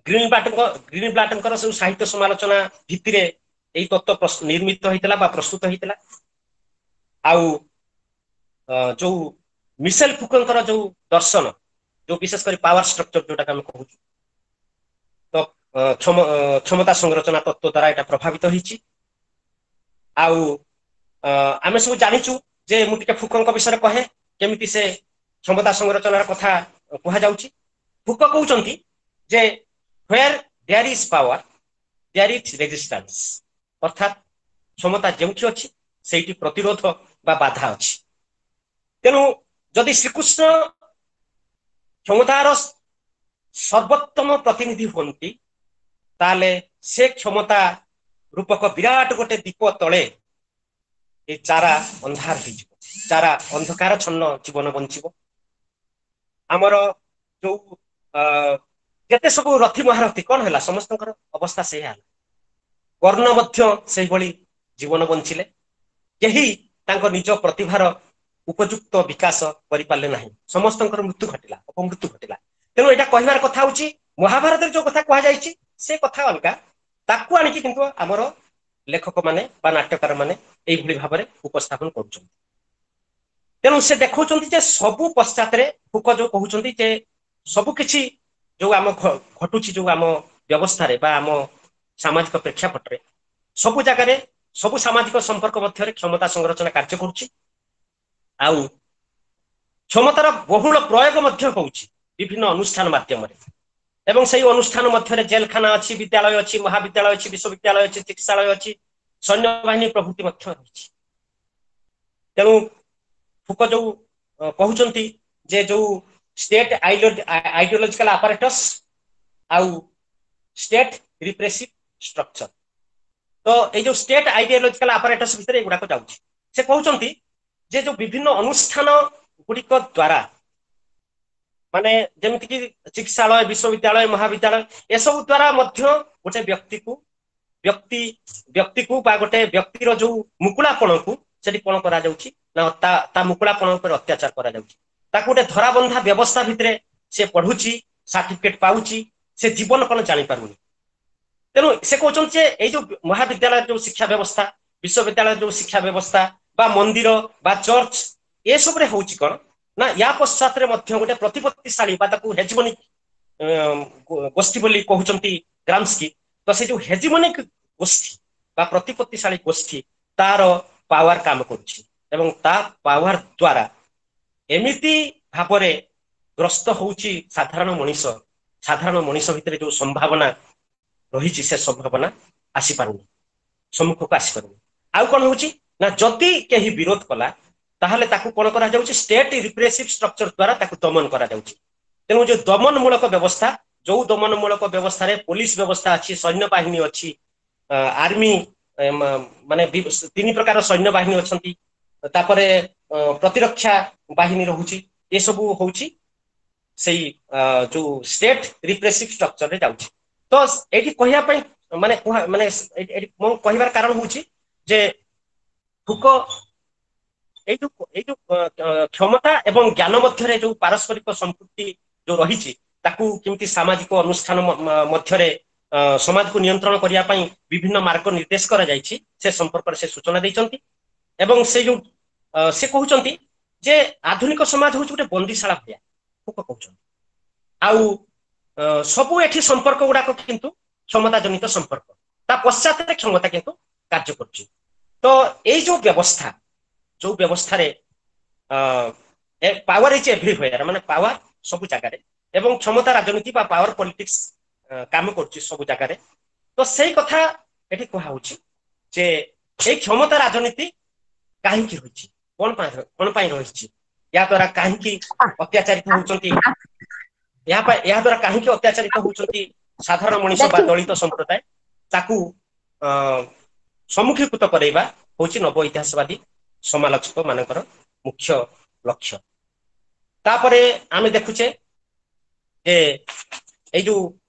ଗ୍ରୀନବ୍ଲାଟଙ୍କର ସବୁ ସାହିତ୍ୟ ସମାଲୋଚନା ଭିତ୍ତିରେ ଏଇ ତତ୍ତ୍ୱ ନିର୍ମିତ ହେଇଥିଲା ବା ପ୍ରସ୍ତୁତ ହେଇଥିଲା। ଆଉ ଯୋଉ ମିସେଲ ଫୁକଙ୍କର ଯୋଉ ଦର୍ଶନ, ଯୋଉ ବିଶେଷ କରି ପାୱାର ଷ୍ଟ୍ରକ୍ଚର ଯୋଉଟାକୁ ଆମେ କହୁଛୁ, ତ କ୍ଷମତା ସଂରଚନା ତତ୍ତ୍ୱ ଦ୍ୱାରା ଏଇଟା ପ୍ରଭାବିତ ହେଇଛି। ଆଉ ଆମେ ସବୁ ଜାଣିଛୁ ଯେ ମୁଁ ଟିକେ ଫୁକଙ୍କ ବିଷୟରେ କହେ, କେମିତି ସେ କ୍ଷମତା ସଂରଚନାର କଥା କୁହାଯାଉଛି। ଫୁକ କହୁଛନ୍ତି ଯେ where there is power there is resistance, ଅର୍ଥାତ୍ କ୍ଷମତା ଯେଉଁଠି ଅଛି ସେଇଠି ପ୍ରତିରୋଧ ବା ବାଧା ଅଛି। ତେଣୁ ଯଦି ଶ୍ରୀକୃଷ୍ଣ କ୍ଷମତାର ସର୍ବୋତ୍ତମ ପ୍ରତିନିଧି ହୁଅନ୍ତି, ତାହେଲେ ସେ କ୍ଷମତା ରୂପକ ବିରାଟ ଗୋଟେ ଦୀପ ତଳେ ଏ ଚାରା ଅନ୍ଧାର ହେଇଯିବ, ଚାରା ଅନ୍ଧକାର ଛନ୍ନ ଜୀବନ ବଞ୍ଚିବ। ଆମର ଯୋଉ ଯେତେ ସବୁ ରଥୀ ମହାରଥୀ କଣ ହେଲା, ସମସ୍ତଙ୍କର ଅବସ୍ଥା ସେଇଆ ହେଲା। କର୍ଣ୍ଣ ମଧ୍ୟ ସେଇଭଳି ଜୀବନ ବଞ୍ଚିଲେ, କେହି ତାଙ୍କ ନିଜ ପ୍ରତିଭାର ଉପଯୁକ୍ତ ବିକାଶ କରିପାରିଲେ ନାହିଁ, ସମସ୍ତଙ୍କର ମୃତ୍ୟୁ ଘଟିଲା, ଅପମୃତ୍ୟୁ ଘଟିଲା। ତେଣୁ ଏଇଟା କହିବାର କଥା ହଉଛି ମହାଭାରତରେ ଯୋଉ କଥା କୁହାଯାଇଛି ସେ କଥା ଅଲଗା, ତାକୁ ଆଣିକି କିନ୍ତୁ ଆମର ଲେଖକ ମାନେ ବା ନାଟ୍ୟକାର ମାନେ ଏଇଭଳି ଭାବରେ ଉପସ୍ଥାପନ କରୁଛନ୍ତି। ତେଣୁ ସେ ଦେଖାଉଛନ୍ତି ଯେ ସବୁ ପଶ୍ଚାତରେ ଫୁକ ଯୋଉ କହୁଛନ୍ତି ଯେ ସବୁ କିଛି ଯୋଉ ଆମ ଘଟୁଛି ଯୋଉ ଆମ ବ୍ୟବସ୍ଥାରେ ବା ଆମ ସାମାଜିକ ପ୍ରେକ୍ଷାପଟରେ, ସବୁ ଜାଗାରେ ସବୁ ସାମାଜିକ ସମ୍ପର୍କ ମଧ୍ୟରେ କ୍ଷମତା ସଂରଚନା କାର୍ଯ୍ୟ କରୁଛି। ଆଉ କ୍ଷମତାର ବହୁଳ ପ୍ରୟୋଗ ମଧ୍ୟ ହଉଛି ବିଭିନ୍ନ ଅନୁଷ୍ଠାନ ମାଧ୍ୟମରେ, ଏବଂ ସେଇ ଅନୁଷ୍ଠାନ ମଧ୍ୟରେ ଜେଲଖାନା ଅଛି, ବିଦ୍ୟାଳୟ ଅଛି, ମହାବିଦ୍ୟାଳୟ ଅଛି, ବିଶ୍ୱବିଦ୍ୟାଳୟ ଅଛି, ଚିକିତ୍ସାଳୟ ଅଛି, ସୈନ୍ୟବାହିନୀ ପ୍ରଭୃତି ମଧ୍ୟ ରହିଛି। ତେଣୁ ଫୁକ ଯୋଉ କହୁଛନ୍ତି ଯେ ଯୋଉ ଷ୍ଟେଟ ଆଇଡିଓଲୋଜିକାଲ ଆପାରେଟସ୍ ଆଉ ଷ୍ଟେଟ ରିପ୍ରେସିଭ ଷ୍ଟ୍ରକ୍ଚର, ତ ଏଇ ଯୋଉ ଷ୍ଟେଟ ଆଇଡିଓଲୋଜିକାଲ ଆପାରେଟସ୍ ଭିତରେ ଏଗୁଡାକ ଯାଉଛି। ସେ କହୁଛନ୍ତି ଯେ ଯୋଉ ବିଭିନ୍ନ ଅନୁଷ୍ଠାନ ଗୁଡିକ ଦ୍ଵାରା, ମାନେ ଯେମିତିକି ଚିକିତ୍ସାଳୟ, ବିଶ୍ୱବିଦ୍ୟାଳୟ, ମହାବିଦ୍ୟାଳୟ, ଏସବୁ ଦ୍ଵାରା ମଧ୍ୟ ଗୋଟେ ବ୍ୟକ୍ତିକୁ ବ୍ୟକ୍ତି ବ୍ୟକ୍ତିକୁ ବା ଗୋଟେ ବ୍ୟକ୍ତିର ଯୋଉ ମୁକୁଳାପଣକୁ ସେଠି କଣ କରାଯାଉଛି ନା ତା ମୁକୁଳାପଣ ଉପରେ ଅତ୍ୟାଚାର କରାଯାଉଛି। ତାକୁ ଗୋଟେ ଧରାବନ୍ଧା ବ୍ୟବସ୍ଥା ଭିତରେ ସେ ପଢୁଛି, ସାର୍ଟିଫିକେଟ ପାଉଛି, ସେ ଜୀବନ କଣ ଜାଣିପାରୁନି। ତେଣୁ ସେ କହୁଛନ୍ତି ଯେ ଏଇ ଯୋଉ ମହାବିଦ୍ୟାଳୟର ଯୋଉ ଶିକ୍ଷା ବ୍ୟବସ୍ଥା, ବିଶ୍ୱବିଦ୍ୟାଳୟର ଯୋଉ ଶିକ୍ଷା ବ୍ୟବସ୍ଥା ବା ମନ୍ଦିର ବା ଚର୍ଚ୍ଚ, ଏସବୁରେ ହଉଛି କଣ ନା ୟା ପଶ୍ଚାତରେ ମଧ୍ୟ ଗୋଟେ ପ୍ରତିପତ୍ତିଶାଳୀ ବା ତାକୁ ହେଜିମୋନିକ ଗୋଷ୍ଠୀ ବୋଲି କହୁଛନ୍ତି ଗ୍ରାମସ୍କି। ତ ସେ ଯୋଉ ହେଜିମୋନିକ ଗୋଷ୍ଠୀ ବା ପ୍ରତିପତ୍ତିଶାଳୀ ଗୋଷ୍ଠୀ, ତାର ପାୱାର କାମ କରୁଛି ଏବଂ ତା ପାୱାର ଦ୍ଵାରା ଏମିତି ଭାବରେ ଗ୍ରସ୍ତ ହଉଛି ସାଧାରଣ ମଣିଷ। ସାଧାରଣ ମଣିଷ ଭିତରେ ଯୋଉ ସମ୍ଭାବନା ରହିଛି ସେ ସମ୍ଭାବନା ଆସିପାରୁନି, ସମ୍ମୁଖକୁ ଆସିପାରୁନି। ଆଉ କଣ ହଉଛି ନା ଯଦି କେହି ବିରୋଧ କଲା ତାହେଲେ ତାକୁ କଣ କରାଯାଉଛି, ଷ୍ଟେଟ ରିପ୍ରେସିଭ ଷ୍ଟ୍ରକ୍ଚର ଦ୍ଵାରା ତାକୁ ଦମନ କରାଯାଉଛି। ତେଣୁ ଯୋଉ ଦମନମୂଳକ ବ୍ୟବସ୍ଥା, ଯୋଉ ଦମନମୂଳକ ବ୍ୟବସ୍ଥାରେ ପୋଲିସ ବ୍ୟବସ୍ଥା ଅଛି, ସୈନ୍ୟ ବାହିନୀ ଅଛି, ଆର୍ମି ମାନେ 3 ପ୍ରକାର ସୈନ୍ୟ ବାହିନୀ ଅଛନ୍ତି, ତାପରେ ପ୍ରତିରକ୍ଷା ବାହିନୀ ରହୁଛି, ଏସବୁ ହଉଛି ସେଇ ଯୋଉ ଷ୍ଟେଟ ରିପ୍ରେସିଭ ଷ୍ଟ୍ରକ୍ଚରରେ ଯାଉଛି। ତ ଏଇଠି କହିବା ପାଇଁ ମାନେ ମାନେ ଏଇଠି ମୁଁ କହିବାର କାରଣ ହଉଛି ଯେ ଫୁକୋ ଏଇ ଯୋଉ କ୍ଷମତା ଏବଂ ଜ୍ଞାନ ମଧ୍ୟରେ ଯୋଉ ପାରସ୍ପରିକ ସମ୍ପୃକ୍ତି ଯୋଉ ରହିଛି, ତାକୁ କେମିତି ସାମାଜିକ ଅନୁଷ୍ଠାନ ମଧ୍ୟରେ ସମାଜକୁ ନିୟନ୍ତ୍ରଣ କରିବା ପାଇଁ ବିଭିନ୍ନ ମାର୍ଗ ନିର୍ଦ୍ଦେଶ କରାଯାଇଛି ସେ ସମ୍ପର୍କରେ ସେ ସୂଚନା ଦେଇଛନ୍ତି। ଏବଂ ସେ ଯୋଉ ସେ କହୁଛନ୍ତି ଯେ ଆଧୁନିକ ସମାଜ ହଉଛି ଗୋଟେ ବନ୍ଦିଶାଳା ଭଳିଆ, ଫୁକୋ କହୁଛନ୍ତି। ଆଉ ସବୁ ଏଠି ସମ୍ପର୍କ ଗୁଡାକ କିନ୍ତୁ କ୍ଷମତା ଜନିତ ସମ୍ପର୍କ, ତା ପଶ୍ଚାତରେ କ୍ଷମତା କିନ୍ତୁ କାର୍ଯ୍ୟ କରୁଛି। ତ ଏଇ ଯୋଉ ବ୍ୟବସ୍ଥା, ଯୋଉ ବ୍ୟବସ୍ଥାରେ ପାୱାର is ଏଭ୍ରିହ୍ୱେୟାର, ମାନେ ପାୱାର ସବୁ ଜାଗାରେ ଏବଂ କ୍ଷମତା ରାଜନୀତି ବା ପାୱାର ପଲିଟିକ୍ସ କାମ କରୁଛି ସବୁ ଜାଗାରେ। ତ ସେଇ କଥା ଏଠି କୁହାହଉଛି ଯେ ଏଇ କ୍ଷମତା ରାଜନୀତି କାହିଁକି ରହିଛି, କଣ ପାଇଁ ରହିଛି, ଏହା ଦ୍ୱାରା କାହିଁକି ଅତ୍ୟାଚାରିତ ହଉଛନ୍ତି, ଏହା ଦ୍ୱାରା କାହିଁକି ଅତ୍ୟାଚାରିତ ହଉଛନ୍ତି ସାଧାରଣ ମଣିଷ ବା ଦଳିତ ସମ୍ପ୍ରଦାୟ, ତାକୁ ସମ୍ମୁଖୀକୃତ କରାଇବା ହଉଛି ନବ ଇତିହାସବାଦୀ ସମାଲୋଚକ ମାନଙ୍କର ମୁଖ୍ୟ ଲକ୍ଷ୍ୟ। ତାପରେ ଆମେ ଦେଖୁଛେ ଯେ ଏଇ ଯୋଉ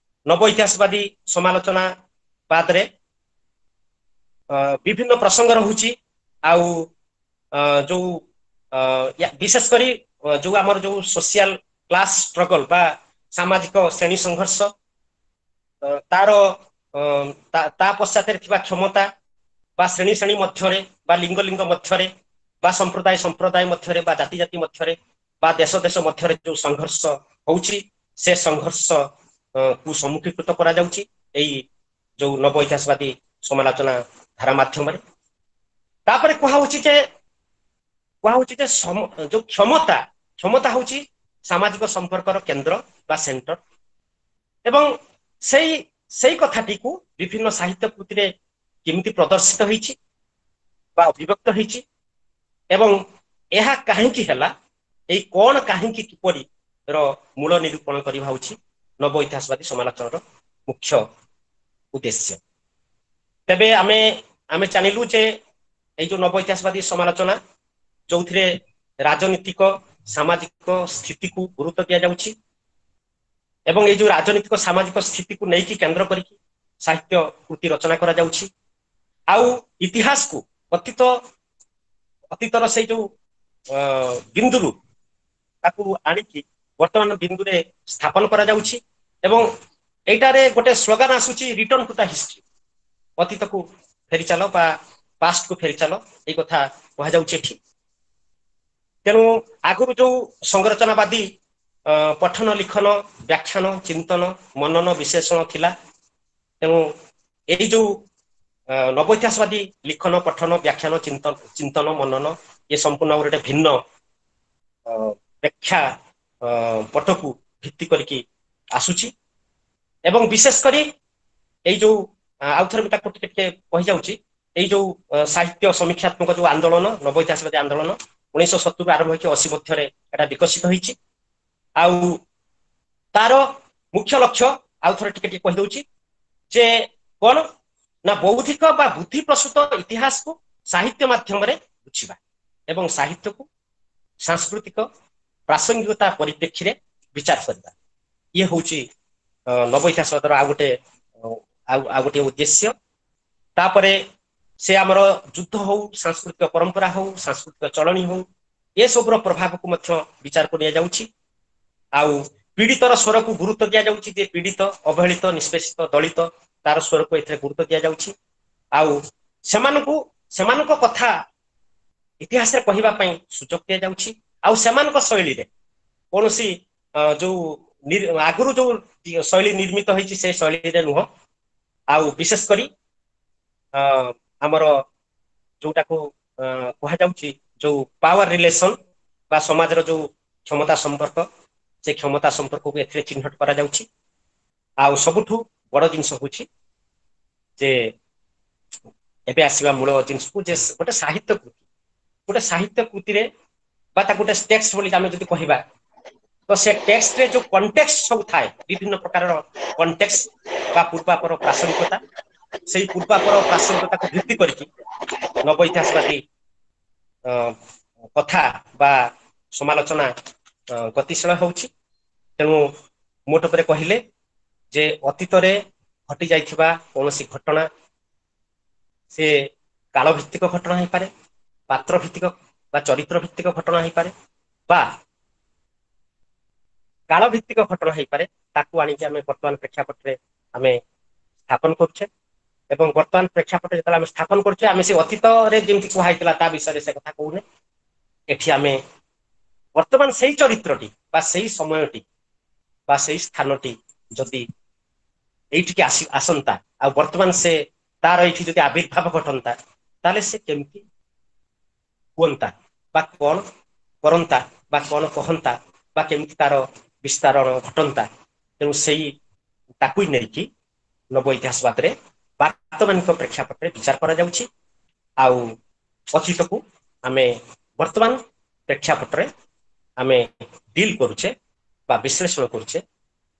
ନବ ଇତିହାସବାଦୀ ସମାଲୋଚନା ବାଦରେ ବିଭିନ୍ନ ପ୍ରସଙ୍ଗ ରହୁଛି। ଆଉ ଯୋଉ ବିଶେଷ କରି ଯୋଉ ଆମର ଯୋଉ ସୋସିଆଲ କ୍ଲାସ ଷ୍ଟ୍ରଗଲ ବା ସାମାଜିକ ଶ୍ରେଣୀ ସଂଘର୍ଷ, ତାର ତା ପଶ୍ଚାତରେ ଥିବା କ୍ଷମତା ବା ଶ୍ରେଣୀ ଶ୍ରେଣୀ ମଧ୍ୟରେ ବା ଲିଙ୍ଗ ଲିଙ୍ଗ ମଧ୍ୟରେ ବା ସମ୍ପ୍ରଦାୟ ସମ୍ପ୍ରଦାୟ ମଧ୍ୟରେ ବା ଜାତି ଜାତି ମଧ୍ୟରେ ବା ଦେଶ ଦେଶ ମଧ୍ୟରେ ଯୋଉ ସଂଘର୍ଷ ହଉଛି, ସେ ସଂଘର୍ଷ କୁ ସମ୍ମୁଖୀକୃତ କରାଯାଉଛି ଏଇ ଯୋଉ ନବ ଇତିହାସବାଦୀ ସମାଲୋଚନା ଧାରା ମାଧ୍ୟମରେ। ତାପରେ କୁହାହଉଛି ଯେ ଯୋଉ କ୍ଷମତା, କ୍ଷମତା ହଉଛି ସାମାଜିକ ସମ୍ପର୍କର କେନ୍ଦ୍ର ବା ସେଣ୍ଟର, ଏବଂ ସେଇ କଥାଟିକୁ ବିଭିନ୍ନ ସାହିତ୍ୟ କୃତିରେ କେମିତି ପ୍ରଦର୍ଶିତ ହେଇଛି ବା ଅଭିବ୍ୟକ୍ତ ହେଇଛି ଏବଂ ଏହା କାହିଁକି ହେଲା, ଏଇ କଣ କାହିଁକି କିପରି ର ମୂଳ ନିରୂପଣ କରିବା ହଉଛି ନବ ଇତିହାସବାଦୀ ସମାଲୋଚନାର ମୁଖ୍ୟ ଉଦ୍ଦେଶ୍ୟ। ତେବେ ଆମେ ଜାଣିଲୁ ଯେ ଏଇ ଯୋଉ ନବ ଇତିହାସବାଦୀ ସମାଲୋଚନା, ଯୋଉଥିରେ ରାଜନୀତିକ ସାମାଜିକ ସ୍ଥିତିକୁ ଗୁରୁତ୍ୱ ଦିଆଯାଉଛି ଏବଂ ଏଇ ଯୋଉ ରାଜନୀତିକ ସାମାଜିକ ସ୍ଥିତିକୁ ନେଇକି କେନ୍ଦ୍ର କରିକି ସାହିତ୍ୟ କୃତି ରଚନା କରାଯାଉଛି, ଆଉ ଇତିହାସକୁ ଅତୀତର ସେଇ ଯୋଉ ବିନ୍ଦୁରୁ ତାକୁ ଆଣିକି ବର୍ତ୍ତମାନ ବିନ୍ଦୁରେ ସ୍ଥାପନ କରାଯାଉଛି। ଏବଂ ଏଇଟାରେ ଗୋଟେ ସ୍ଲୋଗାନ ଆସୁଛି, ରିଟର୍ନ ଟୁ the history, ଅତୀତକୁ ଫେରି ଚାଲ ବା ପାଷ୍ଟକୁ ଫେରି ଚାଲ, ଏଇ କଥା କୁହାଯାଉଛି ଏଠି। ତେଣୁ ଆଗରୁ ଯୋଉ ସଂରଚନାବାଦୀ ପଠନ, ଲିଖନ, ବ୍ୟାଖ୍ୟାନ, ଚିନ୍ତନ, ମନନ, ବିଶ୍ଳେଷଣ ଥିଲା, ତେଣୁ ଏଇ ଯୋଉ ନବ ଇତିହାସବାଦୀ ଲିଖନ, ପଠନ, ବ୍ୟାଖ୍ୟାନ, ଚିନ୍ତନ, ମନନ, ଏ ସମ୍ପୂର୍ଣ୍ଣ ଗୋଟେ ଭିନ୍ନ ବ୍ୟାଖ୍ୟା ପଟକୁ ଭିତ୍ତି କରିକି ଆସୁଛି। ଏବଂ ବିଶେଷ କରି ଏଇ ଯୋଉ ଆଉ ଥରେ ମୁଁ ତାକୁ ଟିକେ ଟିକେ କହିଯାଉଛି, ଏଇ ଯୋଉ ସାହିତ୍ୟ ସମୀକ୍ଷାତ୍ମକ ଯୋଉ ଆନ୍ଦୋଳନ, ନବ ଇତିହାସବାଦୀ ଆନ୍ଦୋଳନ 1970 ଆରମ୍ଭ ହେଇକି 80 ମଧ୍ୟରେ ଏଟା ବିକଶିତ ହେଇଛି। ଆଉ ତାର ମୁଖ୍ୟ ଲକ୍ଷ୍ୟ ଆଉ ଥରେ ଟିକେ ଟିକେ କହିଦଉଛି ଯେ କଣ ନା ବୌଦ୍ଧିକ ବା ବୁଦ୍ଧି ପ୍ରସୂତ ଇତିହାସକୁ ସାହିତ୍ୟ ମାଧ୍ୟମରେ ବୁଝିବା ଏବଂ ସାହିତ୍ୟକୁ ସାଂସ୍କୃତିକ ପ୍ରାସଙ୍ଗିକତା ପରିପ୍ରେକ୍ଷୀରେ ବିଚାର କରିବା। ଇଏ ହଉଛି ନବ ଇତିହାସବାଦର ଆଉ ଗୋଟେ ଆଉ ଗୋଟିଏ ଉଦ୍ଦେଶ୍ୟ। ତାପରେ ସେ ଆମର ଯୁଦ୍ଧ ହଉ, ସାଂସ୍କୃତିକ ପରମ୍ପରା ହଉ, ସାଂସ୍କୃତିକ ଚଳଣି ହଉ, ଏସବୁର ପ୍ରଭାବକୁ ମଧ୍ୟ ବିଚାରକୁ ନିଆଯାଉଛି। ଆଉ ପୀଡ଼ିତର ସ୍ୱରକୁ ଗୁରୁତ୍ୱ ଦିଆଯାଉଛି, ଯେ ପୀଡ଼ିତ, ଅବହେଳିତ, ନିଷ୍ପେଷିତ, ଦଳିତ, ତାର ସ୍ୱରକୁ ଏଥିରେ ଗୁରୁତ୍ୱ ଦିଆଯାଉଛି। ଆଉ ସେମାନଙ୍କୁ ସେମାନଙ୍କ କଥା ଇତିହାସରେ କହିବା ପାଇଁ ସୁଯୋଗ ଦିଆଯାଉଛି। ଆଉ ସେମାନଙ୍କ ଶୈଳୀରେ କୌଣସି ଯୋଉ ଆଗରୁ ଯୋଉ ଶୈଳୀ ନିର୍ମିତ ହେଇଛି ସେ ଶୈଳୀରେ ନୁହଁ। ଆଉ ବିଶେଷ କରି ଆମର ଯୋଉଟାକୁ କୁହାଯାଉଛି ଯୋଉ ପାୱାର ରିଲେସନ ବା ସମାଜର ଯୋଉ କ୍ଷମତା ସମ୍ପର୍କ, ସେ କ୍ଷମତା ସମ୍ପର୍କକୁ ଏଥିରେ ଚିହ୍ନଟ କରାଯାଉଛି। ଆଉ ସବୁଠୁ ବଡ ଜିନିଷ ହଉଛି ଯେ ଏବେ ଆସିବା ମୂଳ ଜିନିଷକୁ, ଯେ ଗୋଟେ ସାହିତ୍ୟ କୃତି, ଗୋଟେ ସାହିତ୍ୟ କୃତିରେ ବା ତାକୁ ଗୋଟେ ଟେକ୍ସଟ ବୋଲି ଆମେ ଯଦି କହିବା, ତ ସେ ଟେକ୍ସଟରେ ଯୋଉ କଣ୍ଟେକ୍ସଟ ସବୁ ଥାଏ, ବିଭିନ୍ନ ପ୍ରକାରର କଣ୍ଟେକ୍ସଟ ବା ପୂର୍ବାପର ପ୍ରାସଙ୍ଗିକତା, ସେଇ ପୂର୍ବାପର ପ୍ରାସଙ୍ଗିକତାକୁ ଭିତ୍ତି କରିକି ନବ ଇତିହାସବାଦୀ କଥା ବା ସମାଲୋଚନା ଗତିଶୀଳ ହେଉଛି। ତେଣୁ ମୋଟ ଉପରେ କହିଲେ ଯେ ଅତୀତରେ ଘଟି ଯାଇଥିବା କୌଣସି ଘଟଣା, ସେ କାଳ ଭିତ୍ତିକ ଘଟଣା ହେଇପାରେ, ପାତ୍ର ଭିତ୍ତିକ ବା ଚରିତ୍ର ଭିତ୍ତିକ ଘଟଣା ହେଇପାରେ, ବା କାଳ ଭିତ୍ତିକ ଘଟଣା ହେଇପାରେ, ତାକୁ ଆଣିକି ଆମେ ବର୍ତ୍ତମାନ ପ୍ରେକ୍ଷାପଟରେ ଆମେ ସ୍ଥାପନ କରୁଛେ। ଏବଂ ବର୍ତ୍ତମାନ ପ୍ରେକ୍ଷାପଟ ଯେତେବେଳେ ଆମେ ସ୍ଥାପନ କରୁଛେ, ଆମେ ସେ ଅତୀତରେ ଯେମିତି କୁହା ହେଇଥିଲା ତା ବିଷୟରେ ସେ କଥା କହୁନେ। ଏଠି ଆମେ ବର୍ତ୍ତମାନ ସେଇ ଚରିତ୍ରଟି ବା ସେଇ ସମୟଟି ବା ସେଇ ସ୍ଥାନଟି ଯଦି ଏଇଠିକି ଆସନ୍ତା, ଆଉ ବର୍ତ୍ତମାନ ସେ ତାର ଏଇଠି ଯଦି ଆବିର୍ଭାବ ଘଟନ୍ତା, ତାହେଲେ ସେ କେମିତି ହୁଅନ୍ତା ବା କଣ କରନ୍ତା ବା କଣ କହନ୍ତା ବା କେମିତି ତାର ବିସ୍ତାରଣ ଘଟନ୍ତା। ତେଣୁ ସେଇ ତାକୁ ନେଇକି ନବ ଇତିହାସବାଦରେ ବର୍ତ୍ତମାନିକ ପ୍ରେକ୍ଷାପଟରେ ବିଚାର କରାଯାଉଛି। ଆଉ ଅତୀତକୁ ଆମେ ବର୍ତ୍ତମାନ ପ୍ରେକ୍ଷାପଟରେ ଆମେ ଡିଲ୍ କରୁଛେ ବା ବିଶ୍ଳେଷଣ କରୁଛେ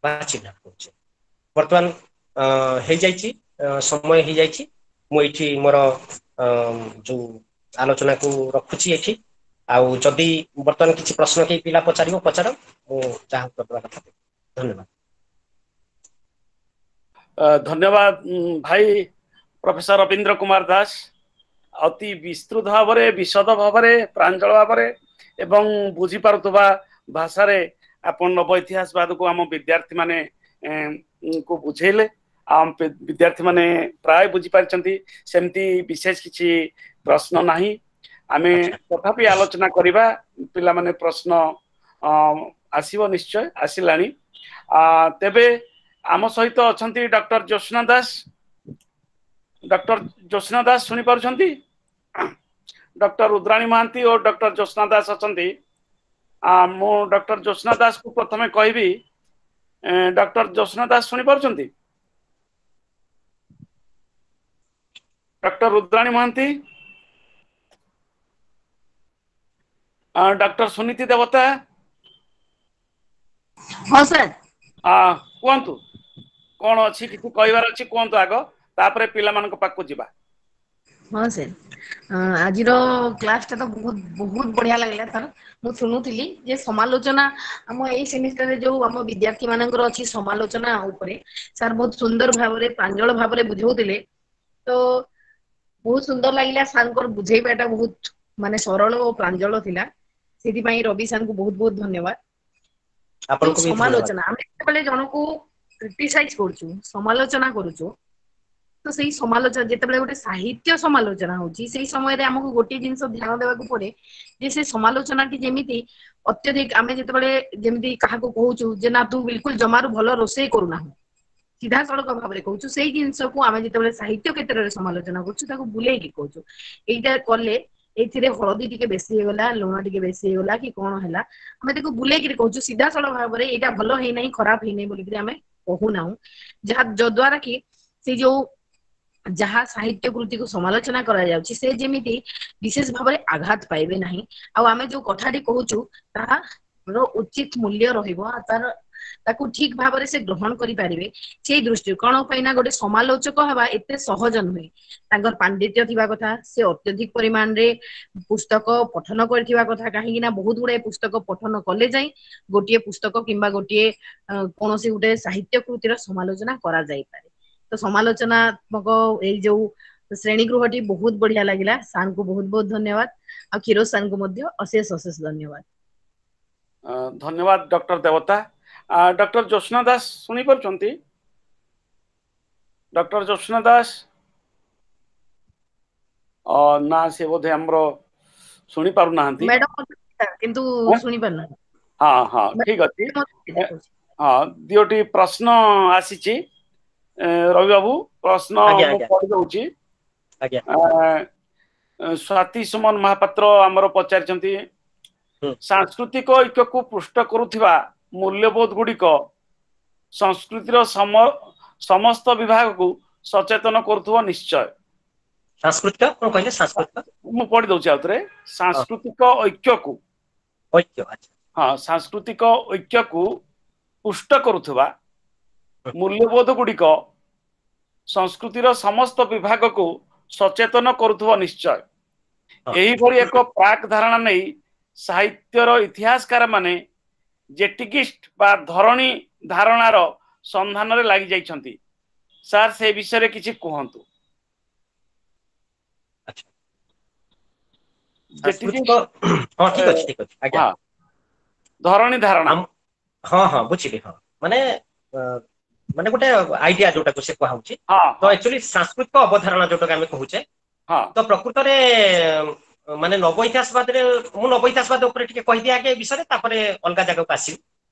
ବା ଚିହ୍ନଟ କରୁଛେ। ବର୍ତ୍ତମାନ ହେଇଯାଇଛି, ସମୟ ହେଇଯାଇଛି। ମୁଁ ଏଇଠି ମୋର ଯୋଉ ଆଲୋଚନାକୁ ରଖୁଛି ଏଠି। ଆଉ ଯଦି ବର୍ତ୍ତମାନ କିଛି ପ୍ରଶ୍ନ କେହି ପିଲା ପଚାରିବ, ପଚାର, ମୁଁ ଯାହା ଉତ୍ତର ଦେବା କଥା ଦେବି। ଧନ୍ୟବାଦ। ଧନ୍ୟବାଦ ଭାଇ ପ୍ରଫେସର ରବୀନ୍ଦ୍ର କୁମାର ଦାସ। ଅତି ବିସ୍ତୃତ ଭାବରେ, ବିଶଦ ଭାବରେ, ପ୍ରାଞ୍ଜଳ ଭାବରେ ଏବଂ ବୁଝିପାରୁଥିବା ଭାଷାରେ ଆପଣ ନବ ଇତିହାସବାଦକୁ ଆମ ବିଦ୍ୟାର୍ଥୀ ମାନେ କୁ ବୁଝେଇଲେ। ଆମ ବିଦ୍ୟାର୍ଥୀ ମାନେ ପ୍ରାୟ ବୁଝିପାରିଛନ୍ତି, ସେମିତି ବିଶେଷ କିଛି ପ୍ରଶ୍ନ ନାହିଁ। ଆମେ ତଥାପି ଆଲୋଚନା କରିବା, ପିଲାମାନେ ପ୍ରଶ୍ନ ଆସିବ ନିଶ୍ଚୟ, ଆସିଲାଣି। ତେବେ ଆମ ସହିତ ଅଛନ୍ତି ଡକ୍ଟର ଜ୍ୟୋତ୍ସ୍ନା ଦାସ। ଡକ୍ଟର ଜ୍ୟୋତ୍ସ୍ନା ଦାସ ଶୁଣିପାରୁଛନ୍ତି? ଡକ୍ଟର ରୁଦ୍ରାଣୀ ମହାନ୍ତି ଓ ଡକ୍ଟର ଜ୍ୟୋତ୍ସ୍ନା ଦାସ ଅଛନ୍ତି। ମୁଁ ଡକ୍ଟର ଜ୍ୟୋତ୍ସ୍ନା ଦାସକୁ ପ୍ରଥମେ କହିବି। ଡକ୍ଟର ଜ୍ୟୋତ୍ସ୍ନା ଦାସ ଶୁଣିପାରୁଛନ୍ତି? Doctor Rudrani Mohanty, doctor Suniti Debata. ହଁ ସାର୍। କୁହନ୍ତୁ, କଣ ଅଛି, କିଛି କହିବାର ଅଛି କୁହନ୍ତୁ ଆଗ, ତାପରେ ପିଲାମାନଙ୍କ ପାଖକୁ ଯିବା। ହଁ ସାର୍, ଆଜିର କ୍ଲାସ ଟା ତ ବହୁତ ବହୁତ ବଢିଆ ଲାଗିଲା ସାର୍। ମୁଁ ଶୁଣୁଥିଲି ଯେ ସମାଲୋଚନା ଆମ ଏଇ ସେମିଷ୍ଟରରେ ଯୋଉ ଆମ ବିଦ୍ୟାର୍ଥୀ ମାନଙ୍କର ଅଛି ସମାଲୋଚନା ଉପରେ ସାର୍ ବହୁତ ସୁନ୍ଦର ଭାବରେ ପ୍ରାଞ୍ଜଳ ଭାବରେ ବୁଝଉଥିଲେ। ତ ବହୁତ ସୁନ୍ଦର ଲାଗିଲା ସାର୍ଙ୍କର ବୁଝେଇବାଟା, ବହୁତ ମାନେ ସରଳ ଓ ପ୍ରାଞ୍ଜଳ ଥିଲା। ସେଥିପାଇଁ ରବି ସାର୍ଙ୍କୁ ବହୁତ ବହୁତ ଧନ୍ୟବାଦ। ସମାଲୋଚନା ଆମେ ଯେତେବେଳେ ଜଣକୁ କ୍ରିଟିସାଇଜ କରୁଛୁ, ସମାଲୋଚନା କରୁଛୁ, ତ ସେଇ ସମାଲୋଚନା ଯେତେବେଳେ ଗୋଟେ ସାହିତ୍ୟ ସମାଲୋଚନା ହଉଛି, ସେଇ ସମୟରେ ଆମକୁ ଗୋଟିଏ ଜିନିଷ ଧ୍ୟାନ ଦେବାକୁ ପଡେ ଯେ ସେ ସମାଲୋଚନାଟି ଯେମିତି ଅତ୍ୟଧିକ, ଆମେ ଯେତେବେଳେ ଯେମିତି କାହାକୁ କହୁଛୁ ଯେ ନା ତୁ ବିଲକୁଲ ଜମାରୁ ଭଲ ରୋଷେଇ କରୁନାହୁଁ, ସିଧାସଳଖ ଭାବରେ କହୁଛୁ, ସେଇ ଜିନିଷକୁ ଆମେ ଯେତେବେଳେ ସାହିତ୍ୟ କ୍ଷେତ୍ରରେ ସମାଲୋଚନା କରୁଛୁ ତାକୁ ବୁଲେଇକି କହୁଛୁ, ଏଇଟା କଲେ ଏଇଥିରେ ହଳଦୀ ଟିକେ ବେଶୀ ହେଇଗଲା, ଲୁଣ ଟିକେ ବେଶୀ ହେଇଗଲା କି କଣ ହେଲା, ଆମେ ତାକୁ ବୁଲେଇକିରି କହୁଛୁ। ସିଧାସଳଖ ଭାବରେ ଏଇଟା ଭଲ ହେଇନାହିଁ, ଖରାପ ହେଇନାହିଁ ବୋଲିକିରି ଆମେ କହୁନାହୁଁ, ଯାହା ଯଦ୍ୱାରା କି ସେ ଯୋଉ ଯାହା ସାହିତ୍ୟ କୃତିକୁ ସମାଲୋଚନା କରାଯାଉଛି ସେ ଯେମିତି ବିଶେଷ ଭାବରେ ଆଘାତ ପାଇବେ ନାହିଁ, ଆଉ ଆମେ ଯୋଉ କଥାଟି କହୁଛୁ ତାହାର ଉଚିତ ମୂଲ୍ୟ ରହିବ, ଆଉ ତାର ତାକୁ ଠିକ ଭାବରେ ସେ ଗ୍ରହଣ କରିପାରିବେ ସେଇ ଦୃଷ୍ଟିରୁ। କଣ ପାଇଁ ନା ଗୋଟେ ସମାଲୋଚକ ହେବା ଏତେ ସହଜ ନୁହେଁ। ତାଙ୍କର ପାଣ୍ଡିତ୍ୟ ଥିବା କଥା, ସେ ଅତ୍ୟଧିକ ପରିମାଣରେ ପୁସ୍ତକ ପଠନ କରିଥିବା କଥା, କାହିଁକି ନା ବହୁତ ଗୁଡାଏ ପୁସ୍ତକ ପଠନ କଲେ ଯାଇ ଗୋଟିଏ ପୁସ୍ତକ କିମ୍ବା ଗୋଟିଏ କୌଣସି ଗୋଟେ ସାହିତ୍ୟ କୃତିର ସମାଲୋଚନା କରାଯାଇପାରେ। ତ ସମାଲୋଚନାତ୍ମକ ଏଇ ଯୋଉ ଶ୍ରେଣୀ ଗୃହଟି ବହୁତ ବଢିଆ ଲାଗିଲା। ସାର୍ଙ୍କୁ ବହୁତ ବହୁତ ଧନ୍ୟବାଦ, ଆଉ କ୍ଷୀରୋଦ ସାର୍ଙ୍କୁ ମଧ୍ୟ ଅଶେଷ ଅଶେଷ ଧନ୍ୟବାଦ। ଧନ୍ୟବାଦ ଡକ୍ଟର ଦେବତା। ଡକ୍ଟର ଜ୍ୟୋତ୍ସ୍ନା ଦାସ ଶୁଣି ପାରୁଛନ୍ତି? ଡକ୍ଟର ଜ୍ୟୋତ୍ସ୍ନା ଦାସ ନା, ସେ ବୋଧେ ଆମର ଶୁଣି ପାରୁନାହାନ୍ତି। ମ୍ୟାଡମ କିନ୍ତୁ ଶୁଣି ପାରୁନାହାନ୍ତି। ହଁ ହଁ, ଠିକ ଅଛି। ହଁ, ଦିଓଟି ପ୍ରଶ୍ନ ଆସିଛି ରବି ବାବୁ, ପ୍ରଶ୍ନ ମୁଁ ପଢି ଦଉଛି। ସ୍ୱାତି ସୁମନ ମହାପାତ୍ର ଆମର ପଚାରିଛନ୍ତି, ସାଂସ୍କୃତିକ ଐକ୍ୟକୁ ପୃଷ୍ଟ କରୁଥିବା ମୂଲ୍ୟବୋଧ ଗୁଡିକ ସଂସ୍କୃତିର ସମସ୍ତ ବିଭାଗକୁ ସଚେତନ କରୁଥିବ ନିଶ୍ଚୟ। ସାଂସ୍କୃତିକ କଣ କହିଲେ? ସାଂସ୍କୃତିକ ମୁଁ ପଢି ଦଉଛି ଆଉଥରେ। ସାଂସ୍କୃତିକ ଐକ୍ୟକୁ, ହଁ, ସାଂସ୍କୃତିକ ଐକ୍ୟକୁ ପୁଷ୍ଟ କରୁଥିବା ମୂଲ୍ୟବୋଧ ଗୁଡିକ ସଂସ୍କୃତିର ସମସ୍ତ ବିଭାଗକୁ ସଚେତନ କରୁଥିବ ନିଶ୍ଚୟ। ଏହିଭଳି ଏକ ପ୍ରାକ୍ ଧାରଣା ନେଇ ସାହିତ୍ୟର ଇତିହାସକାର ମାନେ ଜେଟିକିଷ୍ଟ ବା ଧରଣୀ ଧାରଣାର ସନ୍ଧାନରେ ଲାଗି ଯାଇଛନ୍ତି। ସାର୍ ସେ ବିଷୟରେ କିଛି କୁହନ୍ତୁ। ଧରଣୀ ଧାରଣା। ହଁ ହଁ, ବୁଝିଲି। ହଁ, ମାନେ ମାନେ ଗୋଟେ ଆଇଡିଆ ଯୋଉଟାକୁ ସେ କୁହାହଉଛି। ତ ଆକ୍ଚୁଆଲି ସାଂସ୍କୃତିକ ଅବଧାରଣା ଯୋଉଟାକୁ ଆମେ କହୁଛେ, ତ ପ୍ରକୃତରେ ମାନେ ନବ ଇତିହାସବାଦରେ, ମୁଁ ନବ ଇତିହାସବାଦ ଉପରେ ଟିକେ କହିଦିଏ ଆଗେ ଏ ବିଷୟରେ, ତାପରେ ଅଲଗା ଜାଗାକୁ ଆସିବି।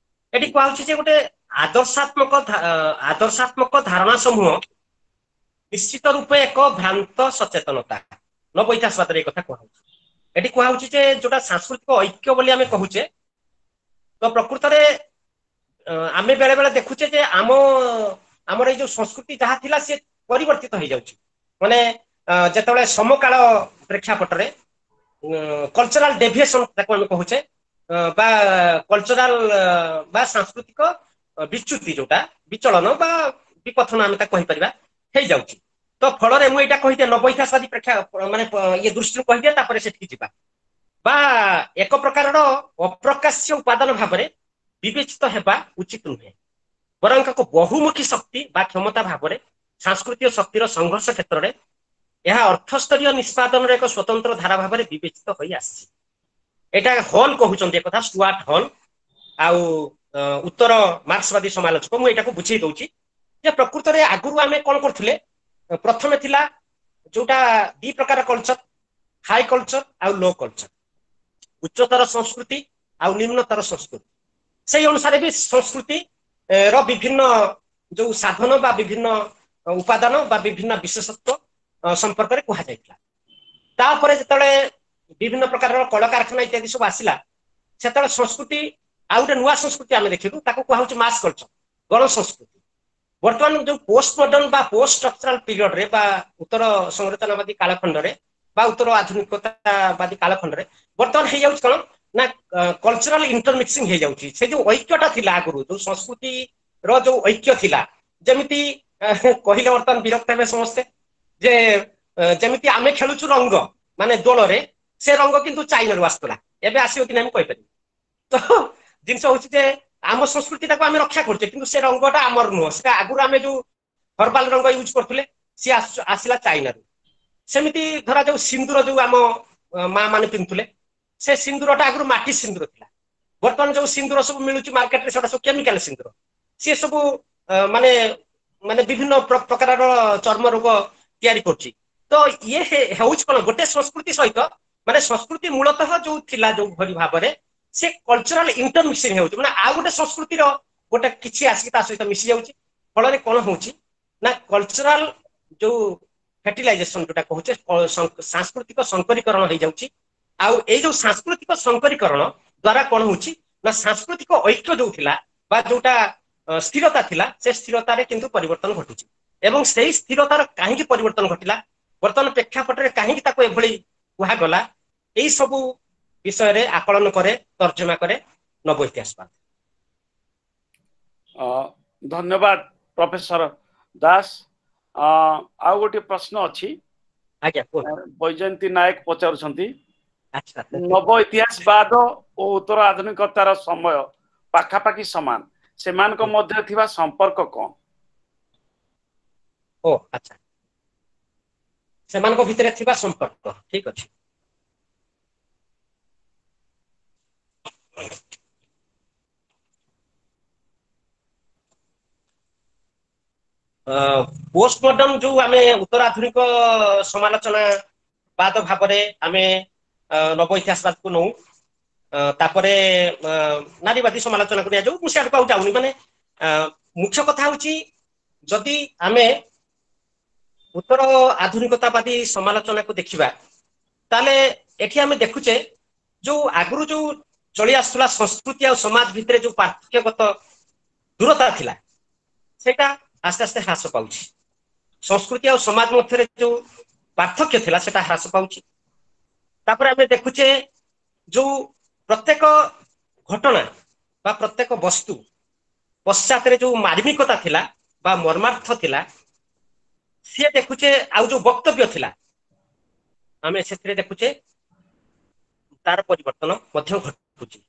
ଏଠି କୁହାହଉଛି ଯେ ଗୋଟେ ଆଦର୍ଶାତ୍ମକ ଧାରଣା ସମୂହ ନିଶ୍ଚିତ ରୂପେ ଏକ ଭ୍ରାନ୍ତ ସଚେତନତା। ନବ ଇତିହାସବାଦରେ ଏ କଥା କୁହାହଉଛି। ଏଠି କୁହାହଉଛି ଯେ ଯୋଉଟା ସାଂସ୍କୃତିକ ଐକ୍ୟ ବୋଲି ଆମେ କହୁଛେ, ତ ପ୍ରକୃତରେ ଆମେ ବେଳେ ବେଳେ ଦେଖୁଛେ ଯେ ଆମର ଏଇ ଯୋଉ ସଂସ୍କୃତି ଯାହା ଥିଲା ସେ ପରିବର୍ତ୍ତିତ ହେଇଯାଉଛି। ମାନେ ଯେତେବେଳେ ସମକାଳ ପ୍ରେକ୍ଷାପଟରେ କଲଚରାଲ ଡେଭିଏସନ ତାକୁ ଆମେ କହୁଛେ, ବା କଲଚରାଲ ବା ସାଂସ୍କୃତିକ ବିଚ୍ୟୁତି ଯୋଉଟା ବିଚଳନ ବା ବିପଥନ ଆମେ ତାକୁ କହିପାରିବା, ହେଇଯାଉଛି। ତ ଫଳରେ ମୁଁ ଏଇଟା କହିଦିଏ ନବ ଇତିହାସବାଦୀ ପ୍ରେକ୍ଷା ମାନେ ଇଏ ଦୃଷ୍ଟିରୁ କହିଦିଏ, ତାପରେ ସେଠିକି ଯିବା। ବା ଏକ ପ୍ରକାରର ଅପ୍ରକାଶ୍ୟ ଉପାଦାନ ଭାବରେ ବିବେଚିତ ହେବା ଉଚିତ ନୁହେଁ, ବରଂ ଏକ ବହୁମୁଖୀ ଶକ୍ତି ବା କ୍ଷମତା ଭାବରେ ସାଂସ୍କୃତିକ ଶକ୍ତିର ସଂଘର୍ଷ କ୍ଷେତ୍ରରେ ଏହା ଅର୍ଥସ୍ତରୀୟ ନିଷ୍ପାଦନର ଏକ ସ୍ୱତନ୍ତ୍ର ଧାରା ଭାବରେ ବିବେଚିତ ହୋଇ ଆସିଛି। ଏଇଟା ହଲ୍ କହୁଛନ୍ତି ଏକଥା, ଷ୍ଟୁଆର୍ଟ ହଲ୍, ଆଉ ଉତ୍ତର ମାର୍କ୍ସବାଦୀ ସମାଲୋଚକ। ମୁଁ ଏଇଟାକୁ ବୁଝେଇ ଦଉଛି ଯେ ପ୍ରକୃତରେ ଆଗରୁ ଆମେ କଣ କରୁଥିଲେ। ପ୍ରଥମେ ଥିଲା ଯୋଉଟା ଦି ପ୍ରକାର କଲଚର, ହାଇ କଲଚର ଆଉ ଲୋ କଲଚର, ଉଚ୍ଚତର ସଂସ୍କୃତି ଆଉ ନିମ୍ନତର ସଂସ୍କୃତି। ସେଇ ଅନୁସାରେ ବି ସଂସ୍କୃତି ର ବିଭିନ୍ନ ଯୋଉ ସାଧନ ବା ବିଭିନ୍ନ ଉପାଦାନ ବା ବିଭିନ୍ନ ବିଶେଷତ୍ୱ ସମ୍ପର୍କରେ କୁହାଯାଇଥିଲା। ତାପରେ ଯେତେବେଳେ ବିଭିନ୍ନ ପ୍ରକାରର କଳକାରଖାନା ଇତ୍ୟାଦି ସବୁ ଆସିଲା, ସେତେବେଳେ ସଂସ୍କୃତି ଆଉ ଗୋଟେ ନୂଆ ସଂସ୍କୃତି ଆମେ ଦେଖିଲୁ, ତାକୁ କୁହାହଉଛି ମାସ୍ କଲଚର, ଗଣ ସଂସ୍କୃତି। ବର୍ତ୍ତମାନ ଯୋଉ ପୋଷ୍ଟ ମଡର୍ନ ବା ପୋଷ୍ଟ ଷ୍ଟ୍ରକ୍ଚରାଲ ପିରିୟଡରେ ବା ଉତ୍ତର ସଂରଚନାବାଦୀ କାଳଖଣ୍ଡରେ ବା ଉତ୍ତର ଆଧୁନିକତାବାଦୀ କାଳଖଣ୍ଡରେ ବର୍ତ୍ତମାନ ହେଇଯାଉଛି କଣ ନା କଲଚରାଲ ଇଣ୍ଟରମିକ୍ସିଂ ହେଇଯାଉଛି। ସେ ଯୋଉ ଐକ୍ୟଟା ଥିଲା ଆଗରୁ, ଯୋଉ ସଂସ୍କୃତିର ଯୋଉ ଐକ୍ୟ ଥିଲା, ଯେମିତି କହିଲେ ବର୍ତ୍ତମାନ ବିରକ୍ତ ହେବେ ସମସ୍ତେ ଯେ ଯେମିତି ଆମେ ଖେଳୁଛୁ ରଙ୍ଗ ମାନେ ଦୋଳରେ, ସେ ରଙ୍ଗ କିନ୍ତୁ ଚାଇନାରୁ ଆସୁଥିଲା, ଏବେ ଆସିବ କି ନାହିଁ ମୁଁ କହିପାରିବି। ତ ଜିନିଷ ହଉଛି ଯେ ଆମ ସଂସ୍କୃତିଟାକୁ ଆମେ ରକ୍ଷା କରୁଛେ, କିନ୍ତୁ ସେ ରଙ୍ଗଟା ଆମର ନୁହଁ। ସେଟା ଆଗରୁ ଆମେ ଯୋଉ ହର୍ବାଲ ରଙ୍ଗ ୟୁଜ କରୁଥିଲେ, ସିଏ ଆସିଲା ଚାଇନାରୁ। ସେମିତି ଧରାଯାଉ ସିନ୍ଦୁର ଯୋଉ ଆମ ମା ମାନେ ପିନ୍ଧୁଥିଲେ, ସେ ସିନ୍ଦୁରଟା ଆଗରୁ ମାଟି ସିନ୍ଦୁର ଥିଲା। ବର୍ତ୍ତମାନ ଯୋଉ ସିନ୍ଦୁର ସବୁ ମିଳୁଛି ମାର୍କେଟରେ, ସେଟା ସବୁ କେମିକାଲ ସିନ୍ଦୁର। ସିଏ ସବୁ ମାନେ ମାନେ ବିଭିନ୍ନ ପ୍ରକାରର ଚର୍ମ ରୋଗ ତିଆରି କରୁଛି। ତ ଇଏ ହେଉଛି କଣ, ଗୋଟେ ସଂସ୍କୃତି ସହିତ ମାନେ ସଂସ୍କୃତି ମୂଳତଃ ଯୋଉ ଥିଲା ଯୋଉ ଭଳି ଭାବରେ, ସେ କଲଚରାଲ ଇଣ୍ଟରମିକ୍ସିଂ ହେଉଛି, ମାନେ ଆଉ ଗୋଟେ ସଂସ୍କୃତିର ଗୋଟେ କିଛି ଆସିକି ତା ସହିତ ମିଶି ଯାଉଛି। ଫଳରେ କଣ ହଉଛି ନା କଲଚରାଲ ଯୋଉ ଫର୍ଟିଲାଇଜେସନ ଯୋଉଟା କହୁଛେ, ସାଂସ୍କୃତିକ ସଂକରୀକରଣ ହେଇଯାଉଛି। ଆଉ ଏଇ ଯୋଉ ସାଂସ୍କୃତିକ ସଂକରୀକରଣ ଦ୍ଵାରା କଣ ହଉଛି ନା ସାଂସ୍କୃତିକ ଐକ୍ୟ ଯୋଉ ଥିଲା ବା ଯୋଉଟା ସ୍ଥିରତା ଥିଲା, ସେ ସ୍ଥିରତାରେ କିନ୍ତୁ ପରିବର୍ତ୍ତନ ଘଟୁଛି। ଏବଂ ସେଇ ସ୍ଥିରତାର କାହିଁକି ପରିବର୍ତ୍ତନ ଘଟିଲା, ବର୍ତ୍ତମାନ ପ୍ରେକ୍ଷାପଟରେ କାହିଁକି ତାକୁ ଏଭଳି କୁହାଗଲା, ଏଇ ସବୁ ବିଷୟରେ ଆକଳନ କରେ, ତର୍ଜମା କରେ ନବ ଇତିହାସବାଦ। ଧନ୍ୟବାଦ ପ୍ରଫେସର ଦାସ। ଆଉ ଗୋଟିଏ ପ୍ରଶ୍ନ ଅଛି। ଆଜ୍ଞା। ବୈଜୟନ୍ତୀ ନାୟକ ପଚାରୁଛନ୍ତି, ନବ ଇତିହାସବାଦ ଓ ଉତ୍ତର ଆଧୁନିକତାର ସମୟ ପାଖାପାଖି ସମାନ, ସେମାନଙ୍କ ମଧ୍ୟରେ ଥିବା ସମ୍ପର୍କ କଣ? ଓ ଆଚ୍ଛା, ସେମାନଙ୍କ ଭିତରେ ଥିବା ସମ୍ପର୍କ, ଠିକ ଅଛି। ପୋଷ୍ଟ ମଡର୍ନ ଯୋଉ ଆମେ ଉତ୍ତରାଧୁନିକ ସମାଲୋଚନା ବାଦ ଭାବରେ ଆମେ ନବ ଇତିହାସବାଦକୁ ନଉ, ତାପରେ ନାରୀବାଦୀ ସମାଲୋଚନାକୁ ନିଆଯାଉ, ମୁଁ ସିଆଡ଼କୁ ଆଉ ଯାଉନି। ମାନେ ମୁଖ୍ୟ କଥା ହଉଛି, ଯଦି ଆମେ ଉତ୍ତର ଆଧୁନିକତାବାଦୀ ସମାଲୋଚନାକୁ ଦେଖିବା, ତାହେଲେ ଏଠି ଆମେ ଦେଖୁଛେ ଯୋଉ ଆଗରୁ ଯୋଉ ଚଳି ଆସୁଥିଲା ସଂସ୍କୃତି ଆଉ ସମାଜ ଭିତରେ ଯୋଉ ପାର୍ଥକ୍ୟଗତ ଦୂରତା ଥିଲା, ସେଇଟା ଆସ୍ତେ ଆସ୍ତେ ହ୍ରାସ ପାଉଛି। ସଂସ୍କୃତି ଆଉ ସମାଜ ମଧ୍ୟରେ ଯୋଉ ପାର୍ଥକ୍ୟ ଥିଲା, ସେଟା ହ୍ରାସ ପାଉଛି। ତାପରେ ଆମେ ଦେଖୁଛେ ଯୋଉ ପ୍ରତ୍ୟେକ ଘଟଣା ବା ପ୍ରତ୍ୟେକ ବସ୍ତୁ ପଶ୍ଚାତରେ ଯୋଉ ମାର୍ମିକତା ଥିଲା ବା ମର୍ମାର୍ଥ ଥିଲା, ସିଏ ଦେଖୁଛେ, ଆଉ ଯୋଉ ବକ୍ତବ୍ୟ ଥିଲା, ଆମେ ସେଥିରେ ଦେଖୁଛେ ତାର ପରିବର୍ତ୍ତନ ମଧ୍ୟ ଘଟୁଛି।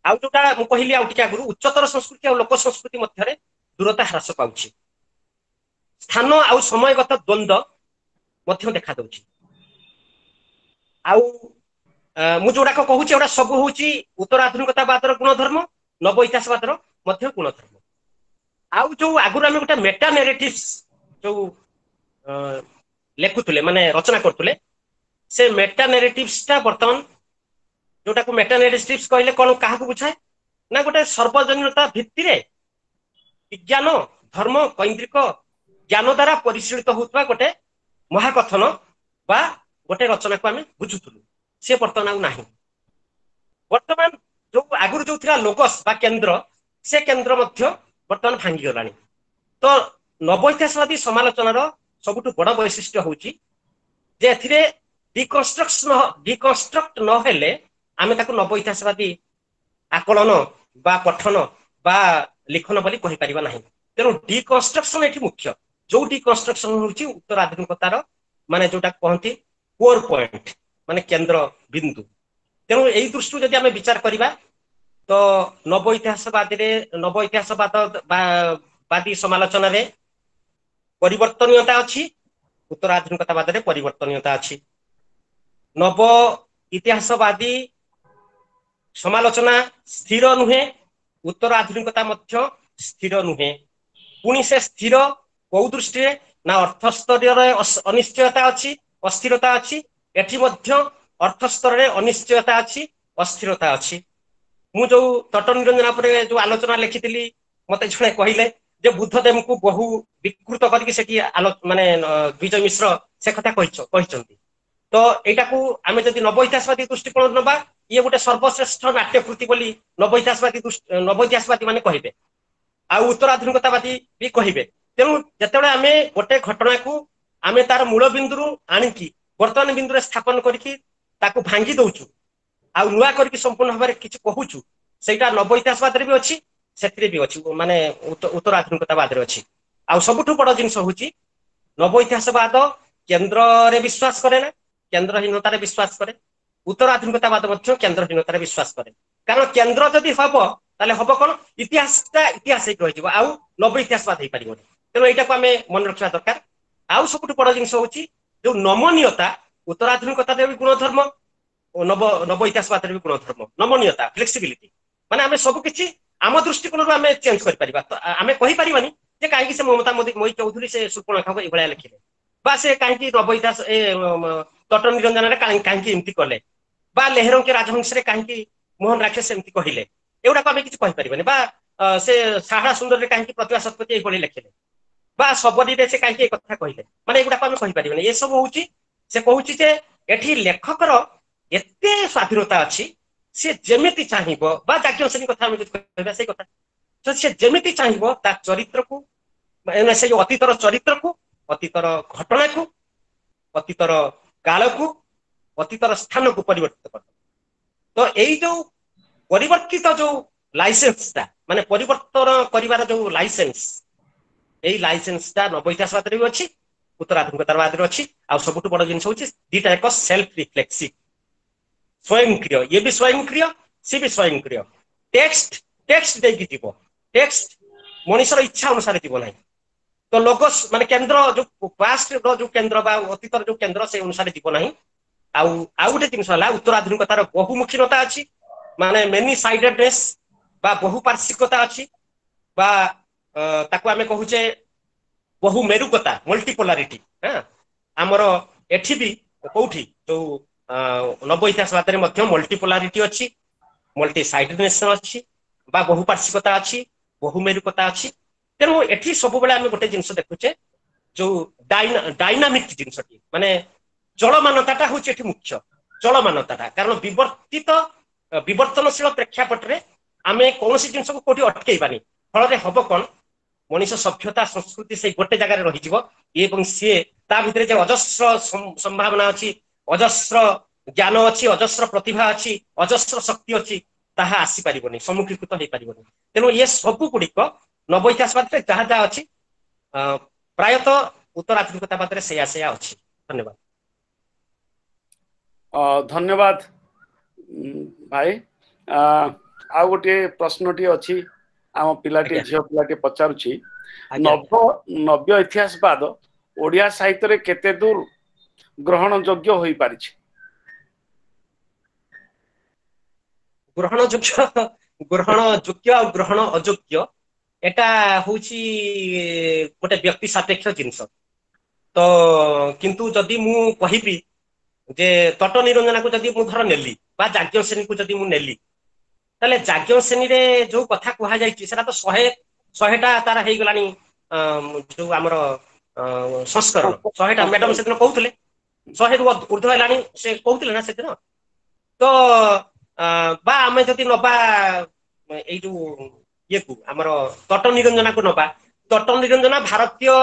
ଆଉ ଯୋଉଟା ମୁଁ କହିଲି ଆଉ ଟିକେ ଆଗରୁ, ଉଚ୍ଚତର ସଂସ୍କୃତି ଆଉ ଲୋକ ସଂସ୍କୃତି ମଧ୍ୟରେ ଦୂରତା ହ୍ରାସ ପାଉଛି। ସ୍ଥାନ ଆଉ ସମୟଗତ ଦ୍ୱନ୍ଦ୍ୱ ମଧ୍ୟ ଦେଖା ଦଉଛି। ଆଉ ମୁଁ ଯୋଉଟାକ କହୁଛି, ଏଗୁଡ଼ା ସବୁ ହଉଛି ଉତ୍ତର ଆଧୁନିକତାବାଦର ଗୁଣଧର୍ମ, ନବ ଇତିହାସବାଦର ମଧ୍ୟ ଗୁଣଧର୍ମ। ଆଉ ଯୋଉ ଆଗରୁ ଆମେ ଗୋଟେ ମେଟା ନେରେଟିଭ୍ସ ଯୋଉ ଲେଖୁଥିଲେ, ମାନେ ରଚନା କରୁଥିଲେ, ସେ ମେଟା ନେରେଟିଭ୍ସ ଟା ବର୍ତ୍ତମାନ, ଯୋଉଟାକୁ ମେଟା ନେରେଟିଭ୍ସ କହିଲେ କଣ କାହାକୁ ବୁଝାଏ ନା, ଗୋଟେ ସର୍ବଜନୀନତା ଭିତ୍ତିରେ ବିଜ୍ଞାନ ଧର୍ମ କୈନ୍ଦ୍ରିକ ଜ୍ଞାନ ଦ୍ୱାରା ପରିଶୀଳିତ ହଉଥିବା ଗୋଟେ ମହାକଥନ ବା ଗୋଟେ ରଚନାକୁ ଆମେ ବୁଝୁଥିଲୁ, ସେ ବର୍ତ୍ତମାନ ଆଉ ନାହିଁ। ବର୍ତ୍ତମାନ ଯୋଉ ଆଗରୁ ଯୋଉ ଥିଲା ଲୋଗସ୍ ବା କେନ୍ଦ୍ର, ସେ କେନ୍ଦ୍ର ମଧ୍ୟ ବର୍ତ୍ତମାନ ଭାଙ୍ଗିଗଲାଣି। ତ ନବ ଇତିହାସବାଦୀ ସମାଲୋଚନାର ସବୁଠୁ ବଡ ବୈଶିଷ୍ଟ୍ୟ ହଉଛି ଯେ ଏଥିରେ ଡିକନଷ୍ଟ୍ରକ୍ଟ ନହେଲେ ଆମେ ତାକୁ ନବ ଇତିହାସବାଦୀ ଆକଳନ ବା ପଠନ ବା ଲିଖନ ବୋଲି କହିପାରିବା ନାହିଁ। ତେଣୁ ଡିକନଷ୍ଟ୍ରକ୍ସନ ଏଠି ମୁଖ୍ୟ। ଯୋଉ ଡିକନଷ୍ଟ୍ରକ୍ସନ ହଉଛି ଉତ୍ତର ଆଧୁନିକତାର, ମାନେ ଯୋଉଟା କହନ୍ତି କୋର ପଏଣ୍ଟ, ମାନେ କେନ୍ଦ୍ର ବିନ୍ଦୁ। ତେଣୁ ଏଇ ଦୃଷ୍ଟିରୁ ଯଦି ଆମେ ବିଚାର କରିବା, ତ ନବ ଇତିହାସବାଦୀରେ, ନବ ଇତିହାସବାଦ ବାଦୀ ସମାଲୋଚନାରେ ପରିବର୍ତ୍ତନୀୟତା ଅଛି, ଉତ୍ତର ଆଧୁନିକତାବାଦରେ ପରିବର୍ତ୍ତନୀୟତା ଅଛି। ନବ ଇତିହାସବାଦୀ ସମାଲୋଚନା ସ୍ଥିର ନୁହେଁ, ଉତ୍ତର ଆଧୁନିକତା ମଧ୍ୟ ସ୍ଥିର ନୁହେଁ। ପୁଣି ସେ ସ୍ଥିର କୋଉ ଦୃଷ୍ଟିରେ ନା, ଅର୍ଥସ୍ତରରେ ଅନିଶ୍ଚୟତା ଅଛି, ଅସ୍ଥିରତା ଅଛି। ଏଠି ମଧ୍ୟ ଅର୍ଥସ୍ତରରେ ଅନିଶ୍ଚୟତା ଅଛି, ଅସ୍ଥିରତା ଅଛି। ମୁଁ ଯୋଉ ତଟ ନିରଞ୍ଜନ ଉପରେ ଯୋଉ ଆଲୋଚନା ଲେଖିଥିଲି, ମତେ ଜଣେ କହିଲେ ଯେ ବୁଦ୍ଧଦେବଙ୍କୁ ବହୁ ବିକୃତ କରିକି ସେଠି ଆଲୋ ମାନେ ବିଜୟ ମିଶ୍ର ସେ କଥା କହିଛନ୍ତି। ତ ଏଇଟାକୁ ଆମେ ଯଦି ନବ ଇତିହାସବାଦୀ ଦୃଷ୍ଟିକୋଣରୁ ନବା, ଇଏ ଗୋଟେ ସର୍ବଶ୍ରେଷ୍ଠ ନାଟ୍ୟକୃତି ବୋଲି ନବ ଇତିହାସବାଦୀ ମାନେ କହିବେ, ଆଉ ଉତ୍ତର ଆଧୁନିକତାବାଦୀ ବି କହିବେ। ତେଣୁ ଯେତେବେଳେ ଆମେ ଗୋଟେ ଘଟଣାକୁ ଆମେ ତାର ମୂଳ ବିନ୍ଦୁରୁ ଆଣିକି ବର୍ତ୍ତମାନ ବିନ୍ଦୁରେ ସ୍ଥାପନ କରିକି ତାକୁ ଭାଙ୍ଗି ଦଉଛୁ, ଆଉ ନୂଆ କରିକି ସମ୍ପୂର୍ଣ୍ଣ ଭାବରେ କିଛି କହୁଛୁ, ସେଇଟା ନବ ଇତିହାସବାଦରେ ବି ଅଛି, ସେଥିରେ ବି ଅଛି, ମାନେ ଉତ୍ତର ଆଧୁନିକତାବାଦରେ ଅଛି। ଆଉ ସବୁଠୁ ବଡ ଜିନିଷ ହଉଛି, ନବ ଇତିହାସବାଦ କେନ୍ଦ୍ରରେ ବିଶ୍ୱାସ କରେ ନା, କେନ୍ଦ୍ରହୀନତାରେ ବିଶ୍ୱାସ କରେ। ଉତ୍ତର ଆଧୁନିକତାବାଦ ମଧ୍ୟ କେନ୍ଦ୍ରହୀନତାରେ ବିଶ୍ୱାସ କରେ। କାରଣ କେନ୍ଦ୍ର ଯଦି ହବ, ତାହେଲେ ହବ କଣ, ଇତିହାସଟା ଇତିହାସ ହେଇକି ରହିଯିବ, ଆଉ ନବ ଇତିହାସବାଦ ହେଇପାରିବନି। ତେଣୁ ଏଇଟାକୁ ଆମେ ମନେ ରଖିବା ଦରକାର। ଆଉ ସବୁଠୁ ବଡ ଜିନିଷ ହଉଛି ଯୋଉ ନମନୀୟତା, ଉତ୍ତରାଧୁନିକତାରେ ବି ଗୁଣଧର୍ମ ଓ ନବ ଇତିହାସବାଦରେ ବି ଗୁଣଧର୍ମ ନମନୀୟତା, ଫ୍ଲେକ୍ସିବିଲିଟି। ମାନେ ଆମେ ସବୁ କିଛି ଆମ ଦୃଷ୍ଟିକୋଣରୁ ଆମେ ଚେଞ୍ଜ କରିପାରିବା। ତ ଆମେ କହିପାରିବାନି ଯେ କାହିଁକି ସେ ମମତା ମୟୀ ଚୌଧୁରୀ ସେ ଶୂର୍ପଣଖାକୁ ଏଇଭଳିଆ ଲେଖିଲେ, ବା ସେ କାହିଁକି ନବ ଇତିହାସ ଏ ତଟ ନିରଞ୍ଜନରେ କାହିଁକି ଏମିତି କଲେ, ବା ଲେହେରଙ୍କେ ରାଜହଂସରେ କାହିଁକି ମୋହନ ରାକ୍ଷସ ଏମିତି କହିଲେ, ଏଗୁଡାକୁ ଆମେ କିଛି କହିପାରିବାନି। ବା ସେ ସାହାରା ସୁନ୍ଦରରେ କାହିଁକି ପ୍ରତିଭା ଶତପଥୀ ଏଇଭଳି ଲେଖିଲେ, ବା ଶବରୀରେ ସେ କାହିଁକି ଏ କଥା କହିଲେ, ମାନେ ଏଗୁଡାକୁ ଆମେ କହିପାରିବାନି। ଏସବୁ ହଉଛି, ସେ କହୁଛି ଯେ ଏଠି ଲେଖକର ଏତେ ସ୍ୱାଧୀନତା ଅଛି, ସେ ଯେମିତି ଚାହିଁବ, ବା ଯାଜ୍ଞସେନୀ କଥା ଆମେ ଯଦି କହିବା ସେଇ କଥା, ତ ସେ ଯେମିତି ଚାହିଁବ ତା ଚରିତ୍ରକୁ, ମାନେ ସେ ଯୋଉ ଅତୀତର ଚରିତ୍ରକୁ, ଅତୀତର ଘଟଣାକୁ, ଅତୀତର କାଳକୁ, ଅତୀତର ସ୍ଥାନକୁ ପରିବର୍ତ୍ତିତ କରିଦେବ। ତ ଏଇ ଯୋଉ ପରିବର୍ତ୍ତିତ ଯୋଉ ଲାଇସେନ୍ସଟା ମାନେ ପରିବର୍ତ୍ତନ କରିବାର ଯୋଉ ଲାଇସେନ୍ସ, ଏଇ ଲାଇସେନ୍ସଟା ନବ ଇତିହାସବାଦରେ ବି ଅଛି, ଉତ୍ତରାଧୁନିକତାବାଦରେ ଅଛି। ଆଉ ସବୁଠୁ ବଡ ଜିନିଷ ହଉଛି ଦିଟା ଏକ ସେଲ୍ଫ ରିଫ୍ଲେକ୍ସିଭ, ସ୍ୱୟଂକ୍ରିୟ। ଇଏ ବି ସ୍ୱୟଂକ୍ରିୟ, ସିଏ ବି ସ୍ୱୟଂକ୍ରିୟ। ଟେକ୍ସଟ ଟେକ୍ସଟ ଦେଇକି ଯିବ, ଟେକ୍ସଟ ମଣିଷର ଇଚ୍ଛା ଅନୁସାରେ ଯିବ ନାହିଁ। ତ ଲୋଗସ୍ ମାନେ କେନ୍ଦ୍ର, ଯୋଉ ପାଷ୍ଟ ର ଯୋଉ କେନ୍ଦ୍ର ବା ଅତୀତର ଯୋଉ କେନ୍ଦ୍ର, ସେଇ ଅନୁସାରେ ଯିବ ନାହିଁ। ଆଉ ଆଉ ଗୋଟେ ଜିନିଷ ହେଲା ଉତ୍ତରାଧୁନିକତାର ବହୁମୁଖୀନତା ଅଛି, ମାନେ ମେନି ସାଇଡେଡନେସ୍ ବା ବହୁପାର୍ଶ୍ୱିକତା ଅଛି, ବା ତାକୁ ଆମେ କହୁଛେ ବହୁ ମେରୁକତା, ମଲ୍ଟିପୋଲାରିଟି। ହଁ, ଆମର ଏଠି ବି କୋଉଠି ଯୋଉ ନବ ଇତିହାସବାଦରେ ମଧ୍ୟ ମଲ୍ଟିପୋଲାରିଟି ଅଛି, ମଲ୍ଟି ସାଇଡେଡନେସ୍ ଅଛି, ବା ବହୁପାର୍ଶ୍ୱିକତା ଅଛି, ବହୁ ମେରୁକତା ଅଛି। ତେଣୁ ଏଠି ସବୁବେଳେ ଆମେ ଗୋଟେ ଜିନିଷ ଦେଖୁଛେ, ଯୋଉ ଡାଇନାମିକ ଜିନିଷଟି, ମାନେ ଚଳମାନତାଟା ହଉଛି ଏଠି ମୁଖ୍ୟ, ଚଳମାନତାଟା। କାରଣ ବିବର୍ତ୍ତିତ ବିବର୍ତ୍ତନଶୀଳ ପ୍ରେକ୍ଷାପଟରେ ଆମେ କୌଣସି ଜିନିଷକୁ କୋଉଠି ଅଟକେଇବାନି। ଫଳରେ ହବ କଣ, ମଣିଷ ସଭ୍ୟତା ସଂସ୍କୃତି ସେଇ ଗୋଟେ ଜାଗାରେ ରହିଯିବ, ଏବଂ ସିଏ ତା ଭିତରେ ଯେ ଅଜସ୍ର ସମ୍ଭାବନା ଅଛି, ଅଜସ୍ର ଜ୍ଞାନ ଅଛି, ଅଜସ୍ର ପ୍ରତିଭା ଅଛି, ଅଜସ୍ର ଶକ୍ତି ଅଛି, ତାହା ଆସିପାରିବନି, ସମ୍ମୁଖୀକୃତ ହେଇପାରିବନି। ତେଣୁ ଇଏ ସବୁ ଗୁଡିକ ନବ ଇତିହାସବାଦରେ ଯାହା ଯାହା ଅଛି, ପ୍ରାୟତଃ ଉତ୍ତରାଧୁନିକତାବାଦରେ ସେଇଆ ସେଇଆ ଅଛି। ଧନ୍ୟବାଦ। ଧନ୍ୟବାଦ ଭାଇ। ଆଉ ଗୋଟିଏ ପ୍ରଶ୍ନଟି ଅଛି, ଆମ ପିଲାଟି, ଝିଅ ପିଲାଟି ପଚାରୁଛି, ନବ୍ୟ ଇତିହାସବାଦ ଓଡିଆ ସାହିତ୍ୟରେ କେତେ ଦୂର ଗ୍ରହଣ ଯୋଗ୍ୟ ହୋଇପାରିଛି? ଗ୍ରହଣ ଯୋଗ୍ୟ, ଗ୍ରହଣ ଯୋଗ୍ୟ ଆଉ ଗ୍ରହଣ ଅଯୋଗ୍ୟ ଏଟା ହଉଛି ଗୋଟେ ବ୍ୟକ୍ତି ସାପେକ୍ଷ ଜିନିଷ। ତ କିନ୍ତୁ ଯଦି ମୁଁ କହିବି ଯେ ତଟ ନିରଞ୍ଜନାକୁ ଯଦି ମୁଁ ଧର ନେଲି ବା ଯାଜ୍ଞସେନୀକୁ ଯଦି ମୁଁ ନେଲି, ତାହେଲେ ଯାଜ୍ଞସେନୀରେ ଯୋଉ କଥା କୁହାଯାଇଛି ସେଟା ତ 100ଟା ତାର ହେଇଗଲାଣି, ଯୋଉ ଆମର ସଂସ୍କରଣ 100ଟା। ମ୍ୟାଡମ ସେଦିନ କହୁଥିଲେ 100ରୁ ଉର୍ଦ୍ଧ୍ୱ ହେଲାଣି, ସେ କହୁଥିଲେ ନା ସେଦିନ ତ। ବା ଆମେ ଯଦି ନବା ଏଇ ଯୋଉ ଇଏକୁ, ଆମର ତଟ ନିରଞ୍ଜନାକୁ ନବା, ତଟ ନିରଞ୍ଜନା ଭାରତୀୟ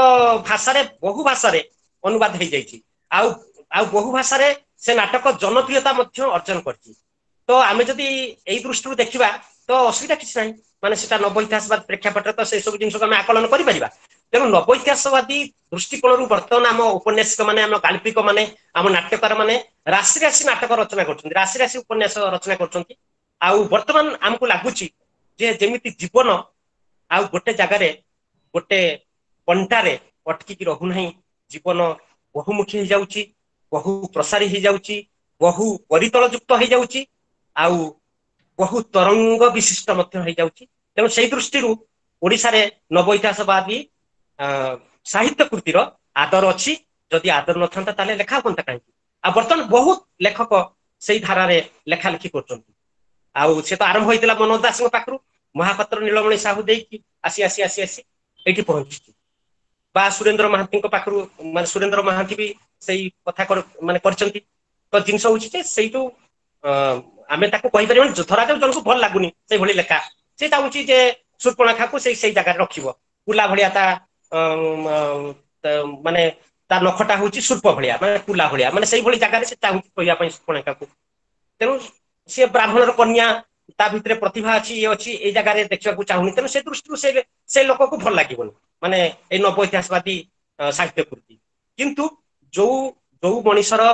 ଭାଷାରେ ବହୁ ଭାଷାରେ ଅନୁବାଦ ହେଇଯାଇଛି, ଆଉ ଆଉ ବହୁ ଭାଷାରେ ସେ ନାଟକ ଜନପ୍ରିୟତା ମଧ୍ୟ ଅର୍ଜନ କରିଛି। ତ ଆମେ ଯଦି ଏଇ ଦୃଷ୍ଟିରୁ ଦେଖିବା ତ ଅସୁବିଧା କିଛି ନାହିଁ, ମାନେ ସେଟା ନବ ଇତିହାସବାଦ ପ୍ରେକ୍ଷାପଟରେ ତ ସେଇ ସବୁ ଜିନିଷକୁ ଆମେ ଆକଳନ କରିପାରିବା। ତେଣୁ ନବ ଇତିହାସବାଦୀ ଦୃଷ୍ଟିକୋଣରୁ ବର୍ତ୍ତମାନ ଆମ ଉପନ୍ୟାସିକ ମାନେ, ଆମ ଗାଳ୍ପିକ ମାନେ, ଆମ ନାଟ୍ୟକାର ମାନେ ରାଶି ରାଶି ନାଟକ ରଚନା କରୁଛନ୍ତି, ରାଶି ରାଶି ଉପନ୍ୟାସ ରଚନା କରୁଛନ୍ତି। ଆଉ ବର୍ତ୍ତମାନ ଆମକୁ ଲାଗୁଛି ଯେ ଯେମିତି ଜୀବନ ଆଉ ଗୋଟେ ଜାଗାରେ ଗୋଟେ କଣ୍ଟାରେ ଅଟକିକି ରହୁନାହିଁ, ଜୀବନ ବହୁମୁଖୀ ହେଇଯାଉଛି, ବହୁ ପ୍ରସାରୀ ହେଇଯାଉଛି, ବହୁ ପରିତଳ ଯୁକ୍ତ ହେଇଯାଉଛି, ଆଉ ବହୁ ତରଙ୍ଗ ବିଶିଷ୍ଟ ମଧ୍ୟ ହେଇଯାଉଛି। ତେଣୁ ସେଇ ଦୃଷ୍ଟିରୁ ଓଡିଶାରେ ନବ ଇତିହାସବାଦୀ ସାହିତ୍ୟ କୃତିର ଆଦର ଅଛି। ଯଦି ଆଦର ନଥାନ୍ତା ତାହେଲେ ଲେଖା ହୁଅନ୍ତା କାହିଁକି? ଆଉ ବର୍ତ୍ତମାନ ବହୁତ ଲେଖକ ସେଇ ଧାରାରେ ଲେଖାଲେଖି କରୁଛନ୍ତି। ଆଉ ସେ ତ ଆରମ୍ଭ ହେଇଥିଲା ମନୋଜ ଦାସଙ୍କ ପାଖରୁ, ମହାପାତ୍ର ନୀଳମଣି ସାହୁ ଦେଇକି ଆସି ଆସି ଆସି ଆସି ଏଇଠି ପହଞ୍ଚିଛି, ବା ସୁରେନ୍ଦ୍ର ମହାନ୍ତିଙ୍କ ପାଖରୁ, ମାନେ ସୁରେନ୍ଦ୍ର ମହାନ୍ତି ବି ସେଇ କଥା ମାନେ କରିଛନ୍ତି। ତ ଜିନିଷ ହଉଛି ଯେ ସେଇ ଯୋଉ ଆମେ ତାକୁ କହିପାରିବାନି, ଧରାଯାଉ ଜଣକୁ ଭଲ ଲାଗୁନି ସେଇଭଳି ଲେଖା, ସେ ଚାହୁଁଛି ଯେ ସୂର୍ପଣଖାକୁ ସେଇ ସେଇ ଜାଗାରେ ରଖିବ, କୁଲା ଭଳିଆ ତା ମାନେ ତା ନଖଟା ହଉଛି ସୂର୍ପ ଭଳିଆ, ମାନେ କୁଲା ଭଳିଆ, ମାନେ ସେଇଭଳି ଜାଗାରେ ସେ ଚାହୁଁଛି କହିବା ପାଇଁ ସୂର୍ପଣଖାକୁ। ତେଣୁ ସିଏ ବ୍ରାହ୍ମଣର କନ୍ୟା, ତା ଭିତରେ ପ୍ରତିଭା ଅଛି, ଇଏ ଅଛି, ଏଇ ଜାଗାରେ ଦେଖିବାକୁ ଚାହୁଁନି। ତେଣୁ ସେ ଦୃଷ୍ଟିରୁ ସେ ଲୋକକୁ ଭଲ ଲାଗିବନି, ମାନେ ଏଇ ନବ ଇତିହାସବାଦୀ ସାହିତ୍ୟ କୃତି। କିନ୍ତୁ ଯୋଉ ଯୋଉ ମଣିଷର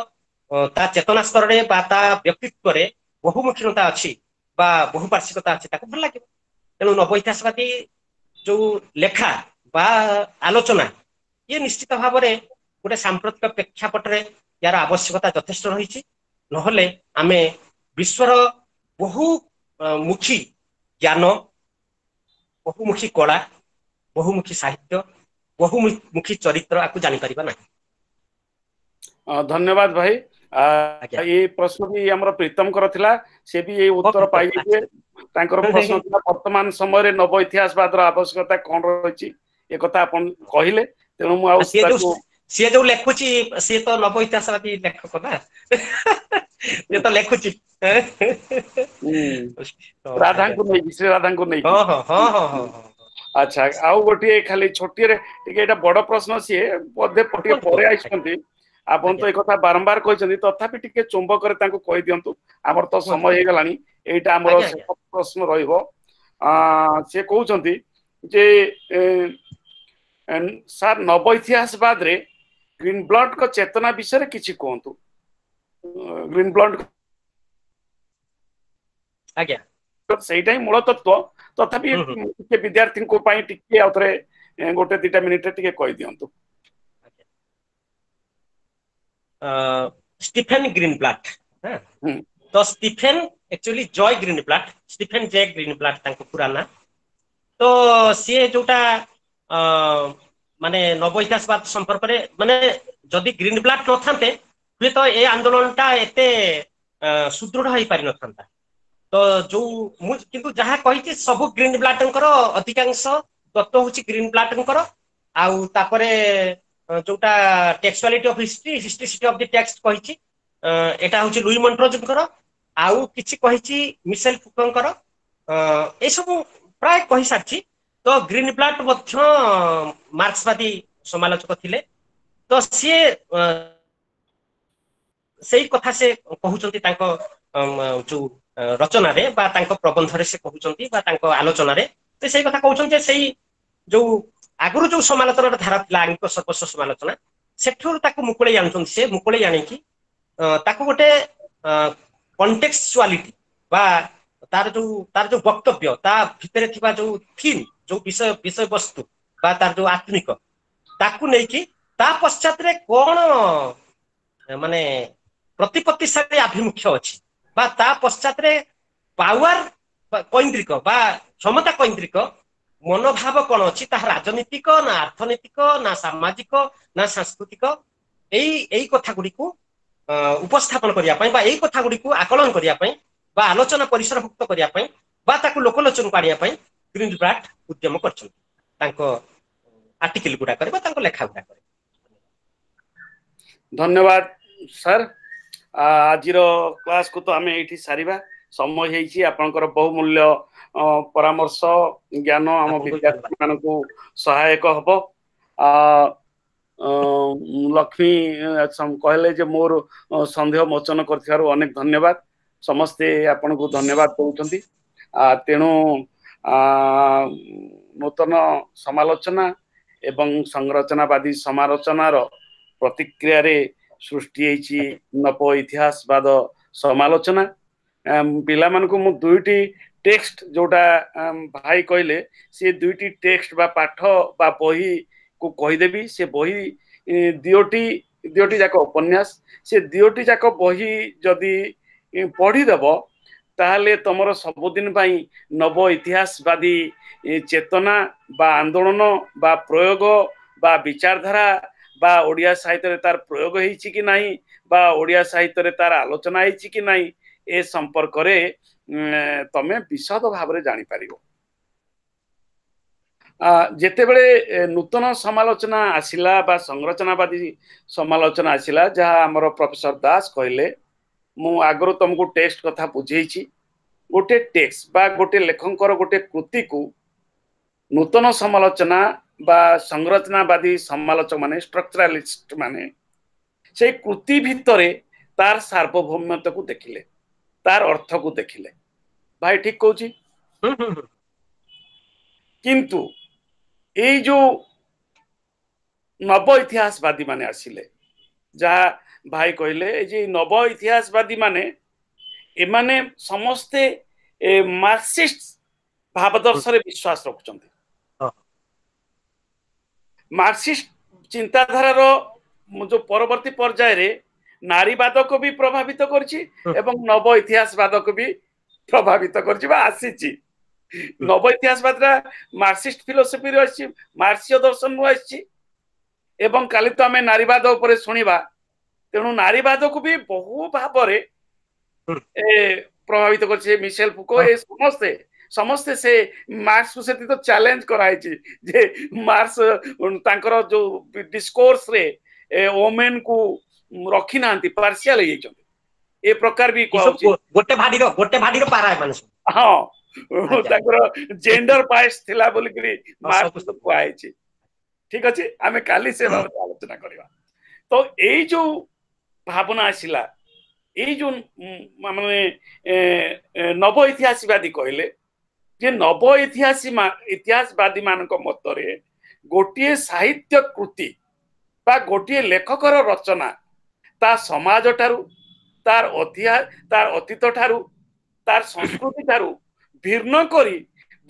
ତା ଚେତନା ସ୍ତରରେ ବା ତା ବ୍ୟକ୍ତିତ୍ୱରେ ବହୁମୁଖୀନତା ଅଛି ବା ବହୁପାର୍ଶ୍ୱିକତା ଅଛି, ତାକୁ ଭଲ ଲାଗିବ। ତେଣୁ ନବ ଇତିହାସବାଦୀ ଯୋଉ ଲେଖା ବା ଆଲୋଚନା, ଇଏ ନିଶ୍ଚିତ ଭାବରେ ଗୋଟେ ସାମ୍ପ୍ରତିକ ପ୍ରେକ୍ଷାପଟରେ ୟାର ଆବଶ୍ୟକତା ଯଥେଷ୍ଟ ରହିଛି। ନହେଲେ ଆମେ ବିଶ୍ୱର ବହୁ ମୁଖୀ ଜ୍ଞାନ, ବହୁମୁଖୀ କଳା, ବହୁମୁଖୀ ସାହିତ୍ୟ, ବହୁମୁଖୀ ଚରିତ୍ର ଆକୁ ଜାଣିପାରିବା ନାହିଁ। ଧନ୍ୟବାଦ ଭାଇ। ଏଇ ପ୍ରଶ୍ନ ବି ଆମର ପ୍ରୀତମଙ୍କର ଥିଲା, ସେ ବି ଏଇ ଉତ୍ତର ପାଇଯାଇଥିଲେ। ତାଙ୍କର ପ୍ରଶ୍ନ ଥିଲା ବର୍ତ୍ତମାନ ସମୟରେ ନବ ଇତିହାସବାଦର ଆବଶ୍ୟକତା କଣ ରହିଛି, ଏ କଥା ଆପଣ କହିଲେ। ତେଣୁ ମୁଁ ଆଉ ସିଏ ଯୋଉ ଲେଖୁଛି, ସିଏ ତ ନବ ଇତିହାସବାଦୀ ଲେଖକ ନା, ସିଏ ତ ଲେଖୁଛି ରାଧାଙ୍କୁ ନେଇକି, ଶ୍ରୀ ରାଧାଙ୍କୁ ନେଇକି। ହଁ ହଁ ହଁ ହଁ। ଆଚ୍ଛା, ଆଉ ଗୋଟିଏ ଖାଲି ଛୋଟିଆରେ ଟିକେ, ଏଇଟା ବଡ ପ୍ରଶ୍ନ, ସିଏ ବୋଧେ ଟିକେ ପରେ ଆସିଛନ୍ତି। ଆପଣ ତ ଏ କଥା ବାରମ୍ବାର କହିଛନ୍ତି, ତଥାପି ଟିକେ ଚୁମ୍ବକରେ ତାଙ୍କୁ କହିଦିଅନ୍ତୁ, ଆମର ତ ସମୟ ହେଇଗଲାଣି। ଏଇଟା ଆମର ପ୍ରଶ୍ନ ରହିବ। ସେ କହୁଛନ୍ତି ଯେ ସାର୍ ନବ ଇତିହାସବାଦରେ ଗ୍ରୀନ ବ୍ଲଡଙ୍କ ଚେତନା ବିଷୟରେ କିଛି କୁହନ୍ତୁ। ଗ୍ରୀନ ବ୍ଲଡ ଆଜ୍ଞା, ସେଇଟା ହିଁ ମୂଳ ତତ୍ଵ, ତଥାପି ଟିକେ ବିଦ୍ୟାର୍ଥୀଙ୍କ ପାଇଁ ଟିକେ ଆଉ ଥରେ ଗୋଟେ ଦିଟା ମିନିଟରେ ଟିକେ କହିଦିଅନ୍ତୁ। ଷ୍ଟିଫେନ ଗ୍ରୀନବ୍ଲାଟ, ତ ଷ୍ଟିଫେନ ଆକ୍ଚୁଆଲି ଜୟ ଗ୍ରୀନବ୍ଲାଟ, ଷ୍ଟିଫେନ ଜେ ଗ୍ରୀନବ୍ଲାଟ ତାଙ୍କ ପୁରା ନାଁ। ତ ସିଏ ଯୋଉଟା ମାନେ ନବ ଇତିହାସବାଦ ସମ୍ପର୍କରେ, ମାନେ ଯଦି ଗ୍ରୀନବ୍ଲାଟ ନଥାନ୍ତେ ହୁଏତ ଏ ଆନ୍ଦୋଳନଟା ଏତେ ସୁଦୃଢ ହେଇପାରିନଥାନ୍ତା। ତ ଯୋଉ ମୁଁ କିନ୍ତୁ ଯାହା କହିଛି ସବୁ ଗ୍ରୀନବ୍ଲାଟଙ୍କର ଅଧିକାଂଶ ତତ୍ଵ ହଉଛି ଗ୍ରୀନବ୍ଲାଟଙ୍କର। ଆଉ ତାପରେ ଯୋଉଟା textuality of history, historicity of the text କହିଛି, ଏଟା ହଉଛି ଲୁଇ ମଣ୍ଟ୍ରୋଜଙ୍କର। ଆଉ କିଛି କହିଛି ମିସେଲ ଫୁକଙ୍କର। ଏସବୁ ପ୍ରାୟ କହିସାରିଛି। ତ ଗ୍ରୀନବ୍ଲାଟ ମଧ୍ୟ ମାର୍କ୍ସବାଦୀ ସମାଲୋଚକ ଥିଲେ, ତ ସିଏ ସେଇ କଥା ସେ କହୁଛନ୍ତି ତାଙ୍କ ଯୋଉ ରଚନାରେ ବା ତାଙ୍କ ପ୍ରବନ୍ଧରେ ସେ କହୁଛନ୍ତି ବା ତାଙ୍କ ଆଲୋଚନାରେ ସେ ସେଇ କଥା କହୁଛନ୍ତି ଯେ ସେଇ ଯୋଉ ଆଗରୁ ଯୋଉ ସମାଲୋଚନାର ଧାରା ଥିଲା ଆଙ୍ଗିକ ସର୍ବସ୍ୱ ସମାଲୋଚନା, ସେଠୁ ତାକୁ ମୁକୁଳେଇ ଆଣୁଛନ୍ତି। ସେ ମୁକୁଳେଇ ଆଣିକି ତାକୁ ଗୋଟେ କଣ୍ଟେକ୍ସଚୁଆଲିଟି ବା ତାର ଯୋଉ ବକ୍ତବ୍ୟ, ତା ଭିତରେ ଥିବା ଯୋଉ ଥିମ୍, ଯୋଉ ବିଷୟବସ୍ତୁ ବା ତାର ଯୋଉ ଆତ୍ମିକ, ତାକୁ ନେଇକି ତା ପଶ୍ଚାତରେ କଣ ମାନେ ପ୍ରତିପତ୍ତିଶାଳୀ ଆଭିମୁଖ୍ୟ ଅଛି ବା ତା ପଶ୍ଚାତରେ ପାୱାର କୈନ୍ଦ୍ରିକ ବା କ୍ଷମତା କୈନ୍ଦ୍ରିକ ମନୋଭାବ କଣ ଅଛି, ତାହା ରାଜନୀତିକ ନା ଅର୍ଥନୈତିକ ନା ସାମାଜିକ ନା ସାଂସ୍କୃତିକ, ଏଇ କଥା ଗୁଡିକୁ ଉପସ୍ଥାପନ କରିବା ପାଇଁ ବା ଏଇ କଥା ଗୁଡିକୁ ଆକଳନ କରିବା ପାଇଁ ବା ଆଲୋଚନା ପରିସରଭୁକ୍ତ କରିବା ପାଇଁ ବା ତାକୁ ଲୋକଲୋଚନକୁ ଆଣିବା ପାଇଁ ଗ୍ରୀନବ୍ଲାଟ ଉଦ୍ୟମ କରିଛନ୍ତି ତାଙ୍କ ଆର୍ଟିକଲ ଗୁଡାକରେ ବା ତାଙ୍କ ଲେଖା ଗୁଡାକରେ। ଧନ୍ୟବାଦ ସାର୍। ଆଜିର କ୍ଲାସକୁ ତ ଆମେ ଏଇଠି ସାରିବା, ସମୟ ହେଇଛି। ଆପଣଙ୍କର ବହୁମୂଲ୍ୟ ପରାମର୍ଶ ଜ୍ଞାନ ଆମ ବିଦ୍ୟାର୍ଥୀ ମାନଙ୍କୁ ସହାୟକ ହବ। ଲକ୍ଷ୍ମୀ କହିଲେ ଯେ ମୋର ସନ୍ଦେହ ମୋଚନ କରିଥିବାରୁ ଅନେକ ଧନ୍ୟବାଦ। ସମସ୍ତେ ଆପଣଙ୍କୁ ଧନ୍ୟବାଦ ଦଉଛନ୍ତି। ତେଣୁ ନୂତନ ସମାଲୋଚନା ଏବଂ ସଂରଚନାବାଦୀ ସମାଲୋଚନାର ପ୍ରତିକ୍ରିୟାରେ ସୃଷ୍ଟି ହେଇଛି ନବ ଇତିହାସବାଦ ସମାଲୋଚନା। ପିଲାମାନଙ୍କୁ ମୁଁ ଦୁଇଟି ଟେକ୍ସଟ ଯୋଉଟା ଭାଇ କହିଲେ, ସେ ଦୁଇଟି ଟେକ୍ସଟ ବା ପାଠ ବା ବହିକୁ କହିଦେବି। ସେ ବହି ଦିଓଟି ଯାକ ଉପନ୍ୟାସ, ସେ ଦିଓଟି ଯାକ ବହି ଯଦି ପଢିଦେବ ତାହେଲେ ତମର ସବୁଦିନ ପାଇଁ ନବ ଇତିହାସବାଦୀ ଚେତନା ବା ଆନ୍ଦୋଳନ ବା ପ୍ରୟୋଗ ବା ବିଚାରଧାରା ବା ଓଡ଼ିଆ ସାହିତ୍ୟରେ ତାର ପ୍ରୟୋଗ ହେଇଛି କି ନାହିଁ ବା ଓଡ଼ିଆ ସାହିତ୍ୟରେ ତାର ଆଲୋଚନା ହେଇଛି କି ନାହିଁ ଏ ସମ୍ପର୍କରେ ତମେ ବିଶଦ ଭାବରେ ଜାଣିପାରିବ। ଯେତେବେଳେ ନୂତନ ସମାଲୋଚନା ଆସିଲା ବା ସଂରଚନାବାଦୀ ସମାଲୋଚନା ଆସିଲା, ଯାହା ଆମର ପ୍ରଫେସର ଦାସ କହିଲେ, ମୁଁ ଆଗରୁ ତମକୁ ଟେକ୍ସଟ କଥା ବୁଝେଇଛି। ଗୋଟେ ଟେକ୍ସଟ ବା ଗୋଟେ ଲେଖକଙ୍କର ଗୋଟେ କୃତିକୁ ନୂତନ ସମାଲୋଚନା ବା ସଂରଚନାବାଦୀ ସମାଲୋଚକ ମାନେ, ଷ୍ଟ୍ରକ୍ଚରାଲିଷ୍ଟ ମାନେ, ସେଇ କୃତି ଭିତରେ ତାର ସାର୍ବଭୌମ୍ୟତାକୁ ଦେଖିଲେ, ତାର ଅର୍ଥକୁ ଦେଖିଲେ। ଭାଇ ଠିକ କହୁଛି? କିନ୍ତୁ ଏଇ ଯୋଉ ନବ ଇତିହାସବାଦୀ ମାନେ ଆସିଲେ, ଯାହା ଭାଇ କହିଲେ, ଏଇ ଯେ ନବ ଇତିହାସବାଦୀ ମାନେ, ଏମାନେ ସମସ୍ତେ ମାର୍କ୍ସିଷ୍ଟ ଭାବଦର୍ଶରେ ବିଶ୍ୱାସ ରଖୁଛନ୍ତି। ମାର୍କ୍ସିଷ୍ଟ ଚିନ୍ତାଧାରାର ଯୋଉ ପରବର୍ତ୍ତୀ ପର୍ଯ୍ୟାୟରେ ନାରୀବାଦକୁ ବି ପ୍ରଭାବିତ କରିଛି ଏବଂ ନବ ଇତିହାସବାଦକୁ ବି ପ୍ରଭାବିତ କରିଛି ବା ଆସିଛି। ନବ ଇତିହାସବାଦଟା ମାର୍କ୍ସିଷ୍ଟ ଫିଲୋସଫିରୁ ଆସିଛି, ମାର୍କ୍ସୀୟ ଦର୍ଶନରୁ ଆସିଛି, ଏବଂ କାଲି ତ ଆମେ ନାରୀବାଦ ଉପରେ ଶୁଣିବା। ତେଣୁ ନାରୀବାଦକୁ ବି ବହୁ ଭାବରେ ପ୍ରଭାବିତ କରିଛି। ମିଶେଲ ଫୁକୋ, ଏ ସମସ୍ତେ ସେ ମାର୍କ୍ସକୁ ସେଠି ତ ଚ୍ୟାଲେଞ୍ଜ କରାହେଇଛି ଯେ ମାର୍କ୍ସ ତାଙ୍କର ଯୋଉ ଡିସ୍କୋର୍ସରେ ଓମେନ୍ କୁ ରଖିନାହାନ୍ତି, ପାର୍ସିଆଲ ହେଇଯାଇଛନ୍ତି, ଏ ପ୍ରକାର ବି କୁହାହଉଛି। ଗୋଟେ ଭାଡିର ପାରା ଏମାନେ ସବୁ। ହଁ, ତାଙ୍କର ଜେଣ୍ଡର ବାୟସ ଥିଲା ବୋଲିକିରି ମାର୍କ୍ସ କୁହାହେଇଛି। ଠିକ ଅଛି, ଆମେ କାଲି ସେ ବାବଦରେ ଆଲୋଚନା କରିବା। ତ ଏଇ ଯୋଉ ଭାବନା ଆସିଲା, ଏଇ ଯୋଉ ମାନେ ନବ ଇତିହାସବାଦୀ କହିଲେ, ଯେ ନବ ଇତିହାସବାଦୀ ମାନଙ୍କ ମତରେ ଗୋଟିଏ ସାହିତ୍ୟ କୃତି ବା ଗୋଟିଏ ଲେଖକର ରଚନା ତା ସମାଜ ଠାରୁ, ତାର ତାର ଅତୀତ ଠାରୁ, ତାର ସଂସ୍କୃତି ଠାରୁ ଭିନ୍ନ କରି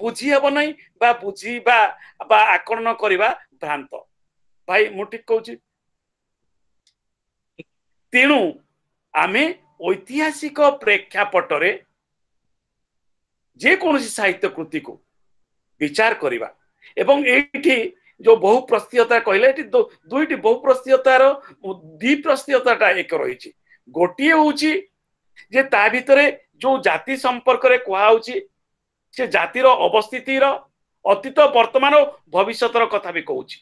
ବୁଝି ହେବ ନାହିଁ ବା ବୁଝିବା ବା ଆକଳନ କରିବା ଭ୍ରାନ୍ତ। ଭାଇ, ମୁଁ ଠିକ କହୁଛି? ତେଣୁ ଆମେ ଐତିହାସିକ ପ୍ରେକ୍ଷାପଟରେ ଯେକୌଣସି ସାହିତ୍ୟ କୃତିକୁ ବିଚାର କରିବା। ଏବଂ ଏଇଠି ଯୋଉ ବହୁ ପ୍ରସ୍ତୀୟତା କହିଲେ, ଏଠି ଦୁଇଟି ବହୁ ପ୍ରସ୍ତୀୟତାର ଦ୍ୱିପ୍ରସ୍ତୀୟତାଟା ଏକ ରହିଛି। ଗୋଟିଏ ହଉଛି ଯେ ତା ଭିତରେ ଯୋଉ ଜାତି ସମ୍ପର୍କରେ କୁହାହଉଛି, ସେ ଜାତିର ଅବସ୍ଥିତିର ଅତୀତ, ବର୍ତ୍ତମାନ, ଭବିଷ୍ୟତର କଥା ବି କହୁଛି।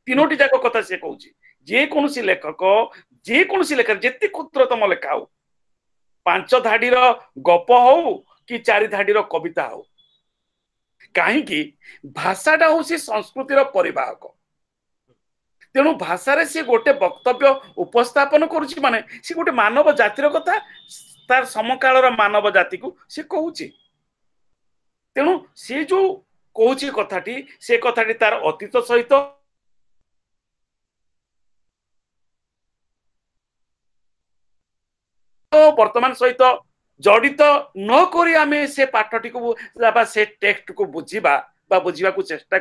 ତିନୋଟି ଯାକ କଥା ସେ କହୁଛି। ଯେକୌଣସି ଲେଖକ, ଯେକୌଣସି ଲେଖା, ଯେତେ କ୍ଷୁଦ୍ରତମ ଲେଖା ହଉ, 5 ଧାଡିର ଗପ ହଉ କି 4 ଧାଡିର କବିତା ହଉ, କାହିଁକି ଭାଷାଟା ହଉଛି ସଂସ୍କୃତିର ପରିବାହକ। ତେଣୁ ଭାଷାରେ ସିଏ ଗୋଟେ ବକ୍ତବ୍ୟ ଉପସ୍ଥାପନ କରୁଛି, ମାନେ ସିଏ ଗୋଟେ ମାନବ ଜାତିର କଥା ତାର ସମକାଳର ମାନବ ଜାତିକୁ ସେ କହୁଛି। ତେଣୁ ସିଏ ଯୋଉ କହୁଛି କଥାଟି, ସେ କଥାଟି ତାର ଅତୀତ ସହିତ ବର୍ତ୍ତମାନ ସହିତ ଜଡିତ ନ କରି ଆମେ ସେ ପାଠଟିକୁ ବା ସେ ଟେକ୍ସଟକୁ ବୁଝିବା ବା ବୁଝିବାକୁ ଚେଷ୍ଟା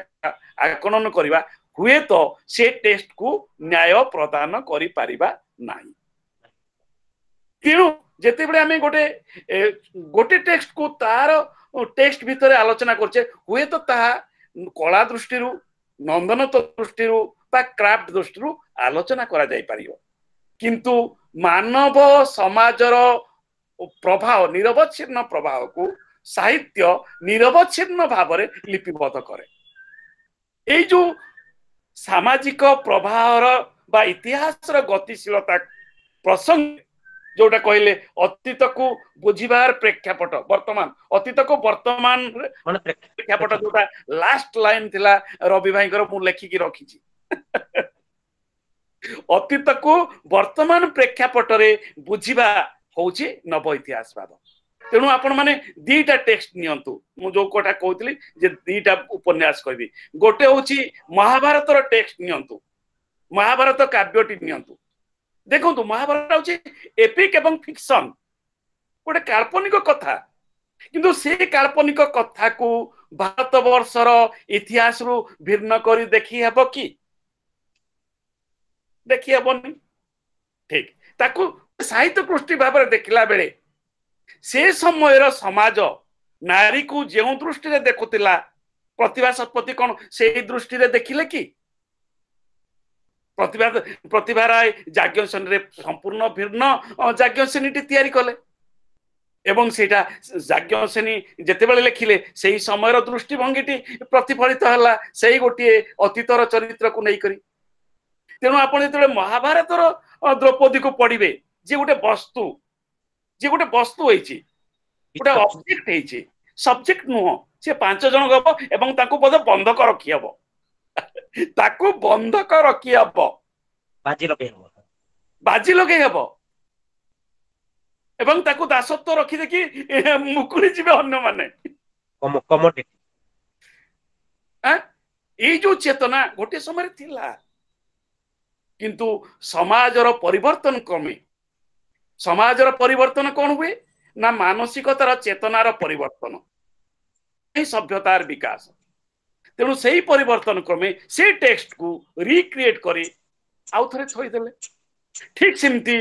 ଆକଳନ କରିବା, ହୁଏତ ସେ ଟେକ୍ସଟକୁ ନ୍ୟାୟ ପ୍ରଦାନ କରିପାରିବା ନାହିଁ। ତେଣୁ ଯେତେବେଳେ ଆମେ ଗୋଟେ ଗୋଟେ ଟେକ୍ସଟକୁ ତାର ଟେକ୍ସଟ ଭିତରେ ଆଲୋଚନା କରୁଛେ, ହୁଏତ ତାହା କଳା ଦୃଷ୍ଟିରୁ, ନନ୍ଦନତ୍ୱ ଦୃଷ୍ଟିରୁ ବା କ୍ରାଫ୍ଟ ଦୃଷ୍ଟିରୁ ଆଲୋଚନା କରାଯାଇପାରିବ, କିନ୍ତୁ ମାନବ ସମାଜର ପ୍ରଭାବ, ନିରବଚ୍ଛିନ୍ନ ପ୍ରଭାବକୁ ସାହିତ୍ୟ ନିରବଚ୍ଛିନ୍ନ ଭାବରେ ଲିପିବଦ୍ଧ କରେ। ଏଇ ଯୋଉ ସାମାଜିକ ପ୍ରବାହର ବା ଇତିହାସର ଗତିଶୀଳତା ପ୍ରସଙ୍ଗ ଯୋଉଟା କହିଲେ, ଅତୀତକୁ ବୁଝିବାର ପ୍ରେକ୍ଷାପଟ ବର୍ତ୍ତମାନ, ଅତୀତକୁ ବର୍ତ୍ତମାନ ପ୍ରେକ୍ଷାପଟ, ଯୋଉଟା ଲାଷ୍ଟ ଲାଇନ ଥିଲା ରବି ଭାଇଙ୍କର, ମୁଁ ଲେଖିକି ରଖିଛି, ଅତୀତକୁ ବର୍ତ୍ତମାନ ପ୍ରେକ୍ଷାପଟରେ ବୁଝିବା ହଉଛି ନବ ଇତିହାସବାଦ। ତେଣୁ ଆପଣ ମାନେ ଦିଟା ଟେକ୍ସଟ ନିଅନ୍ତୁ। ମୁଁ ଯୋଉ କଥା କହୁଥିଲି ଯେ ଦିଟା ଉପନ୍ୟାସ କହିବି, ଗୋଟେ ହଉଛି ମହାଭାରତର ଟେକ୍ସଟ ନିଅନ୍ତୁ, ମହାଭାରତ କାବ୍ୟଟି ନିଅନ୍ତୁ। ଦେଖନ୍ତୁ, ମହାଭାରତ ହଉଛି ଏପିକ ଏବଂ ଫିକ୍ସନ, ଗୋଟେ କାଳ୍ପନିକ କଥା, କିନ୍ତୁ ସେ କାଳ୍ପନିକ କଥାକୁ ଭାରତ ବର୍ଷର ଇତିହାସରୁ ଭିନ୍ନ କରି ଦେଖି ହେବ କି? ଦେଖି ହେବନି। ଠିକ ତାକୁ ସାହିତ୍ୟ କୃଷ୍ଟି ଭାବରେ ଦେଖିଲା ବେଳେ ସେ ସମୟର ସମାଜ ନାରୀକୁ ଯେଉଁ ଦୃଷ୍ଟିରେ ଦେଖୁଥିଲା, ପ୍ରତିଭା ଶତପଥୀ କଣ ସେଇ ଦୃଷ୍ଟିରେ ଦେଖିଲେ କି? ପ୍ରତିଭା ରାୟ ଯାଜ୍ଞସେନୀରେ ସମ୍ପୂର୍ଣ୍ଣ ଭିନ୍ନ ଯାଜ୍ଞସେନୀଟି ତିଆରି କଲେ, ଏବଂ ସେଇଟା ଯାଜ୍ଞସେନୀ ଯେତେବେଳେ ଲେଖିଲେ ସେଇ ସମୟର ଦୃଷ୍ଟିଭଙ୍ଗୀଟି ପ୍ରତିଫଳିତ ହେଲା ସେଇ ଗୋଟିଏ ଅତୀତର ଚରିତ୍ରକୁ ନେଇକରି। ତେଣୁ ଆପଣ ଯେତେବେଳେ ମହାଭାରତର ଦ୍ରୌପଦୀକୁ ପଢିବେ, ଯିଏ ଗୋଟେ ବସ୍ତୁ, ଯିଏ ଗୋଟେ ବସ୍ତୁ ହେଇଛି, ଗୋଟେ ଅବଜେକ୍ଟ ହେଇଛି, ସବଜେକ୍ଟ ନୁହଁ, ସେ 5 ଜଣ ହବ ଏବଂ ତାକୁ ବୋଧେ ବନ୍ଧକ ରଖି ହବ, ତାକୁ ବନ୍ଧକ ରଖି ହବ, ବାଜି ଲଗେଇ ହବ, ବାଜି ଲଗେଇ ହବ, ଏବଂ ତାକୁ ଦାସତ୍ୱ ରଖି ଦେଖି ମୁକୁଳି ଯିବେ ଅନ୍ୟମାନେ। ଏଇ ଯୋଉ ଚେତନା ଗୋଟେ ସମୟରେ ଥିଲା, କିନ୍ତୁ ସମାଜର ପରିବର୍ତ୍ତନ କ୍ରମେ, ସମାଜର ପରିବର୍ତ୍ତନ କଣ ହୁଏ ନା ମାନସିକତାର ଚେତନାର ପରିବର୍ତ୍ତନ, ସଭ୍ୟତାର ବିକାଶ। ତେଣୁ ସେଇ ପରିବର୍ତ୍ତନ କ୍ରମେ ସେ ଟେକ୍ସଟକୁ ରିକ୍ରିଏଟ କରି ଆଉ ଥରେ ଥୋଇଦେଲେ। ଠିକ ସେମିତି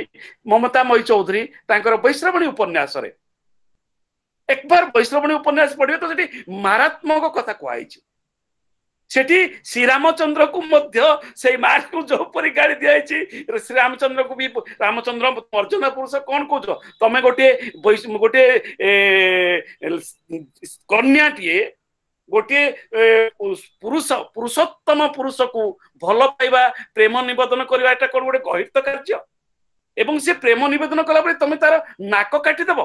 ମମତାମୟୀ ଚୌଧୁରୀ ତାଙ୍କର ବୈଶ୍ରବଣୀ ଉପନ୍ୟାସରେ, ଏକବାର ବୈଶ୍ରବଣୀ ଉପନ୍ୟାସ ପଢିବେ ତ ସେଠି ମାରାତ୍ମକ କଥା କୁହାଯାଇଛି। ସେଠି ଶ୍ରୀରାମଚନ୍ଦ୍ରକୁ ମଧ୍ୟ ସେଇ ମାକୁ ଯୋଉପରି ଗାଳି ଦିଆଯାଇଛି, ଶ୍ରୀରାମଚନ୍ଦ୍ରକୁ ବି, ରାମଚନ୍ଦ୍ର ଅର୍ଜୁନ ପୁରୁଷ କଣ କହୁଛ ତମେ, ଗୋଟିଏ ଗୋଟିଏ କନ୍ୟାଟିଏ ଗୋଟିଏ ପୁରୁଷ, ପୁରୁଷୋତ୍ତମ ପୁରୁଷକୁ ଭଲ ପାଇବା, ପ୍ରେମ ନିବେଦନ କରିବା, ଏଟା କଣ ଗୋଟେ ଗହିତ କାର୍ଯ୍ୟ? ଏବଂ ସେ ପ୍ରେମ ନିବେଦନ କଲା ପରେ ତମେ ତାର ନାକ କାଟିଦବ,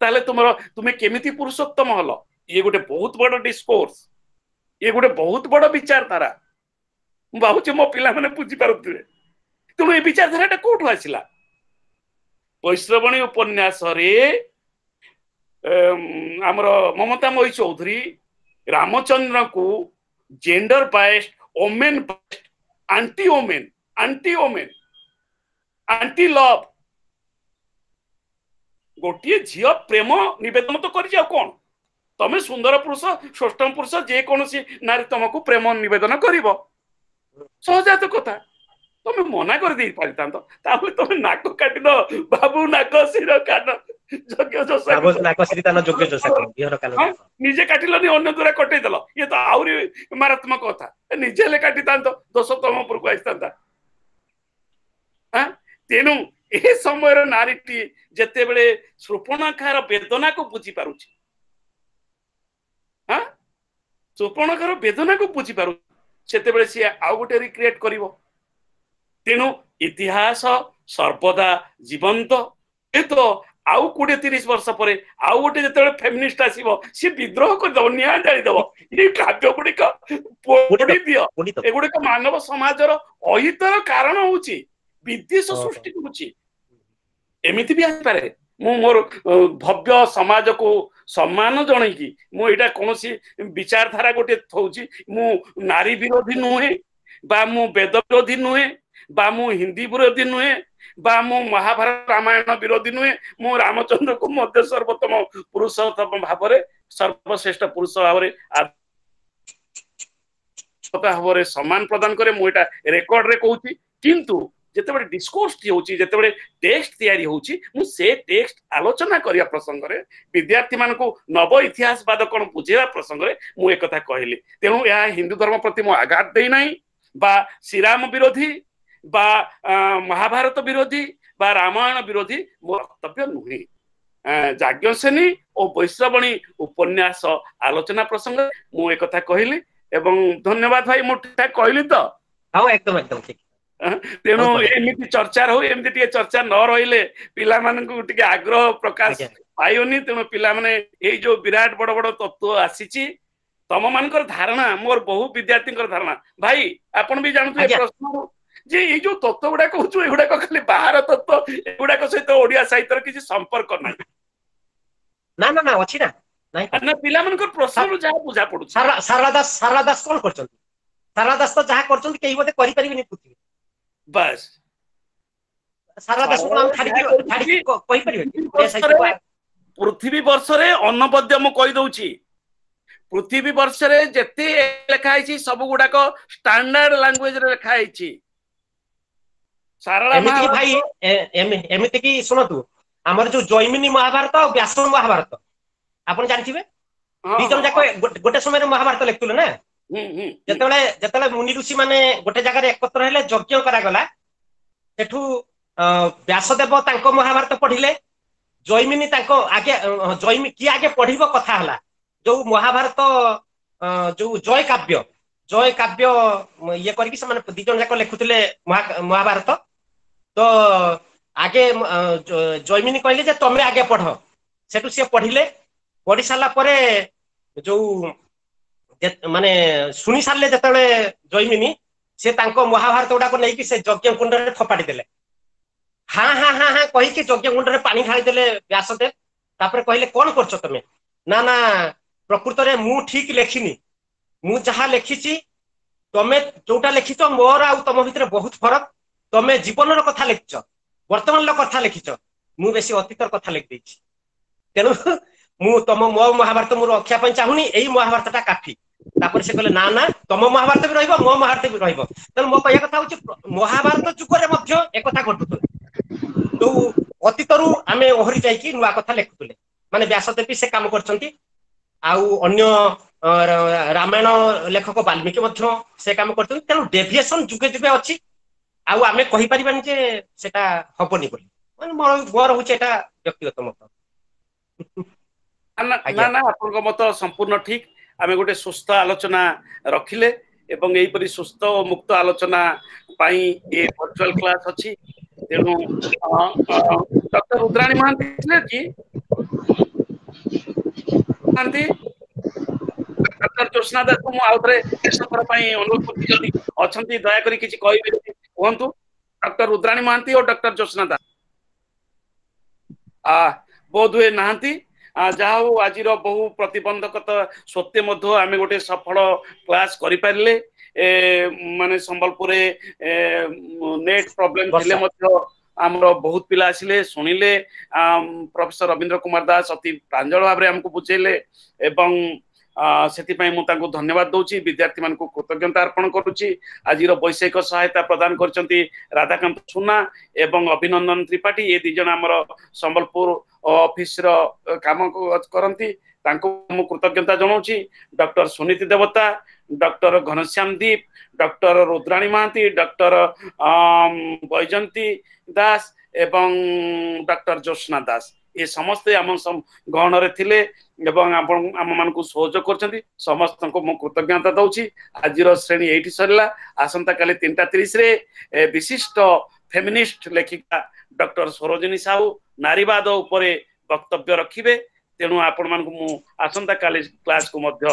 ତାହେଲେ ତୁମେ କେମିତି ପୁରୁଷୋତ୍ତମ ହଲ? ଇଏ ଗୋଟେ ବହୁତ ବଡ ଡିସ୍କୋର୍ସ, ଇଏ ଗୋଟେ ବହୁତ ବଡ ବିଚାରଧାରା। ମୁଁ ଭାବୁଛି ମୋ ପିଲାମାନେ ବୁଝିପାରୁଥିବେ। ତେଣୁ ଏ ବିଚାରଧାରାଟା କୋଉଠୁ ଆସିଲା? ବୈଶ୍ରବଣୀ ଉପନ୍ୟାସରେ ଆମର ମମତାମୟୀ Choudhury ରାମଚନ୍ଦ୍ରଙ୍କୁ gender biased, women biased, anti women, anti women, anti love. ଗୋଟିଏ ଝିଅ ପ୍ରେମ ନିବେଦନ ତ କରିଛି, ଆଉ କଣ? ତମେ ସୁନ୍ଦର ପୁରୁଷ, ଷଷ୍ଠମ ପୁରୁଷ, ଯେକୌଣସି ନାରୀ ତମକୁ ପ୍ରେମ ନିବେଦନ କରିବ, ସହଜାତ କଥା। ତମେ ମନା କରିଦେଇ ପାରିଥାନ୍ତ, ତାହେଲେ ତମେ ନାକ କାଟିଦ ବାବୁ, ନାକ ଶିର କାନ ନିଜେ କାଟିଲନି, ଅନ୍ୟ ଦ୍ୱାରା କଟେଇଦେଲ, ଇଏ ତ ଆହୁରି ମାରାତ୍ମକ କଥା। ନିଜେ ହେଲେ କାଟିଥାନ୍ତ, ଦୋଷ ତମ ଉପରକୁ ଆସିଥାନ୍ତା। ତେଣୁ ଏ ସମୟର ନାରୀଟି ଯେତେବେଳେ ସୃପଣଖାର ବେଦନାକୁ ବୁଝିପାରୁଛି, ସୃପଣଖାର ବେଦନାକୁ ବୁଝିପାରୁଛି, ସେତେବେଳେ ସିଏ ଆଉ ଗୋଟେ ରିକ୍ରିଏଟ କରିବ। ତେଣୁ ଇତିହାସ ସର୍ବଦା ଜୀବନ୍ତ। ଏ ତ ଆଉ 20-30 ବର୍ଷ ପରେ ଆଉ ଗୋଟେ ଯେତେବେଳେ ଫେମିନିଷ୍ଟ ଆସିବ, ସିଏ ବିଦ୍ରୋହ କରିଦବ, ନିଆଁ ଜାଳିଦବ, ଏଇ କାବ୍ୟ ଗୁଡିକ ପୋଡି ଦିଅ, ଏଗୁଡିକ ମାନବ ସମାଜର ଅହିତର କାରଣ ହଉଛି, ବିଦ୍ବେଷ ସୃଷ୍ଟି କରୁଛି। ଏମିତି ବି ଆସିପାରେ। ମୁଁ ମୋର ଭବ୍ୟ ସମାଜକୁ ସମ୍ମାନ ଜଣେଇକି ମୁଁ ଏଇଟା କୌଣସି ବିଚାରଧାରା ଗୋଟେ ଥଉଛି। ମୁଁ ନାରୀ ବିରୋଧୀ ନୁହେଁ, ବା ମୁଁ ବେଦ ବିରୋଧୀ ନୁହେଁ, ବା ମୁଁ ହିନ୍ଦୀ ବିରୋଧୀ ନୁହେଁ, ବା ମୁଁ ମହାଭାରତ ରାମାୟଣ ବିରୋଧୀ ନୁହେଁ। ମୁଁ ରାମଚନ୍ଦ୍ରକୁ ମଧ୍ୟ ସର୍ବୋତ୍ତମ ପୁରୁଷୋତ୍ତମ ଭାବରେ, ସର୍ବଶ୍ରେଷ୍ଠ ପୁରୁଷ ଭାବରେ ଭାବରେ ସମ୍ମାନ ପ୍ରଦାନ କରେ। ମୁଁ ଏଇଟା ରେକର୍ଡରେ କହୁଛି। କିନ୍ତୁ ଯେତେବେଳେ ଡିସ୍କୋର୍ସ ହଉଛି, ଯେତେବେଳେ ଟେକ୍ସଟ ତିଆରି ହଉଛି, ମୁଁ ସେ ଟେକ୍ସଟ ଆଲୋଚନା କରିବା ପ୍ରସଙ୍ଗରେ, ବିଦ୍ୟାର୍ଥୀ ମାନଙ୍କୁ ନବ ଇତିହାସବାଦ କଣ ବୁଝେଇବା ପ୍ରସଙ୍ଗରେ ମୁଁ ଏକଥା କହିଲି। ତେଣୁ ଏହା ହିନ୍ଦୁ ଧର୍ମ ପ୍ରତି ମୁଁ ଆଘାତ ଦେଇନାହିଁ, ବା ଶ୍ରୀରାମ ବିରୋଧୀ ବା ମହାଭାରତ ବିରୋଧୀ ବା ରାମାୟଣ ବିରୋଧୀ ମୋ ବକ୍ତବ୍ୟ ନୁହେଁ। ଯାଜ୍ଞସେନୀ ଓ ବୈଶ୍ରବଣୀ ଉପନ୍ୟାସ ଆଲୋଚନା ପ୍ରସଙ୍ଗରେ ମୁଁ ଏକଥା କହିଲି। ଏବଂ ଧନ୍ୟବାଦ ଭାଇ, ମୁଁ ଠିକ ଠାକ କହିଲି ତ? ହଁ, ଏକଦମ ଏକଦମ ଠିକ। ତେଣୁ ଏମିତି ଚର୍ଚ୍ଚା ରହୁ। ଏମିତି ଟିକେ ଚର୍ଚ୍ଚା ନ ରହିଲେ ପିଲାମାନଙ୍କୁ ଟିକେ ଆଗ୍ରହ ପ୍ରକାଶ ପାଇବନି। ତେଣୁ ପିଲାମାନେ, ଏଇ ଯୋଉ ବିରାଟ ବଡ ବଡ ତତ୍ତ୍ୱ ଆସିଛି, ତମ ମାନଙ୍କର ଧାରଣା, ମୋର ବହୁ ବିଦ୍ୟାର୍ଥୀଙ୍କର ଧାରଣା, ଭାଇ ଆପଣ ବି ଜାଣୁଥିବେ ପ୍ରଶ୍ନ ଯେ ଏଇ ଯୋଉ ତତ୍ତ୍ୱ ଗୁଡାକ ହଉଛୁ, ଏଗୁଡାକ ଖାଲି ବାହାର ତତ୍ତ୍ୱ, ଏଗୁଡାକ ସହିତ ଓଡିଆ ସାହିତ୍ୟର କିଛି ସମ୍ପର୍କ ନାହିଁ। ନା ନା ନା, ଅଛି ନା। ନା, ପିଲାମାନଙ୍କର ପ୍ରଶ୍ନରୁ ଯାହା ବୁଝା ପଡୁଛି। ସାରଳା ଦାସ, ସାରଳା ଦାସ କଣ କରିଛନ୍ତି? ସାରଳା ଦାସ ତ ଯାହା କରିଛନ୍ତି କେହି ବୋଧେ କରିପାରିବେନି ପୃଥିବୀ। ବାସ୍, ସାରଳା ଦାସକୁ ଆମେ ଛାଡିକି କହିପାରିବେ? ପୃଥିବୀ ବର୍ଷରେ ଅନବଦ୍ୟ, ମୁଁ କହିଦଉଛି, ପୃଥିବୀ ବର୍ଷରେ ଯେତେ ଲେଖା ହେଇଛି ସବୁ ଗୁଡାକ ଷ୍ଟାଣ୍ଡାର୍ଡ ଲାଙ୍ଗୁଏଜରେ ଲେଖା ହେଇଛି। ସାରଳା ଭାଇ, ଏମିତି କି ଶୁଣନ୍ତୁ, ଆମର ଯୋଉ ଜୈମିନୀ ମହାଭାରତ ଆଉ ବ୍ୟାସ ମହାଭାରତ ଆପଣ ଜାଣିଥିବେ, ଦି ଜଣ ଯାକ ଗୋଟେ ସମୟରେ ମହାଭାରତ ଲେଖୁଥିଲେ ନା। ଯେତେବେଳେ ମୁନି ଋଷି ମାନେ ଗୋଟେ ଜାଗାରେ ଏକତ୍ର ହେଲେ, ଯଜ୍ଞ କରାଗଲା, ସେଠୁ ବ୍ୟାସଦେବ ତାଙ୍କ ମହାଭାରତ ପଢିଲେ, ଜୈମିନୀ ତାଙ୍କ ଆଗେ, ଜୈମି କିଏ ଆଗେ ପଢିବ କଥା ହେଲା, ଯୋଉ ମହାଭାରତ ଯୋଉ ଜୟ କାବ୍ୟ, ଜୟ କାବ୍ୟ ଇଏ କରିକି ସେମାନେ ଦି ଜଣ ଯାକ ଲେଖୁଥିଲେ ମହାଭାରତ। ତ ଆଗେ ଜୈମିନୀ କହିଲେ ଯେ ତମେ ଆଗେ ପଢ। ସେଠୁ ସିଏ ପଢିଲେ। ପଢି ସାରିଲା ପରେ ଯୋଉ ମାନେ ଶୁଣି ସାରିଲେ ଯେତେବେଳେ ଜୈମିନୀ, ସେ ତାଙ୍କ ମହାଭାରତ ଗୁଡାକ ନେଇକି ସେ ଯଜ୍ଞ କୁଣ୍ଡରେ ଫୋପାଡ଼ି ଦେଲେ। ହାଁ ହାଁ ହାଁ ହାଁ କହିକି ଯଜ୍ଞ କୁଣ୍ଡରେ ପାଣି ଢାଳି ଦେଲେ ବ୍ୟାସଦେବ। ତାପରେ କହିଲେ, କଣ କରୁଛ ତମେ? ନା ନା, ପ୍ରକୃତରେ ମୁଁ ଠିକ ଲେଖିନି, ମୁଁ ଯାହା ଲେଖିଛି, ତମେ ଯୋଉଟା ଲେଖିଛ ମୋର ଆଉ ତମ ଭିତରେ ବହୁତ ଫରକ। ତମେ ଜୀବନର କଥା ଲେଖିଛ, ବର୍ତ୍ତମାନର କଥା ଲେଖିଛ, ମୁଁ ବେଶୀ ଅତୀତର କଥା ଲେଖିଦେଇଛି। ତେଣୁ ମୁଁ ତମ ମୋ ମହାଭାରତ ମୁଁ ରଖିବା ପାଇଁ ଚାହୁଁନି, ଏଇ ମହାଭାରତ ଟା କାଫି। ତାପରେ ସେ କହିଲେ, ନା ନା, ତମ ମହାଭାରତ ବି ରହିବ, ମୋ ମହାଭାରତ ବି ରହିବ। ତେଣୁ ମୋ କହିବା କଥା ହଉଛି, ମହାଭାରତ ଯୁଗରେ ମଧ୍ୟ ଏକଥା ଘଟୁଥିଲା, ଯୋଉ ଅତୀତରୁ ଆମେ ଓହରି ଯାଇକି ନୂଆ କଥା ଲେଖୁଥିଲେ। ମାନେ ବ୍ୟାସଦେବୀ ସେ କାମ କରିଛନ୍ତି, ଆଉ ଅନ୍ୟ ରାମାୟଣ ଲେଖକ ବାଲ୍ମୀକି ମଧ୍ୟ ସେ କାମ କରିଛନ୍ତି। ତେଣୁ ଡେଭିଏସନ ଯୁଗେ ଯୁଗେ ଅଛି, ଆଉ ଆମେ କହିପାରିବାନି ଯେ ସେଟା ହବନି ବୋଲି। ମାନେ ମୋର ହଉଛି ଏଟା ବ୍ୟକ୍ତିଗତ ମତ। ନା ନା, ଆପଣଙ୍କ ମତ ସମ୍ପୂର୍ଣ୍ଣ ଠିକ। ଆମେ ଗୋଟେ ସୁସ୍ଥ ଆଲୋଚନା ରଖିଲେ ଏବଂ ଏହିପରି ସୁସ୍ଥ ଓ ମୁକ୍ତ ଆଲୋଚନା ପାଇଁ ଏ ଭର୍ଚୁଆଲ କ୍ଲାସ ଅଛି। ତେଣୁ ଡକ୍ଟର ରୁଦ୍ରାଣୀ ମହାନ୍ତି ଥିଲେ କି? ମହାନ୍ତି, ଡକ୍ଟର ଜ୍ୟୋତ୍ସ୍ନା ଦାସକୁ ମୁଁ ଆଉ ଥରେ ଶେଷ ଥର ପାଇଁ ଅନୁରୋଧ କରୁଛି, ଯଦି ଅଛନ୍ତି ଦୟାକରି କିଛି କହିବେ କୁହନ୍ତୁ। ଡକ୍ଟର ରୁଦ୍ରାଣୀ ମହାନ୍ତି ଓ ଡକ୍ଟର ଜ୍ୟୋତ୍ସ୍ନା ଦାସ ବୋଧ ହୁଏ ନାହାନ୍ତି। ଯାହା ହଉ, ଆଜିର ବହୁ ପ୍ରତିବନ୍ଧକତା ସତ୍ତ୍ୱେ ମଧ୍ୟ ଆମେ ଗୋଟେ ସଫଳ କ୍ଲାସ କରିପାରିଲେ। ମାନେ ସମ୍ବଲପୁରରେ ନେଟ୍ ପ୍ରୋବ୍ଲେମ ଥିଲେ ମଧ୍ୟ ଆମର ବହୁତ ପିଲା ଆସିଲେ, ଶୁଣିଲେ। ପ୍ରଫେସର ରବୀନ୍ଦ୍ର କୁମାର ଦାସ ଅତି ପ୍ରାଞ୍ଜଳ ଭାବରେ ଆମକୁ ବୁଝେଇଲେ ଏବଂ ସେଥିପାଇଁ ମୁଁ ତାଙ୍କୁ ଧନ୍ୟବାଦ ଦଉଛି, ବିଦ୍ୟାର୍ଥୀ ମାନଙ୍କୁ କୃତଜ୍ଞତା ଅର୍ପଣ କରୁଛି। ଆଜିର ବୈଷୟିକ ସହାୟତା ପ୍ରଦାନ କରିଛନ୍ତି ରାଧାକାନ୍ତ ସୁନା ଏବଂ ଅଭିନନ୍ଦନ ତ୍ରିପାଠୀ। ଏ ଦି ଜଣ ଆମର ସମ୍ବଲପୁର ଅଫିସର କାମ କରନ୍ତି, ତାଙ୍କୁ ମୁଁ କୃତଜ୍ଞତା ଜଣାଉଛି। ଡକ୍ଟର ସୁନୀତି ଦେବତା, ଡକ୍ଟର ଘନଶ୍ୟାମ ଦୀପ, ଡକ୍ଟର ରୁଦ୍ରାଣୀ ମହାନ୍ତି, ଡକ୍ଟର ବୈଜନ୍ତୀ ଦାସ ଏବଂ ଡକ୍ଟର ଜ୍ୟୋତ୍ସ୍ନା ଦାସ, ଏ ସମସ୍ତେ ଆମ ଗହଣରେ ଥିଲେ ଏବଂ ଆପଣ ଆମମାନଙ୍କୁ ସହଯୋଗ କରୁଛନ୍ତି। ସମସ୍ତଙ୍କୁ ମୁଁ କୃତଜ୍ଞତା ଦଉଛି। ଆଜିର ଶ୍ରେଣୀ ଏଇଠି ସରିଲା। ଆସନ୍ତାକାଲି 3:30ରେ ବିଶିଷ୍ଟ ଫେମିନିଷ୍ଟ ଲେଖିକା ଡକ୍ଟର ସରୋଜିନୀ ସାହୁ ନାରୀବାଦ ଉପରେ ବକ୍ତବ୍ୟ ରଖିବେ। ତେଣୁ ଆପଣମାନଙ୍କୁ ମୁଁ ଆସନ୍ତାକାଲି କ୍ଲାସକୁ ମଧ୍ୟ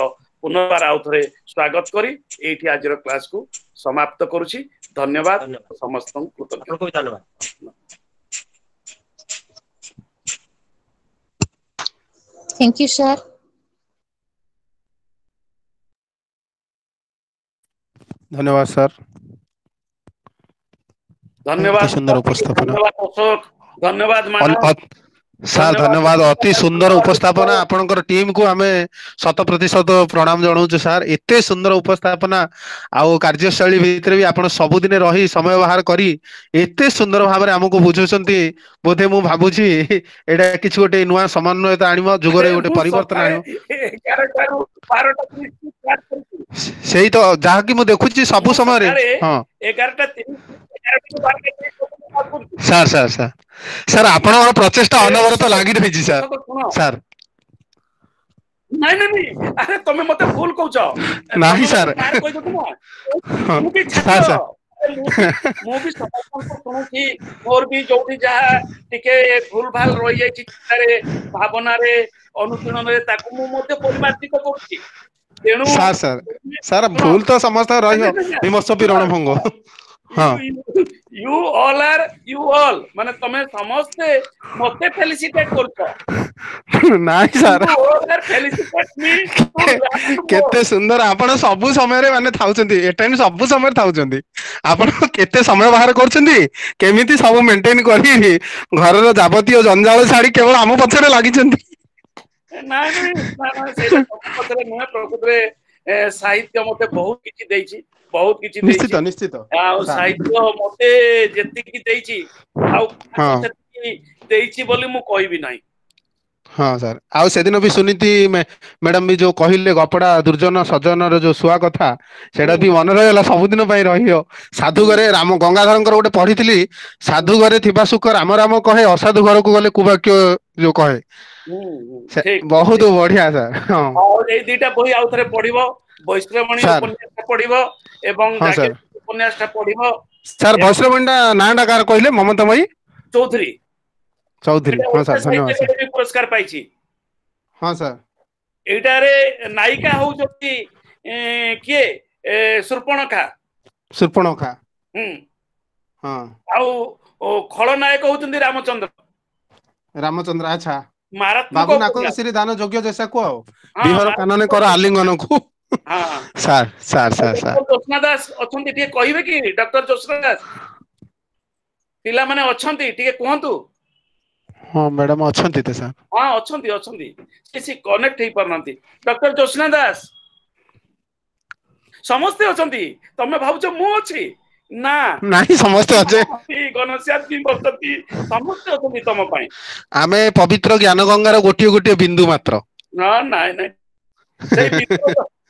ପୁନର୍ବାର ଆଉ ଥରେ ସ୍ୱାଗତ କରି ଏଇଠି ଆଜିର କ୍ଲାସକୁ ସମାପ୍ତ କରୁଛି। ଧନ୍ୟବାଦ ସମସ୍ତଙ୍କୁ, କୃତଜ୍ଞତା। ଧନ୍ୟବାଦ। Thank you, sir. ଧନ୍ୟବାଦ ସାର୍। ଧନ୍ୟବାଦ। ସୁନ୍ଦର ଉପସ୍ଥାପନା। ଧନ୍ୟବାଦ ଅଶୋକ, ଧନ୍ୟବାଦ ମାନବ। ସାର୍ ଧନ୍ୟବାଦ, ଅତି ସୁନ୍ଦର ଉପସ୍ଥାପନା। ଆପଣଙ୍କର ଟିମ୍ କୁ ଆମେ ଶତ ପ୍ରତିଶତ ପ୍ରଣାମ ଜଣାଉଛୁ ସାର୍। ଏତେ ସୁନ୍ଦର ଉପସ୍ଥାପନା ଆଉ କାର୍ଯ୍ୟଶୈଳୀ ଭିତରେ ବି ଆପଣ ସବୁଦିନେ ରହି ସମୟ ବାହାର କରି ଏତେ ସୁନ୍ଦର ଭାବରେ ଆମକୁ ବୁଝୁଛନ୍ତି, ବୋଧେ ମୁଁ ଭାବୁଛି ଏଇଟା କିଛି ଗୋଟେ ନୂଆ ସମନ୍ୱୟତା ଆଣିବ, ଯୁଗରେ ଗୋଟେ ପରିବର୍ତ୍ତନ ଆଣିବ। ସେଇ ତ ଯାହାକି ମୁଁ ଦେଖୁଛି ସବୁ ସମୟରେ। ହଁ, ସାର୍ ସାର୍ ସାର୍ ସାର୍, ଆପଣଙ୍କର ପ୍ରଚେଷ୍ଟା ଅନବରତ ଲାଗି ରହିଛି ସାର୍। ସାର୍, ନାଇଁ ନାଇଁ ନାଇଁ, ଆରେ ତମେ ମତେ ଭୁଲ କହୁଛ। ନାହିଁ ସାର୍। ମୁଁ ବି ଛାତ୍ର, ମୁଁ ବି ସମସ୍ତଙ୍କୁ ଶୁଣୁଛି। ମୋର ବି ଯୋଉଠି ଯାହା ଟିକେ ଭୁଲ ଭାଲ ରହିଯାଇଛି ଚିନ୍ତାରେ, ଭାବନାରେ, ଅନୁଶୀଳନରେ, ତାକୁ ମୁଁ ମଧ୍ୟ ପରିମାର୍ଜିତ କରୁଛି। ତେଣୁ ସାର୍ ସାର୍ ସାର୍, ଭୁଲ ତ ସମସ୍ତ ରହିବ, ବିମର୍ଶ ବି ରଣଭଙ୍ଗ। ହଁ, you all are you all, ମାନେ ତମେ ସମସ୍ତେ ମତେ ଫେଲିସିଟେଟ କରୁଛ। ନାଇଁ ସାର୍, କେତେ ସୁନ୍ଦର ଆପଣ ସବୁ ସମୟରେ ମାନେ ଥାଉଛନ୍ତି, ଏ ଟାଇମ ସବୁ ସମୟରେ ଥାଉଛନ୍ତି। ଆପଣ କେତେ ସମୟ ବାହାର କରୁଛନ୍ତି, କେମିତି ସବୁ ମେଣ୍ଟେନ କରି ଘରର ଯାବତୀୟ ଜଞ୍ଜାଳ ଛାଡି କେବଳ ଆମ ପଛରେ ଲାଗିଛନ୍ତି। ନାଇଁ ନାଇଁ, ସେଇଟା ପଛରେ ନୁହେଁ। ପ୍ରକୃତରେ ସାହିତ୍ୟ ମତେ ବହୁତ କିଛି ଦେଇଛି, ବହୁତ କିଛି ଦେଇଛି। ନିଶ୍ଚିତ ନିଶ୍ଚିତ। ଆଉ ସାହିତ୍ୟ ମତେ ଯେତିକି ଦେଇଛି ଆଉ ସେତିକି ଦେଇଛି ବୋଲି ମୁଁ କହିବି ନାହିଁ। ହଁ ସାର୍, ଆଉ ସେଦିନ ବି ସୁନୀତି ମ୍ୟାଡାମ ବି ଯୋଉ କହିଲେ ଗପଡା ଦୁର୍ଜନ ସଜନର ଯୋଉ ଶୁଆ କଥା, ସେଇଟା ବି ମନେ ରହିଗଲା, ସବୁଦିନ ପାଇଁ ରହିବ। ସାଧୁ ଘରେ ରାମ, ଗଙ୍ଗାଧରଙ୍କର ଗୋଟେ ପଢିଥିଲି, ସାଧୁ ଘରେ ଥିବା ସୁଖ ରାମ ରାମ କହେ, ଅସାଧୁ ଘରକୁ ଗଲେ କୁବାକ୍ୟ ଯୋଉ କହେ, ବହୁତ ବଢିଆ ସାର୍। ହଁ, ଏଇ ଦିଟା ବହି ଆଉ ଥରେ ପଢିବ, ବୈଶ୍ରବଣୀ ଉପନ୍ୟାସ ପଢିବ ଏବଂ ଉପନ୍ୟାସ ଟା ପଢିବ। ସାର୍, ବୈଶ୍ରବଣୀ ଟା ନାଁ ଟା କାହାର କହିଲେ? ମମତାମୟୀ ଚୌଧୁରୀ। ଚୌଧୁରୀ, ହଁ ସାର୍, ଧନ୍ୟବାଦ ସାର୍। ପୁରସ୍କାର ପାଇଛି। ହଁ ସାର୍। ଏଇଟାରେ ନାୟିକା ହଉଛନ୍ତି କିଏ? ସୂର୍ପଣଖା। ସୂର୍ପଣଖା। ହୁଁ। ହଁ। ଆଉ ଖଳନାୟକ ହଉଛନ୍ତି ରାମଚନ୍ଦ୍ର। ରାମଚନ୍ଦ୍ର, ଆଚ୍ଛା। ମାରାତ୍ମକ। ବାବୁ ନାକ ଶ୍ରୀ ଦାନ ଯୋଗ୍ୟ ଜେସାକୁ ଆଉ ବିହର କାନନେ କର ଆଲିଙ୍ଗନକୁ। Sir sir sir sir, Jyotsna Das ଅଛନ୍ତି, ଟିକେ କହିବେ କି? ଡକ୍ଟର ଜ୍ୟୋତ୍ସ୍ନା ଦାସ, ପିଲାମାନେ ଅଛନ୍ତି, ଟିକେ କୁହନ୍ତୁ। ହଁ ମ୍ୟାଡାମ ଅଛନ୍ତି ତ ସାର୍? ହଁ, ଅଛନ୍ତି ଅଛନ୍ତି, ସେ କନେକ୍ଟ ହେଇପାରୁନାହାନ୍ତି। ଡକ୍ଟର ଜ୍ୟୋତ୍ସ୍ନା ଦାସ, ସମସ୍ତେ ଅଛନ୍ତି। ତମେ ଭାବୁଛ ମୁଁ ଅଛି ନା? ନାଇଁ, ସମସ୍ତେ ଅଛେ। ଘନଶ୍ୟାମ ବି ବସନ୍ତି, ସମସ୍ତେ ଅଛନ୍ତି ତମ ପାଇଁ। ଆମେ ପବିତ୍ର ଜ୍ଞାନ ଗଙ୍ଗାର ଗୋଟିଏ ଗୋଟିଏ ବିନ୍ଦୁ ମାତ୍ର। ନାଇଁ ନାଇଁ, ସେଇ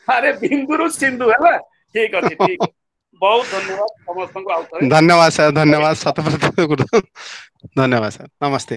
ଆରେ ବିନ୍ଦୁରୁ ସିନ୍ଧୁ ହେଲା। ଠିକ ଅଛି, ଠିକ, ବହୁତ ଧନ୍ୟବାଦ ସମସ୍ତଙ୍କୁ ଆଉ ଥରେ। ଧନ୍ୟବାଦ ସାର୍, ଧନ୍ୟବାଦ, ଶତ ପ୍ରତିଶତ ଧନ୍ୟବାଦ ସାର୍। ନମସ୍ତେ।